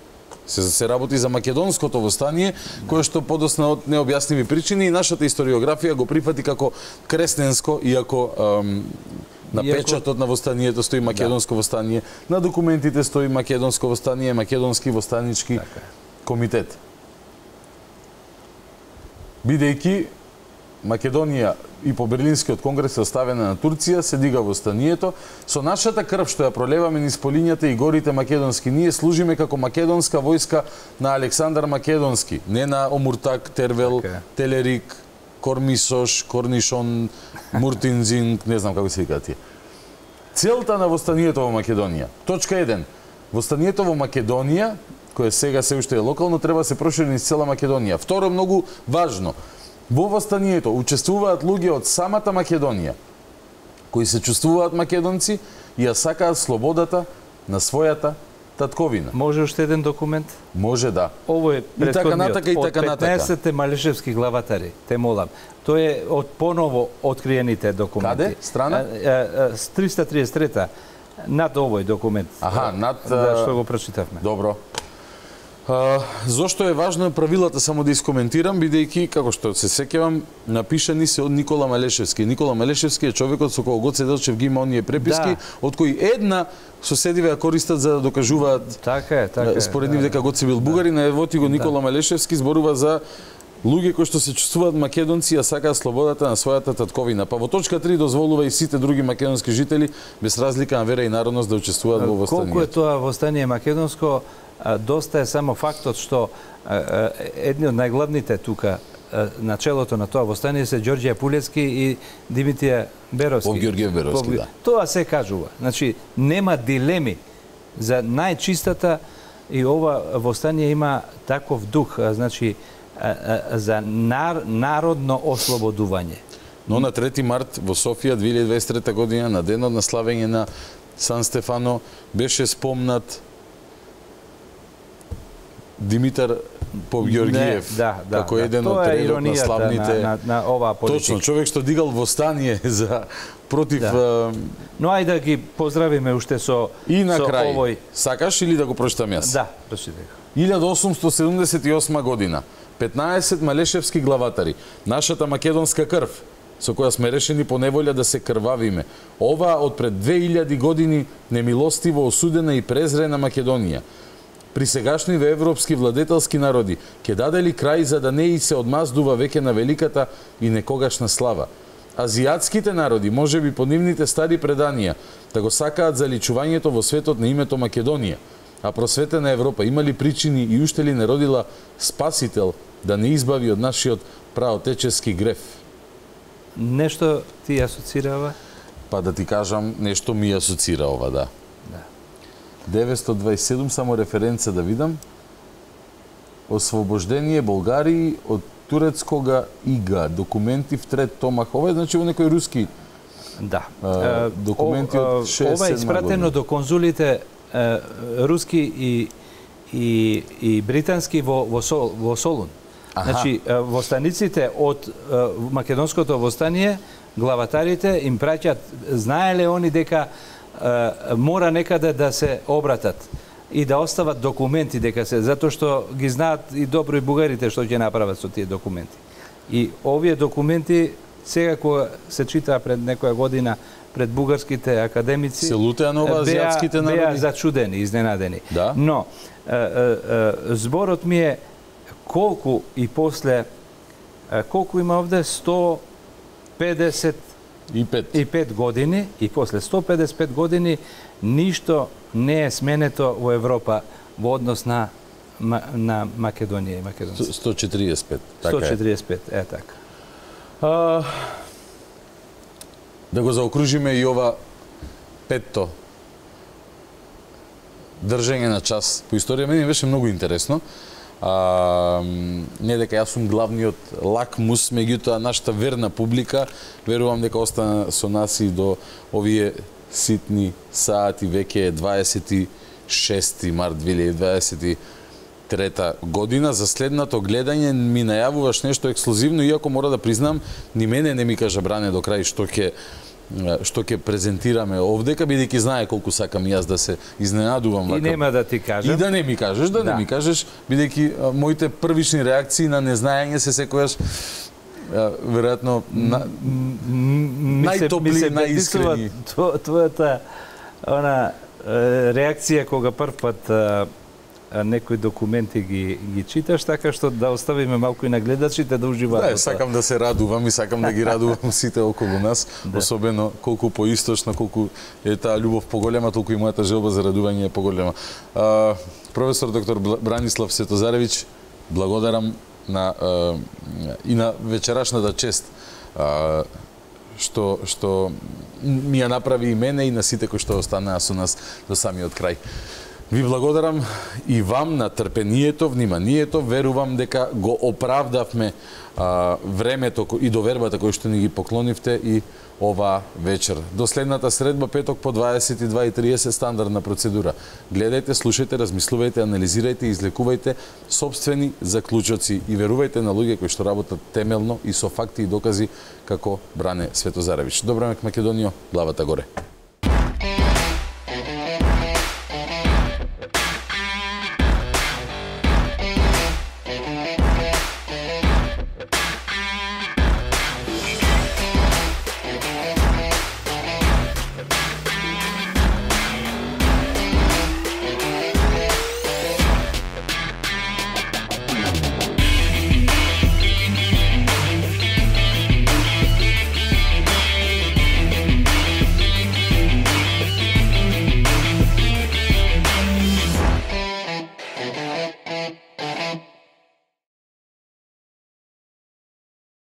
Се се работи за македонското востание, кое што подосна од необјасниви причини и нашата историографија го прифати како кресненско, иако ам, на иако... печатот на востанието стои македонско да. востание, на документите стои македонско востание, македонски востанички така. комитет. Бидејќи Македонија и по Берлинскиот конгрес е оставена на Турција, се дига востанието, со нашата крв што ја пролеваме низ полињата и горите македонски, ние служиме како македонска војска на Александар Македонски, не на Омуртак, Тервел, okay. Телерик, Кормисош, Корнишон, Муртинзинг, не знам како се викаат тие. Целта на востанието во Македонија. Точка еден. Востанието во Македонија, кое сега се уште е локално, треба да се прошири низ цела Македонија. Второ, многу важно, во востанието учествуваат луѓе од самата Македонија, кои се чувствуваат македонци и ја сакаат слободата на својата татковина. Може уште еден документ? Може, да. Ово е претходниот, и така од петнаесетте малешевски главатари, те молам. Тој е од поново откриените документи. Каде? Страна? триста триесет и трета. Над овој документ. Аха, над... Да, што го прочитавме. Добро. А, зошто е важно правилата само да искоментирам, бидејќи, како што се сеќавам, напишани се од Никола Малешевски. Никола Малешевски е човекот со кого Гоце Делчев ги има оние преписки, да. од кои една соседиве ја користат за да докажуваат така е, така е, според нив дека Гоце бил бугарин, а ево ти го Никола да. Малешевски зборува за луѓе кои што се чувствуваат македонци, а сакаат слободата на својата татковина. Па во точка три дозволува и сите други македонски жители без разлика на вера и народност да учествуваат во востанието. Колку е тоа востание македонско, доста е само фактот што едни од најглавните тука на челото на тоа востание се Ѓорѓе Пулески и Димитија Беровски. Поп Ѓорѓе Беровски, да. Тоа се кажува. Значи, нема дилеми за најчистата и ова востание има таков дух. Значи, за нар, народно ослободување. Но на трети март во Софија две илјади дваесет и трета година, на денот на славење на Сан Стефано, беше спомнат Димитар Попгеоргиев, да, да, како да, еден од редот на славните... На, на, на оваа политика. Точно, човек што дигал восстание за против... Да. Но ајде да ги поздравиме уште со, и на со крај, овој... Сакаш или да го прочитам јас? Да, прочитај. илјада осумстотини седумдесет и осма година, петнаесет малешевски главатари, нашата македонска крв, со која сме решени по неволја да се крвавиме. Ова од пред две илјади години немилостиво осудена и презрена Македонија. При сегашниве европски владетелски народи ќе даде ли крај за да не и се одмаздува веќе на великата и некогашна слава. Азиатските народи, можеби по нивните стари преданија, да го сакаат заличувањето во светот на името Македонија, а просветена Европа има ли причини и уште ли не родила спасител да не избави од нашиот праотечески греф? Нешто ти асоцирава? Па да ти кажам, нешто ми асоцира ова, да. Да. деветстотини дваесет и седум, само референца да видам. Освобождение Болгарии од турецкога ига. Документи в трет томах. Ова е значи во некој руски да. а, документи од шеесет седма Ова е испратено до конзулите а, руски и и и британски во во, Сол, во Солун. Аха. Значи во станиците од а, македонското востание главатарите им праќаат, знаеле они дека а, мора некаде да се обратат и да остават документи дека се, затоа што ги знаат и добро и бугарите што ќе направат со тие документи. И овие документи сега кога се читаа пред некоја година пред бугарските академици, се лутеа на ова азиатските народи, беа зачудени, изненадени. Да? Но е, е, зборот ми е колку и после е, колку има овде сто педесет и пет години и после сто педесет и пет години ништо не е сменето во Европа во однос на на Македонија и македонците. сто четириесет и пет, така сто четириесет и пет, е така. А, да го заокружиме и ова петто држење на час по историја. Мене беше многу интересно. А, не дека јас сум главниот лакмус, меѓутоа нашата верна публика, верувам дека остана со нас и до овие ситни сати, веќе е дваесет и шести март две илјади дваесет и трета година. За следното гледање ми најавуваш нешто ексклузивно, иако мора да признам, ни мене не ми кажа Бране до крај што ќе што ќе презентираме овдека, бидејќи знае колку сакам јас да се изненадувам. И нема да ти кажам. И да не ми кажеш, да, да. не ми кажеш, бидејќи моите првични реакции на незнаење се секојаш веројатно на... најтопли, најискрени. Твојата она реакција кога прв пат некои документи ги ги читаш, така што да оставиме малку и на гледачите да уживаат. Да, сакам да се радувам и сакам да ги радувам сите околу нас, да. Особено колку поисточно, колку е таа љубов поголема, толку и мојата желба за радување е поголема. А, професор доктор Бранислав Светозаревиќ, благодарам на а, и на вечерашната чест а, што што ми ја направи и мене и на сите кои што останаа со нас до самиот крај. Ви благодарам и вам на трпението, вниманието. Верувам дека го оправдавме а, времето и довербата кој што ни ги поклонивте и ова вечер. До следната средба, петок по дваесет и два и триесет, стандардна процедура. Гледајте, слушајте, размислувајте, анализирајте и излекувајте собствени заклучоци и верувајте на луѓе кои што работат темелно и со факти и докази како Бране Светозаревиќ. Добра мек Македонијо, главата горе.